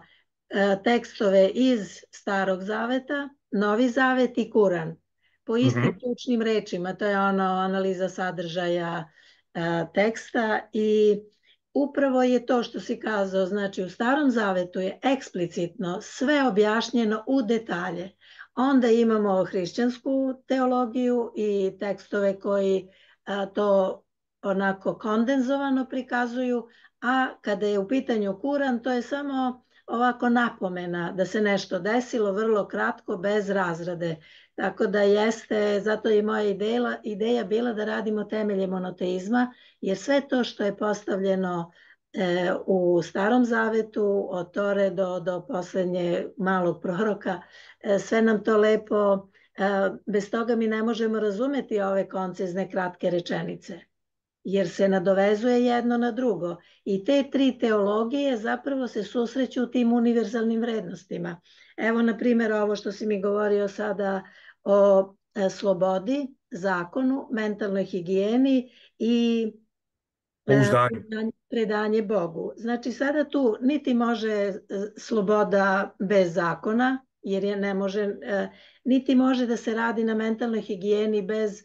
tekstove iz Starog zaveta, Novi zavet i Kuran. Po istim mm-hmm. ključnim rečima. To je ono analiza sadržaja teksta i upravo je to što si kazao. Znači u Starom zavetu je eksplicitno sve objašnjeno u detalje. Onda imamo hrišćansku teologiju i tekstove koji a, to onako kondenzovano prikazuju, a kada je u pitanju Kuran, to je samo ovako napomena da se nešto desilo vrlo kratko, bez razrade. Tako da jeste, zato je moja ideja, ideja bila da radimo temelje monoteizma, jer sve to što je postavljeno e, u Starom zavetu, od Tore do, do poslednje malog proroka, e, sve nam to lepo, e, bez toga mi ne možemo razumeti ove koncizne kratke rečenice, jer se nadovezuje jedno na drugo. I te tri teologije zapravo se susreću u tim univerzalnim vrednostima. Evo, na primjer, ovo što si mi govorio sada o e, slobodi, zakonu, mentalnoj higijeni i predanje, predanje Bogu. Znači, sada tu niti može sloboda bez zakona, jer je ne može, e, niti može da se radi na mentalnoj higijeni bez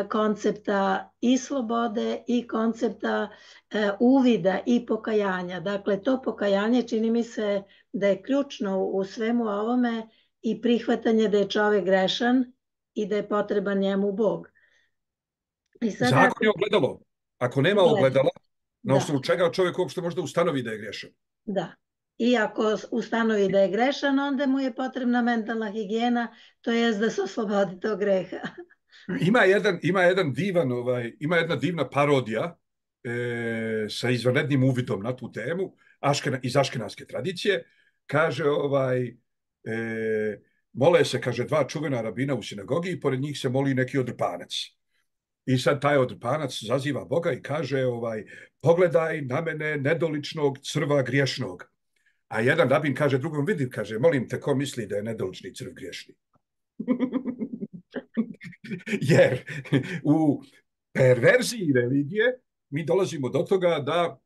koncepta i slobode i koncepta e, uvida i pokajanja. Dakle, to pokajanje čini mi se da je ključno u svemu ovome i prihvatanje da je čovek grešan i da je potreban njemu Bog. I sada, zakon je ogledalo. Ako nema ogledala, na osnovu čega čovjek uopšte može da ustanovi da je grešan. Da. I ako ustanovi da je grešan, onda mu je potrebna mentalna higijena, to je da se oslobodi tog greha. Ima jedan, ima jedan divan, ovaj, ima jedna divna parodija e, sa izvanrednim uvidom na tu temu Aškena, iz aškenaske tradicije. Kaže, ovaj, e, mole se, kaže, dva čuvena rabina u sinagogi i pored njih se moli neki odrpanac. I sad taj odrpanac zaziva Boga i kaže, ovaj, pogledaj na mene nedoličnog crva griješnog. A jedan rabin kaže drugom, vidi, kaže, molim te, ko misli da je nedolični crv griješni? Jer u perverziji religije mi dolazimo do toga da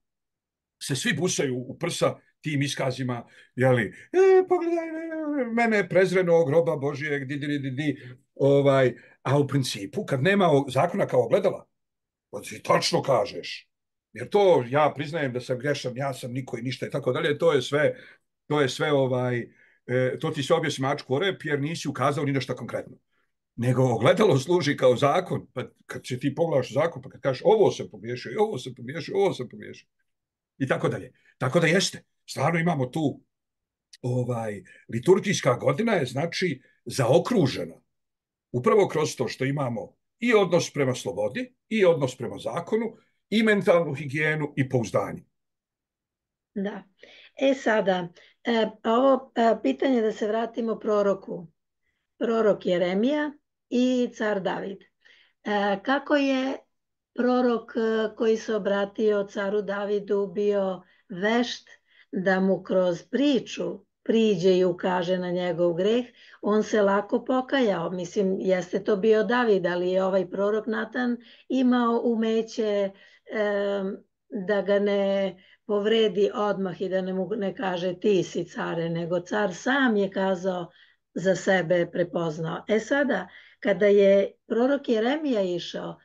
se svi busaju u prsa tim iskazima, jeli, e, pogledaj mene prezrenog roba Božijeg, di, di, di, di, ovaj, a u principu kad nema zakona kao ogledala, ti tačno kažeš, jer to ja priznajem da sam grešan, ja sam niko i ništa i tako dalje, to je sve, to je sve ovaj, e, to ti se objesi mačku o rep jer nisi ukazao ni nešto konkretno. Nego ogledalo služi kao zakon, pa kad će ti pogledaš zakon, pa kad kažeš ovo sam pogriješio, ovo sam pogriješio, ovo sam pogriješio, i tako dalje. Tako da jeste, stvarno imamo tu ovaj, liturgijska godina je znači zaokružena upravo kroz to što imamo i odnos prema slobodi, i odnos prema zakonu, i mentalnu higijenu i pouzdanje. Da. E sada, e, ovo e, pitanje da se vratimo proroku. Prorok Jeremija i car David. E, kako je prorok koji se obratio caru Davidu bio vešt da mu kroz priču priđe i ukaže na njegov greh, on se lako pokajao. Mislim, jeste to bio David, ali je ovaj prorok Natan imao umeće e, da ga ne povredi odmah i da ne mu ne kaže ti si care, nego car sam je kazao za sebe prepoznao. E sada, kada je prorok Jeremija išao,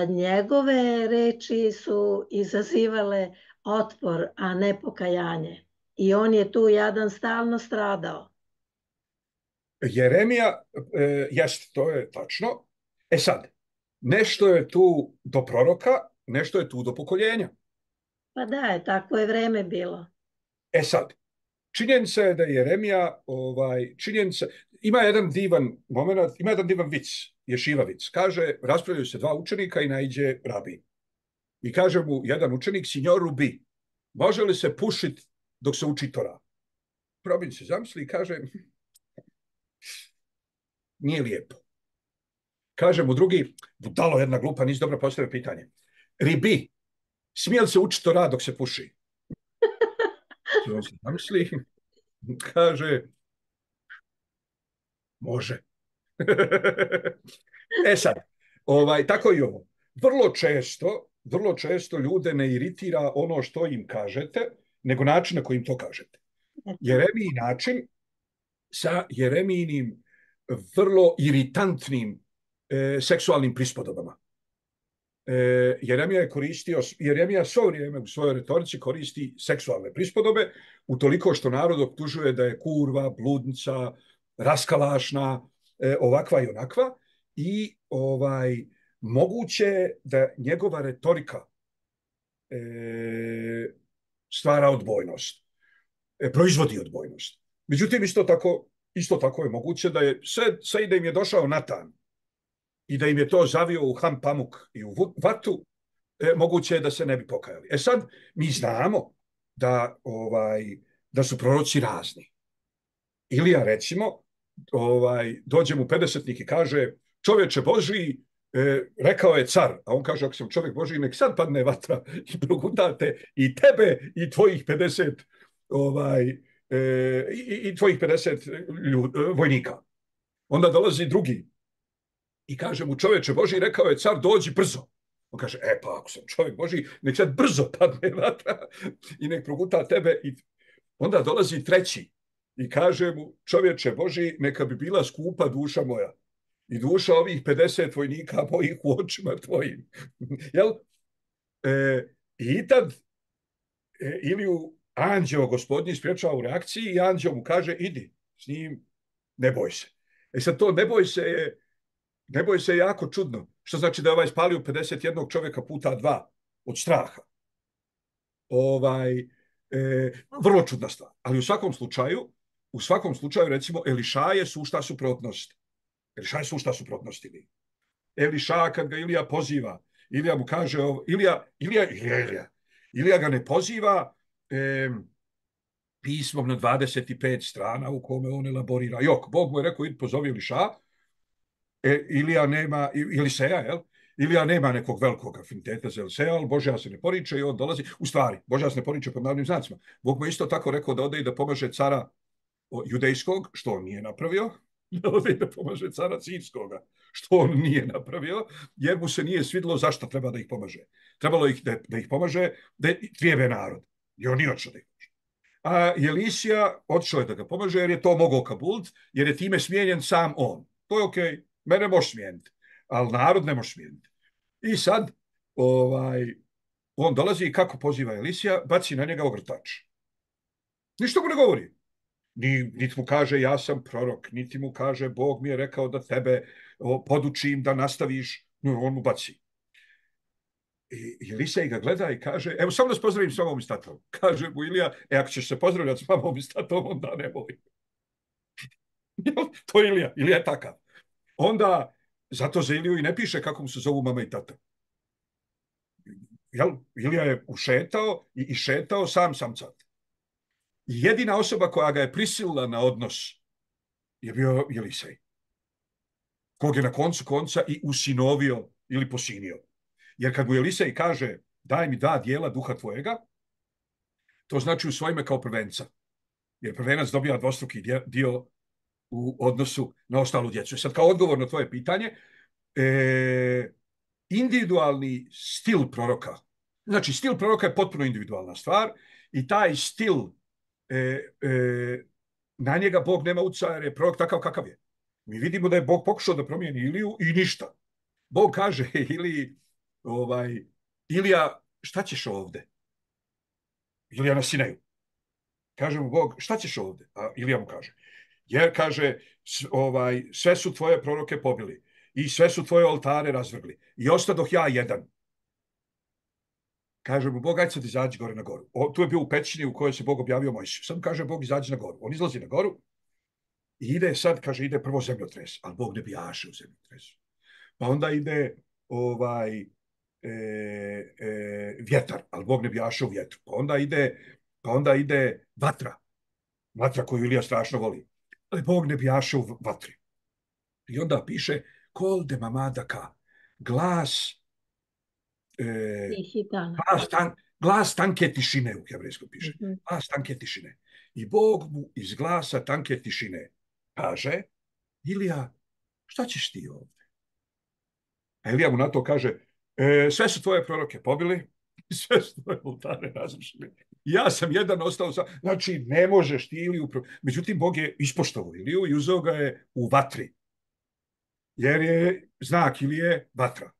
njegove reči su izazivale otpor, a ne pokajanje. I on je tu jadan stalno stradao. Jeremija, e, jest, to je tačno. E sad, nešto je tu do proroka, nešto je tu do pokoljenja. Pa da, je, tako je vreme bilo. E sad, činjenica je da je Jeremija, ovaj, činjenica, ima jedan divan moment, ima jedan divan vic ješivavic. Kaže, raspravljaju se dva učenika i naiđe rabin. I kaže mu jedan učenik, signor Rubi, može li se pušiti dok se uči Tora? Rabin se zamisli i kaže, nije lijepo. Kaže mu drugi, budalo jedna glupa, nisi dobro postavio pitanje. Ribi, smije li se učiti Tora dok se puši? On se zamisli, kaže, može. E sad, ovaj, tako i ovo. Vrlo često, vrlo često ljude ne iritira ono što im kažete, nego način na kojim to kažete. Jeremiji način sa Jeremijinim vrlo iritantnim e, seksualnim prispodobama. E, Jeremija je koristio, Jeremija svo vrijeme u svojoj retorici koristi seksualne prispodobe, utoliko što narod optužuje da je kurva, bludnica, raskalašna, e, ovakva i onakva, i ovaj, moguće da njegova retorika e, stvara odbojnost, e, proizvodi odbojnost. Međutim, isto tako, isto tako je moguće da je sve, sve i da im je došao Natan i da im je to zavio u ham pamuk i u vatu, e, moguće je da se ne bi pokajali. E sad, mi znamo da, ovaj, da su proroci razni. Ilija, recimo, ovaj, dođe mu pedesetnik i kaže, čovječe Božiji, e, rekao je car, a on kaže, ako sam čovjek Božiji, nek sad padne vatra i progutate i tebe i tvojih pedeset ovaj, e, i, i tvojih pedeset ljud, vojnika. Onda dolazi drugi i kaže mu, čovječe Božiji, rekao je car, dođi brzo. On kaže, e pa ako sam čovjek Božiji, nek sad brzo padne vatra i nek proguta tebe. I onda dolazi treći i kaže mu, čovječe Božiji, neka bi bila skupa duša moja i duša ovih pedeset vojnika mojih u očima tvojim. Jel? E, I tad e, Iliju anđeo gospodnji spriječava u reakciji i anđeo mu kaže, idi s njim, ne boj se. E sad to ne boj se je, ne boj se je jako čudno. Što znači da je ovaj spalio pedeset jednog čovjeka puta dva od straha. Ovaj, e, vrlo čudna stvar. Ali u svakom slučaju, u svakom slučaju, recimo, Eliša je sušta suprotnost. Eliša je sušta suprotnost Iliji. Eliša, kad ga Ilija poziva, Ilija mu kaže, Ilija, Ilija, Ilija, Ilija, Ilija ga ne poziva e, pismom na dvadeset pet strana u kome on elaborira. Jok, Bog mu je rekao, idi pozovi Eliša, e, Ilija nema, Eliseja, jel? Ilija nema nekog velikog afiniteta za Eliseja, ali Božja se ne poriče i on dolazi. U stvari, Božja se ne poriče pod navodnim znacima. Bog mu isto tako rekao da ode i da pomaže cara judejskog, što on nije napravio, da ode i da pomaže cara sirskoga, što on nije napravio, jer mu se nije svidilo zašto treba da ih pomaže. Trebalo ih da, da ih pomaže, da trijebe narod. I on nije odšao da ih pomaže. A Elisija odšao je da ga pomaže, jer je to mogao Kabult, jer je time smijenjen sam on. To je okej, okay. Mene može smijeniti, ali narod ne može smijeniti. I sad, ovaj, on dolazi i kako poziva Elisija, baci na njega ogrtač. Ništa mu ne govori. Ni, niti mu kaže ja sam prorok, niti mu kaže Bog mi je rekao da tebe o, podučim da nastaviš, no, on mu baci. I Elisej ga gleda i kaže, evo samo da se pozdravim s mamom i s tatom. Kaže mu Ilija, e ako ćeš se pozdravljati s mamom i s tatom, onda nemoj. To je Ilija, Ilija je takav. Onda, zato za Iliju i ne piše kako mu se zovu mama i tata. Jel? Ilija je ušetao i, i šetao sam sam cat. Jedina osoba koja ga je prisilila na odnos je bio Elisej, kog je na koncu konca i usinovio ili posinio. Jer kad mu Elisej kaže daj mi dva dijela duha tvojega, to znači usvoji me kao prvenca. Jer prvenac dobija dvostruki dio u odnosu na ostalu djecu. Sad kao odgovor na tvoje pitanje, e, individualni stil proroka, znači stil proroka je potpuno individualna stvar i taj stil E, e, na njega Bog nema utjecaja jer je prorok takav kakav je. Mi vidimo da je Bog pokušao da promijeni Iliju i ništa. Bog kaže Iliji, ovaj, Ilija, šta ćeš ovde? Ilija na Sinaju. Kaže mu Bog, šta ćeš ovde? A Ilija mu kaže, jer kaže, ovaj, sve su tvoje proroke pobili i sve su tvoje oltare razvrgli i ostadoh ja jedan. Kaže mu Bog, ajde sad izađi gore na goru. O, tu je bio u pećini u kojoj se Bog objavio Mojsiju. Sad kaže Bog, izađi na goru. On izlazi na goru i ide sad, kaže, ide prvo zemljotres, ali Bog ne bijaše u zemljotresu. pa onda ide ovaj, e, e, vjetar, ali Bog ne bjaše u vjetru. Pa onda ide, pa onda ide vatra, vatra koju Ilija strašno voli. Ali Bog ne bjaše u vatri. I onda piše kol de mamadaka, glas, e, glas, tan, glas tanke tišine u hebrejskom piše. Mm-hmm. Glas tanke tišine. I Bog mu iz glasa tanke tišine kaže, Ilija, šta ćeš ti ovdje? A Ilija mu na to kaže, e, sve su tvoje proroke pobili, sve su tvoje oltare razrušili. Ja sam jedan ostao sa... Znači, ne možeš ti Iliju... Međutim, Bog je ispoštovao Iliju i uzeo ga je u vatri. Jer je znak Ilije vatra.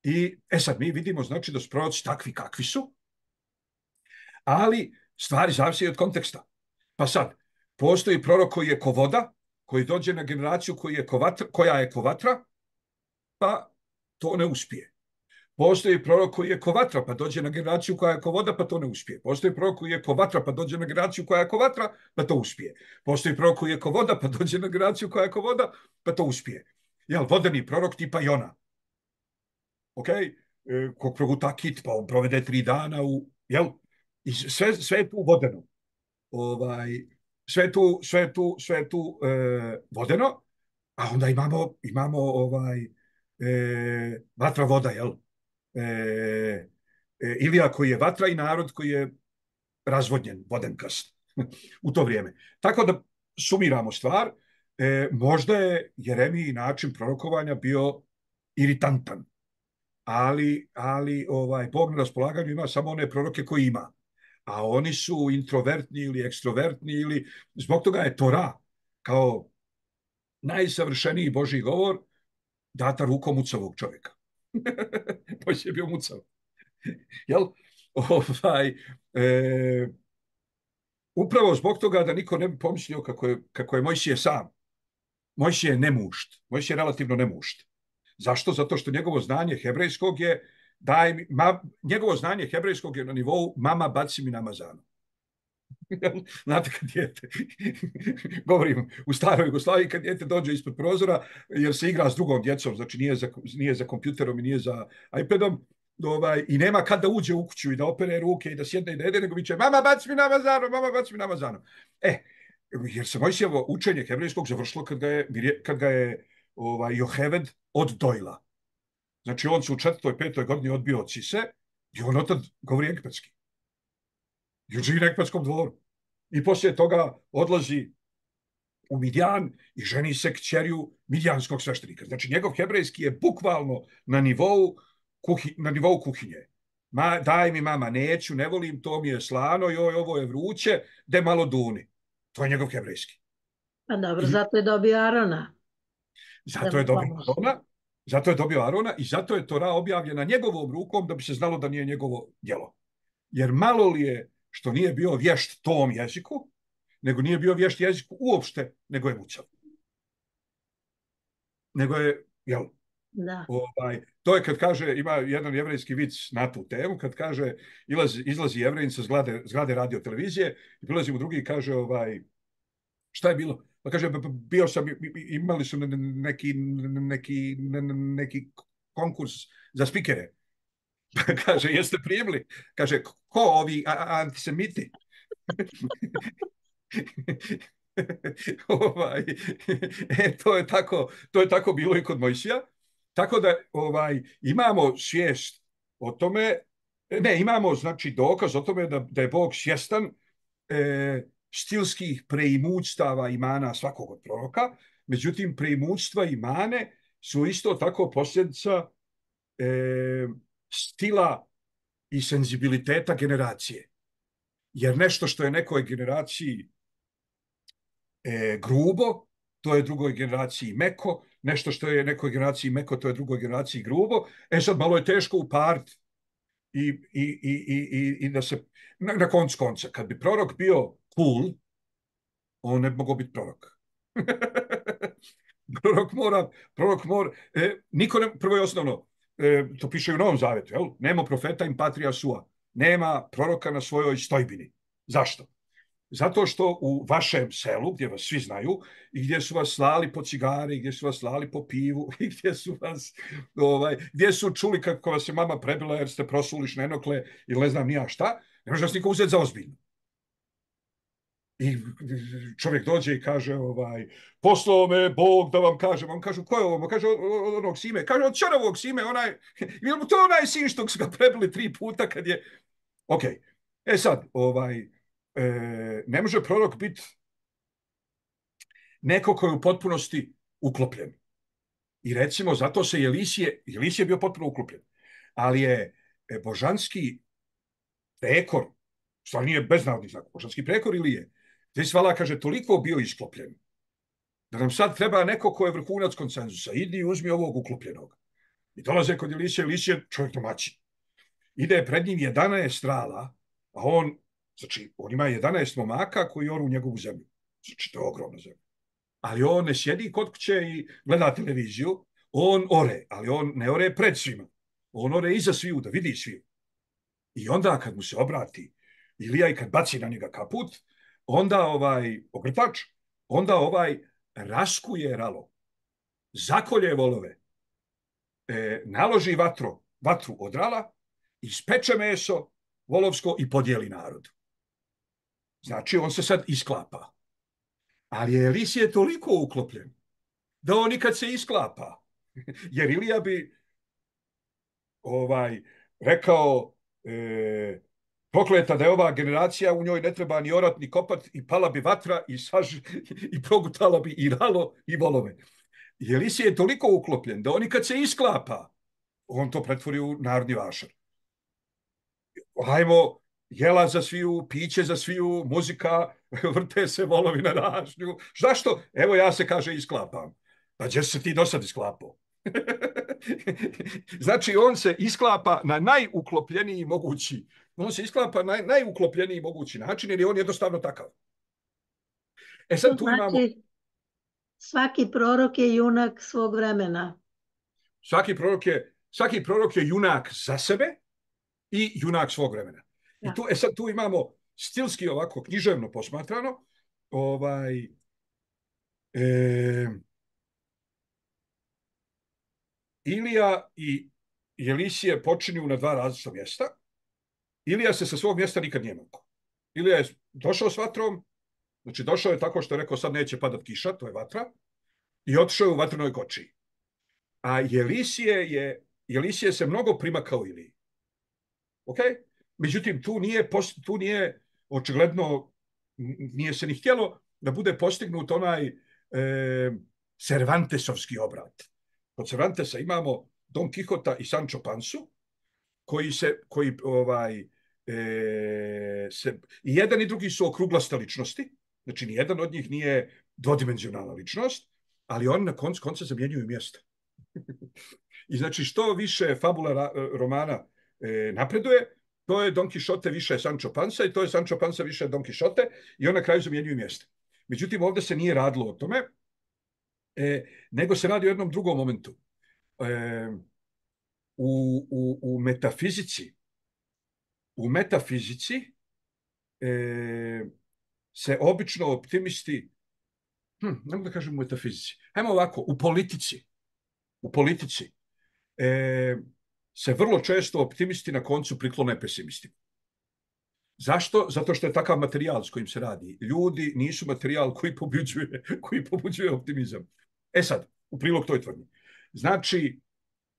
I, e sad, mi vidimo, znači, da su proroci takvi kakvi su, ali stvari zavisi od konteksta. Pa sad, postoji prorok koji je ko voda, koji dođe na generaciju koji je ko vatra, koja je ko vatra, pa to ne uspije. Postoji prorok koji je ko vatra, pa dođe na generaciju koja je ko voda, pa to ne uspije. Postoji prorok koji je ko vatra, pa dođe na generaciju koja je ko vatra, pa to uspije. Postoji prorok koji je ko voda, pa dođe na generaciju koja je ko voda, pa to uspije. Jel, vodeni prorok tipa Jona. Ok? E, kog proguta kit, pa on provede tri dana u... Jel? I sve, sve je tu vodeno. Ovaj, sve tu, sve tu, sve tu e, vodeno, a onda imamo, imamo ovaj, e, vatra voda, jel? E, e, Ilija koji je vatra i narod koji je razvodnjen, vodenkast u to vrijeme. Tako da sumiramo stvar, e, možda je Jeremiji način prorokovanja bio iritantan, ali, ali ovaj, Bog na raspolaganju ima samo one proroke koje ima. A oni su introvertni ili ekstrovertni ili zbog toga je Tora kao najsavršeniji Božji govor data rukom mucavog čovjeka. Mojsije je bio mucav. Jel? Ovaj, e, upravo zbog toga da niko ne bi pomislio kako je, kako je Mojsije sam. Mojsije je nemušt. Mojsije je relativno nemušt. Zašto? Zato što njegovo znanje hebrejskog je daj mi, ma, njegovo znanje hebrejskog je na nivou mama baci mi namazano. Znate kad dijete, govorim u staroj Jugoslaviji, kad dijete dođe ispod prozora jer se igra s drugom djecom, znači nije za, nije za kompjuterom i nije za iPadom, ovaj, i nema kad da uđe u kuću i da opere ruke i da sjedne i da jede, nego viče mama baci mi namazano, mama baci mi namazano. E, jer se Mojsijevo učenje hebrejskog završilo kad ga je, kad ga je ovaj, Joheved oddojila. Znači on se u četvrtoj, petoj godini odbio od Sise i on otad govori egipatski. I on živi na egipatskom dvoru. I poslije toga odlazi u Midjan i ženi se kćerju midjanskog sveštenika. Znači njegov hebrejski je bukvalno na nivou, kuhi, na nivou kuhinje. Ma, daj mi mama, neću, ne volim, to mi je slano, joj, ovo je vruće, de malo duni. To je njegov hebrejski. Pa dobro, I, zato je dobio Arona. Zato je dobio Arona. Zato je dobio Arona i zato je Tora objavljena njegovom rukom da bi se znalo da nije njegovo djelo. Jer malo li je što nije bio vješt tom jeziku, nego nije bio vješt jeziku uopšte, nego je mucav. Nego je, jel? Da. Ovaj, to je kad kaže, ima jedan jevrejski vic na tu temu, kad kaže, izlazi, izlazi Jevrejin sa zgrade, zgrade radio televizije i prilazi mu drugi i kaže, ovaj, šta je bilo? Pa kaže, bio sam, imali su neki, neki, neki konkurs za spikere. Pa kaže, jeste primili? Kaže, ko ovi antisemiti? ovaj, e, to je tako, to je tako bilo i kod Mojsija. Tako da ovaj, imamo svijest o tome, ne, imamo znači dokaz o tome da, da je Bog svjestan e, stilskih preimućstava imana svakog od proroka, međutim preimućstva imane su isto tako posljedica e, stila i senzibiliteta generacije. Jer nešto što je nekoj generaciji e, grubo, to je drugoj generaciji meko, nešto što je nekoj generaciji meko, to je drugoj generaciji grubo. E sad malo je teško upariti i, i, i, i, i da se, na, na koncu konca, kad bi prorok bio cool, on ne bi mogao biti prorok. prorok mora, prorok mora, e, niko ne, prvo je osnovno, e, to piše u Novom Zavetu, jel? Nema profeta in patria sua, nema proroka na svojoj stojbini. Zašto? Zato što u vašem selu, gdje vas svi znaju, i gdje su vas slali po cigare, i gdje su vas slali po pivu, i gdje su vas, ovaj, gdje su čuli kako vas je mama prebila jer ste prosuli šnenokle ili ne znam nija šta, ne može vas niko uzeti za ozbiljno. I čovjek dođe i kaže, ovaj, poslao me Bog da vam kažem. On kaže, ko je ovo? Kaže, od onog Sime. Kaže, od Ćorovog Sime, onaj, to je onaj sin što su ga prebili tri puta kad je... Ok, e sad, ovaj, e, ne može prorok biti neko koji je u potpunosti uklopljen. I recimo, zato se Jelisije, Jelisije je bio potpuno uklopljen, ali je božanski prekor, stvar nije beznarodni znak, božanski prekor ili je, gdje svala kaže, toliko bio isklopljen, da nam sad treba neko ko je vrhunac konsenzusa, idi i uzmi ovog uklopljenog. I dolaze kod Jelisije, Jelisije čovjek domaćin. Ide pred njim jedanaest strala, a on, znači, on ima jedanaest momaka koji oru u njegovu zemlju. Znači, to je ogromna zemlja. Ali on ne sjedi kod kuće i gleda televiziju, on ore, ali on ne ore pred svima. On ore iza sviju, da vidi sviju. I onda kad mu se obrati Ilija i kad baci na njega kaput, onda ovaj ogrtač, onda ovaj raskuje ralo, zakolje volove, e, naloži vatro, vatru od rala, ispeče meso volovsko i podijeli narodu. Znači, on se sad isklapa. Ali je Elisije toliko uklopljen da on nikad se isklapa. Jer Ilija bi ovaj, rekao e, prokleta da je ova generacija, u njoj ne treba ni orat, ni kopat, i pala bi vatra, i, saž, i progutala bi i ralo, i volove. I Elisije je toliko uklopljen da on kad se isklapa, on to pretvori u narodni vašar. Hajmo, jela za sviju, piće za sviju, muzika, vrte se volovi na ražnju. Zašto? Evo ja se, kaže, isklapam. Pa gdje se ti do sad isklapao? Znači, on se isklapa na najuklopljeniji mogući. On se isklapa na najuklopljeniji mogući način, jer je on jednostavno takav. E sad tu imamo... Svaki prorok je junak svog vremena. Svaki prorok je, svaki prorok je junak za sebe i junak svog vremena. Ja. I tu, e sad tu imamo stilski ovako književno posmatrano, ovaj, e, Ilija i Jelisije počinju na dva različita mjesta. Ilija se sa svog mjesta nikad nije makao. Ilija je došao s vatrom, znači došao je tako što je rekao sad neće padat kiša, to je vatra, i otišao je u vatrenoj kočiji. A Jelisije, je, Jelisije se mnogo primakao Iliji. Ok? Međutim, tu nije, tu nije očigledno, nije se ni htjelo da bude postignut onaj e, Cervantesovski obrat. Kod Cervantesa imamo Don Quixota i Sancho Pansu, koji se, koji ovaj, e, se, i jedan i drugi su okruglaste ličnosti, znači ni jedan od njih nije dvodimenzionalna ličnost, ali oni na koncu konca zamjenjuju mjesta. I znači što više fabula romana e, napreduje, to je Don Quixote više Sancho Pansa i to je Sancho Pansa više Don Quixote i on na kraju zamjenjuju mjesta. Međutim, ovdje se nije radilo o tome, e, nego se radi o jednom drugom momentu. E, u, u, u metafizici u metafizici e, se obično optimisti, hm, ne mogu da kažem u metafizici, hajmo ovako, u politici, u politici e, se vrlo često optimisti na koncu priklone pesimisti. Zašto? Zato što je takav materijal s kojim se radi. Ljudi nisu materijal koji pobuđuje, koji pobuđuje optimizam. E sad, u prilog toj tvrdnji. Znači,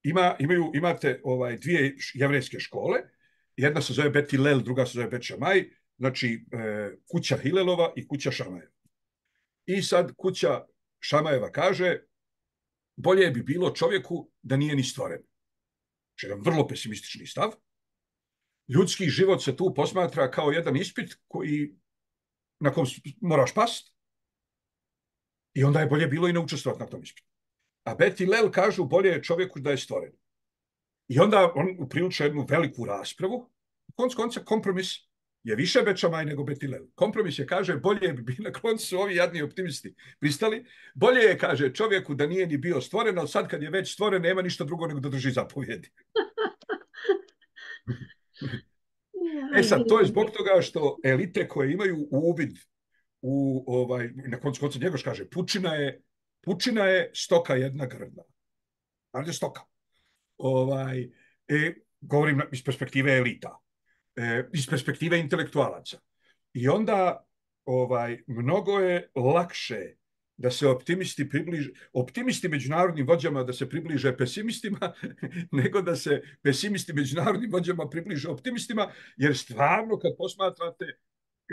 ima, imaju, imate ovaj, dvije jevrejske škole, jedna se zove Bet Hillel, druga se zove Bet Šamaj, znači e, kuća Hilelova i kuća Šamajeva. I sad kuća Šamajeva kaže, bolje bi bilo čovjeku da nije ni stvoren. Znači, jedan vrlo pesimistični stav. Ljudski život se tu posmatra kao jedan ispit koji, na kom moraš past, i onda je bolje bilo i ne učestvovati na tom ispitu. A Bet Hillel kažu, bolje je čovjeku da je stvoren. I onda on upriliča jednu veliku raspravu. Konc konca kompromis je više Bet Šamaj nego Bet Hillel. Kompromis je, kaže, bolje bi na koncu ovi jadni optimisti pristali. Bolje je, kaže, čovjeku da nije ni bio stvoren, ali sad kad je već stvoren, nema ništa drugo nego da drži zapovjedi. E sad, to je zbog toga što elite koje imaju uvid u, ovaj, na koncu konca Njegoš kaže, pučina je, pučina je stoka jedna grda. Ali stoka. Ovaj, e, govorim iz perspektive elita, e, iz perspektive intelektualaca. I onda ovaj, mnogo je lakše da se optimisti približe, optimisti međunarodnim vođama da se približe pesimistima, nego da se pesimisti međunarodnim vođama približe optimistima, jer stvarno kad posmatrate,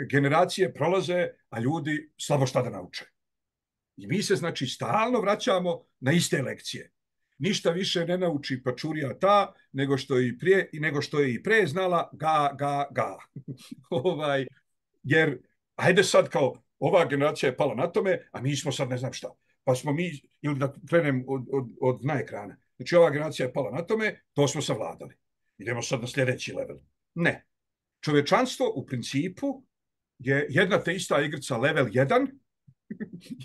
generacije prolaze, a ljudi slabo šta da nauče. I mi se, znači, stalno vraćamo na iste lekcije. Ništa više ne nauči pačurija ta, nego što je i prije, nego što je i pre znala ga, ga, ga. ovaj, jer, ajde sad kao, ova generacija je pala na tome, a mi smo sad ne znam šta. Pa smo mi, ili da krenem od, od, od na ekrana. Znači, ova generacija je pala na tome, to smo savladali. Idemo sad na sljedeći level. Ne. Čovečanstvo u principu je jedna te ista igrica level jedan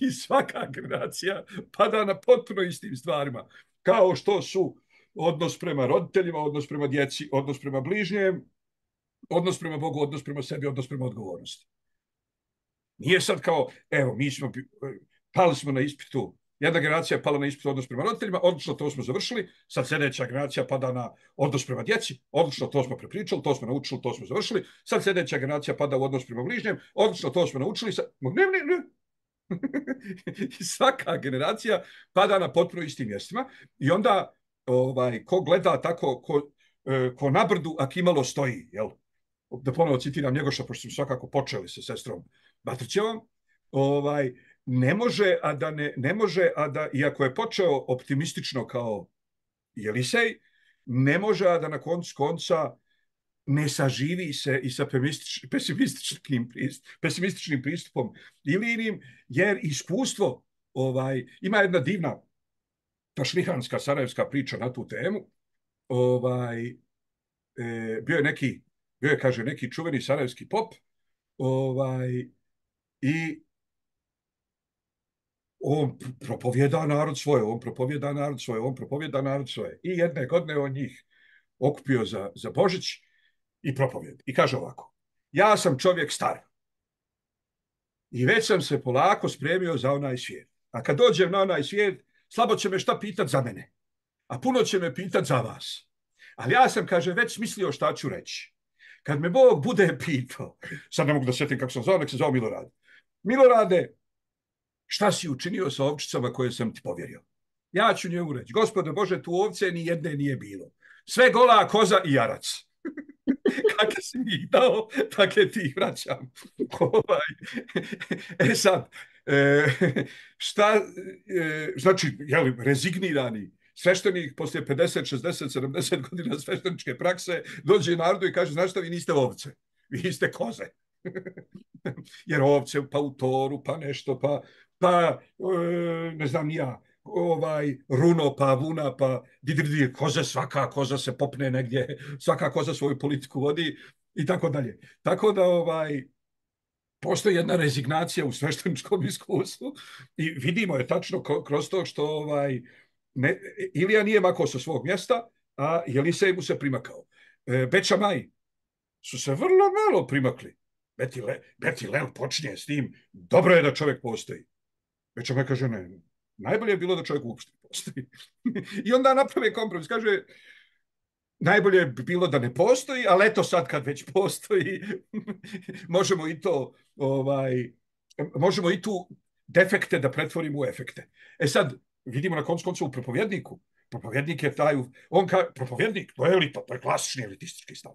i svaka generacija pada na potpuno istim stvarima. Kao što su odnos prema roditeljima, odnos prema djeci, odnos prema bližnjem, odnos prema Bogu, odnos prema sebi, odnos prema odgovornosti. Nije sad kao, evo, mi smo, pali smo na ispitu, jedna generacija je pala na ispitu odnos prema roditeljima, odlično to smo završili, sad sljedeća generacija pada na odnos prema djeci, odlično to smo prepričali, to smo naučili, to smo završili, sad sljedeća generacija pada u odnos prema bližnjem, odlično to smo naučili, sad, ne, ne, ne. I svaka generacija pada na potpuno istim mjestima i onda ovaj, ko gleda tako, ko, ko na brdu, a kimalo stoji, jel? Da ponovo citiram Njegoša, pošto smo svakako počeli sa sestrom Batrićevom, ovaj, ne može, a da ne, ne može, a da, iako je počeo optimistično kao Jelisej, ne može, a da na koncu konca ne saživi se i sa pesimističnim, pesimističnim pristupom ili inim, jer iskustvo, ovaj, ima jedna divna tašlihanska sarajevska priča na tu temu, ovaj, e, bio je neki, bio je, kaže, neki čuveni sarajevski pop, ovaj, i on propovjeda narod svoje, on propovjeda narod svoje, on propovjeda narod svoje. I jedne godine on njih okupio za, za Božić i propovjed. I kaže ovako, ja sam čovjek star i već sam se polako spremio za onaj svijet. A kad dođem na onaj svijet, slabo će me šta pitat za mene, a puno će me pitat za vas. Ali ja sam, kaže, već mislio šta ću reći. Kad me Bog bude pitao, sad ne mogu da sjetim kako sam zvao, nek se zvao Milorad. Milorade, šta si učinio sa ovčicama koje sam ti povjerio? Ja ću njemu reći, Gospode Bože, tu ovce ni jedne nije bilo. Sve gola koza i jarac. Kakve si mi ih dao, takve ti ih vraćam. E sad, e, šta, e, znači, jeli, rezignirani sveštenik poslije pedeset, šezdeset, sedamdeset godina svešteničke prakse dođe narodu i kaže, znaš šta, vi niste ovce, vi ste koze. Jer ovce pa u toru, pa nešto, pa, pa e, ne znam ja, ovaj, runo, pa vuna, pa didrdi, koze, svaka koza se popne negdje, svaka koza svoju politiku vodi i tako dalje. Tako da ovaj, postoji jedna rezignacija u svešteničkom iskustvu i vidimo je tačno kroz to što ovaj, ne, Ilija nije makao sa svog mjesta, a Jelisej mu se primakao. E, Beča Maj su se vrlo malo primakli. Beti, Le, Beti Lel počinje s tim, dobro je da čovjek postoji. Beča Maj kaže, ne, najbolje je bilo da čovjek uopšte postoji. I onda naprave kompromis, kaže, najbolje bi bilo da ne postoji, ali eto sad kad već postoji, možemo i to, ovaj, možemo i tu defekte da pretvorimo u efekte. E sad, vidimo na koncu konca u propovjedniku. Propovjednik je taj, on ka, propovjednik, to je elita, to je klasični elitistički stav.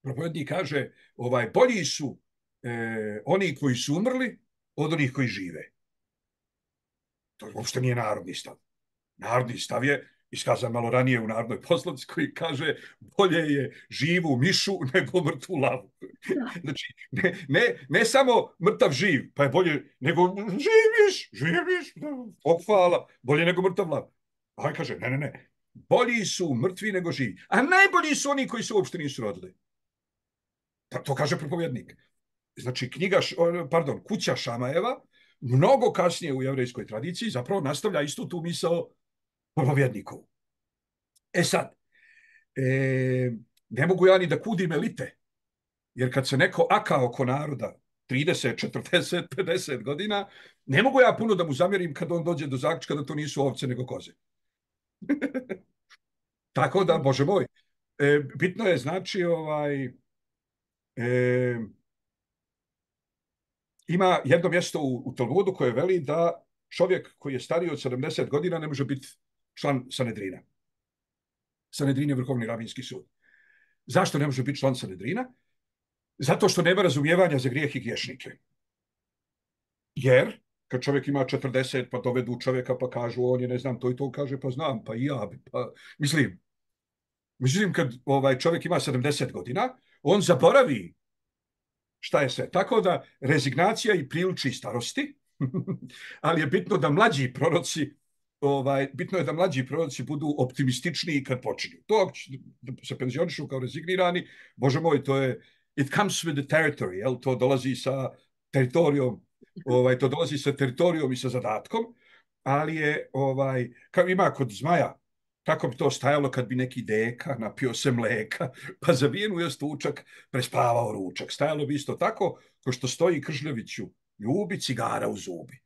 Propovjednik kaže, ovaj, bolji su e, oni koji su umrli od onih koji žive. To uopšte nije narodni stav. Narodni stav je iskazan malo ranije u narodnoj poslovici koji kaže bolje je živu mišu nego mrtvu lavu. Znači, ne, ne, ne samo mrtav živ, pa je bolje nego živiš, živiš, pohvala, bolje nego mrtav lav. A on kaže, ne, ne, ne, bolji su mrtvi nego živi. A najbolji su oni koji se uopšte nisu rodili. To kaže propovjednik. Znači, knjiga, pardon, Kuća Šamajeva, mnogo kasnije u jevrejskoj tradiciji zapravo nastavlja istu tu misao propovjednikovu. E sad, e, ne mogu ja ni da kudim elite. Jer kad se neko aka oko naroda trideset, četrdeset, pedeset godina, ne mogu ja puno da mu zamjerim kad on dođe do zaključka da to nisu ovce nego koze. Tako da, Bože moj, e, bitno je znači ovaj, e, ima jedno mjesto u, u Talmudu koje veli da čovjek koji je stariji od sedamdeset godina ne može biti član Sanedrina. Sanedrin je vrhovni rabinski sud. Zašto ne može biti član Sanedrina? Zato što nema razumijevanja za grijeh i griješnike. Jer, kad čovjek ima četrdeset, pa dovedu čovjeka, pa kažu, on je, ne znam, to i to kaže, pa znam, pa i ja. Pa, mislim, mislim, kad ovaj čovjek ima sedamdeset godina, on zaboravi šta je sve. Tako da rezignacija i priliči starosti, ali je bitno da mlađi proroci, ovaj, bitno je da mlađi proroci budu optimističniji kad počinju. To da se penzionišu kao rezignirani, Bože moj, to je it comes with the territory, jel? To dolazi sa teritorijom, ovaj, to dolazi sa teritorijom i sa zadatkom, ali je, ovaj, kao ima kod zmaja, kako bi to stajalo kad bi neki deka napio se mleka, pa zavijen u jastučak prespavao ručak. Stajalo bi isto tako, ko što stoji Kržljeviću, ljubi cigara u zubi.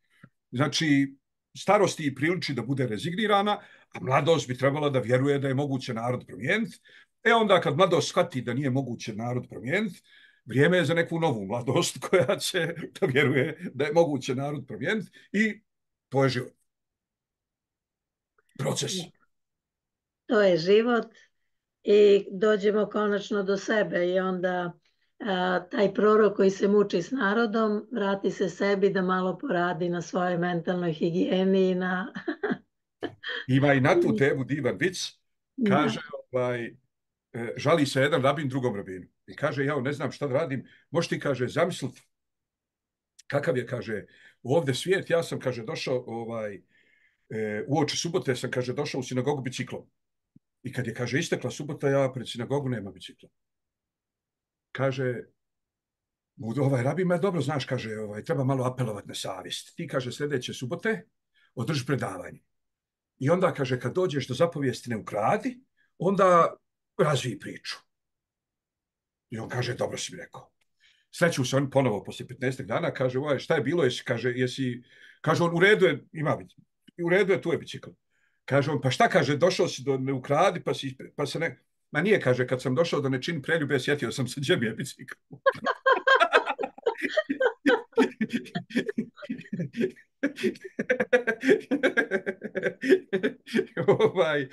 Znači, starosti i priliči da bude rezignirana, a mladost bi trebala da vjeruje da je moguće narod promijeniti. E onda kad mladost shvati da nije moguće narod promijeniti, vrijeme je za neku novu mladost koja će da vjeruje da je moguće narod promijeniti i to je život. Proces. To je život i dođemo konačno do sebe i onda a, taj prorok koji se muči s narodom vrati se sebi da malo poradi na svojoj mentalnoj higijeni i na... Ima i na tu temu divan vic. Kaže, ovaj, žali se jedan rabin drugom rabinu. I kaže, ja ne znam šta da radim. Možeš ti, kaže, zamisliti kakav je, kaže, ovdje svijet. Ja sam, kaže, došao ovaj, uoči subote sam, kaže, došao u sinagogu biciklom. I kad je, kaže, istekla subota, ja pred sinagogu nema bicikla. Kaže, ovaj rabin me dobro znaš, kaže, ovaj, treba malo apelovati na savjest. Ti, kaže, sljedeće subote održi predavanje. I onda, kaže, kad dođeš do zapovijesti ne ukradi, onda razviji priču. I on kaže, dobro si mi rekao. Sreću se on ponovo poslije petnaest dana, kaže, ovaj, šta je bilo, jesi, kaže, jesi, kaže on, u redu je, ima, u redu je, tu je bicikl. Kaže on, pa šta, kaže, došao si do ne ukradi, pa, si, pa se ne... Ma nije, kaže, kad sam došao da ne činim preljube, sjetio sam se, gdje mi je bicikl. ovaj...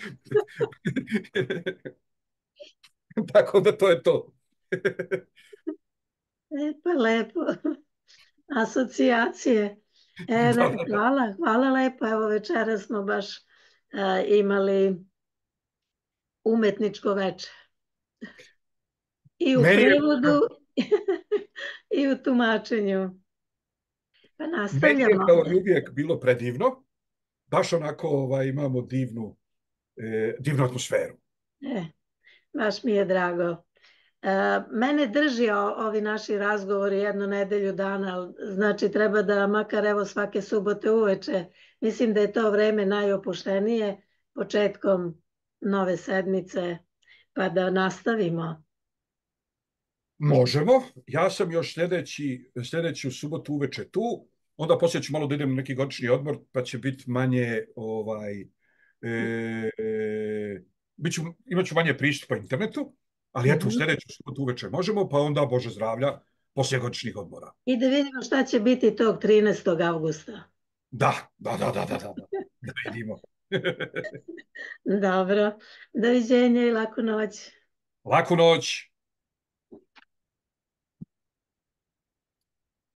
Tako da to je to. E, pa lepo. Asocijacije. E, hvala, hvala lepo. Evo večera smo baš a, imali umetničko večer. I u Meni prevodu je... i u tumačenju. Pa nastavljamo. Meni je kao uvijek bilo predivno. Baš onako ovaj, imamo divnu, eh, divnu atmosferu. E, baš mi je drago. Mene drži ovi naši razgovori jednu nedelju dana, znači treba da makar evo svake subote uveče, mislim da je to vreme najopuštenije početkom nove sedmice, pa da nastavimo. Možemo, ja sam još sljedeći, sljedeću subotu uveče tu, onda poslije ću malo da idem na neki godišnji odmor, pa će biti manje, ovaj, e, e, bit ću, imat ću manje pristupa internetu, ali eto, u sljedeću subotu uveče možemo, pa onda Bože zdravlja poslije godišnjih odmora. I da vidimo šta će biti tog trinaestog avgusta. Da, da, da, da, da, da, da vidimo. Dobro, doviđenja i laku noć. Laku noć.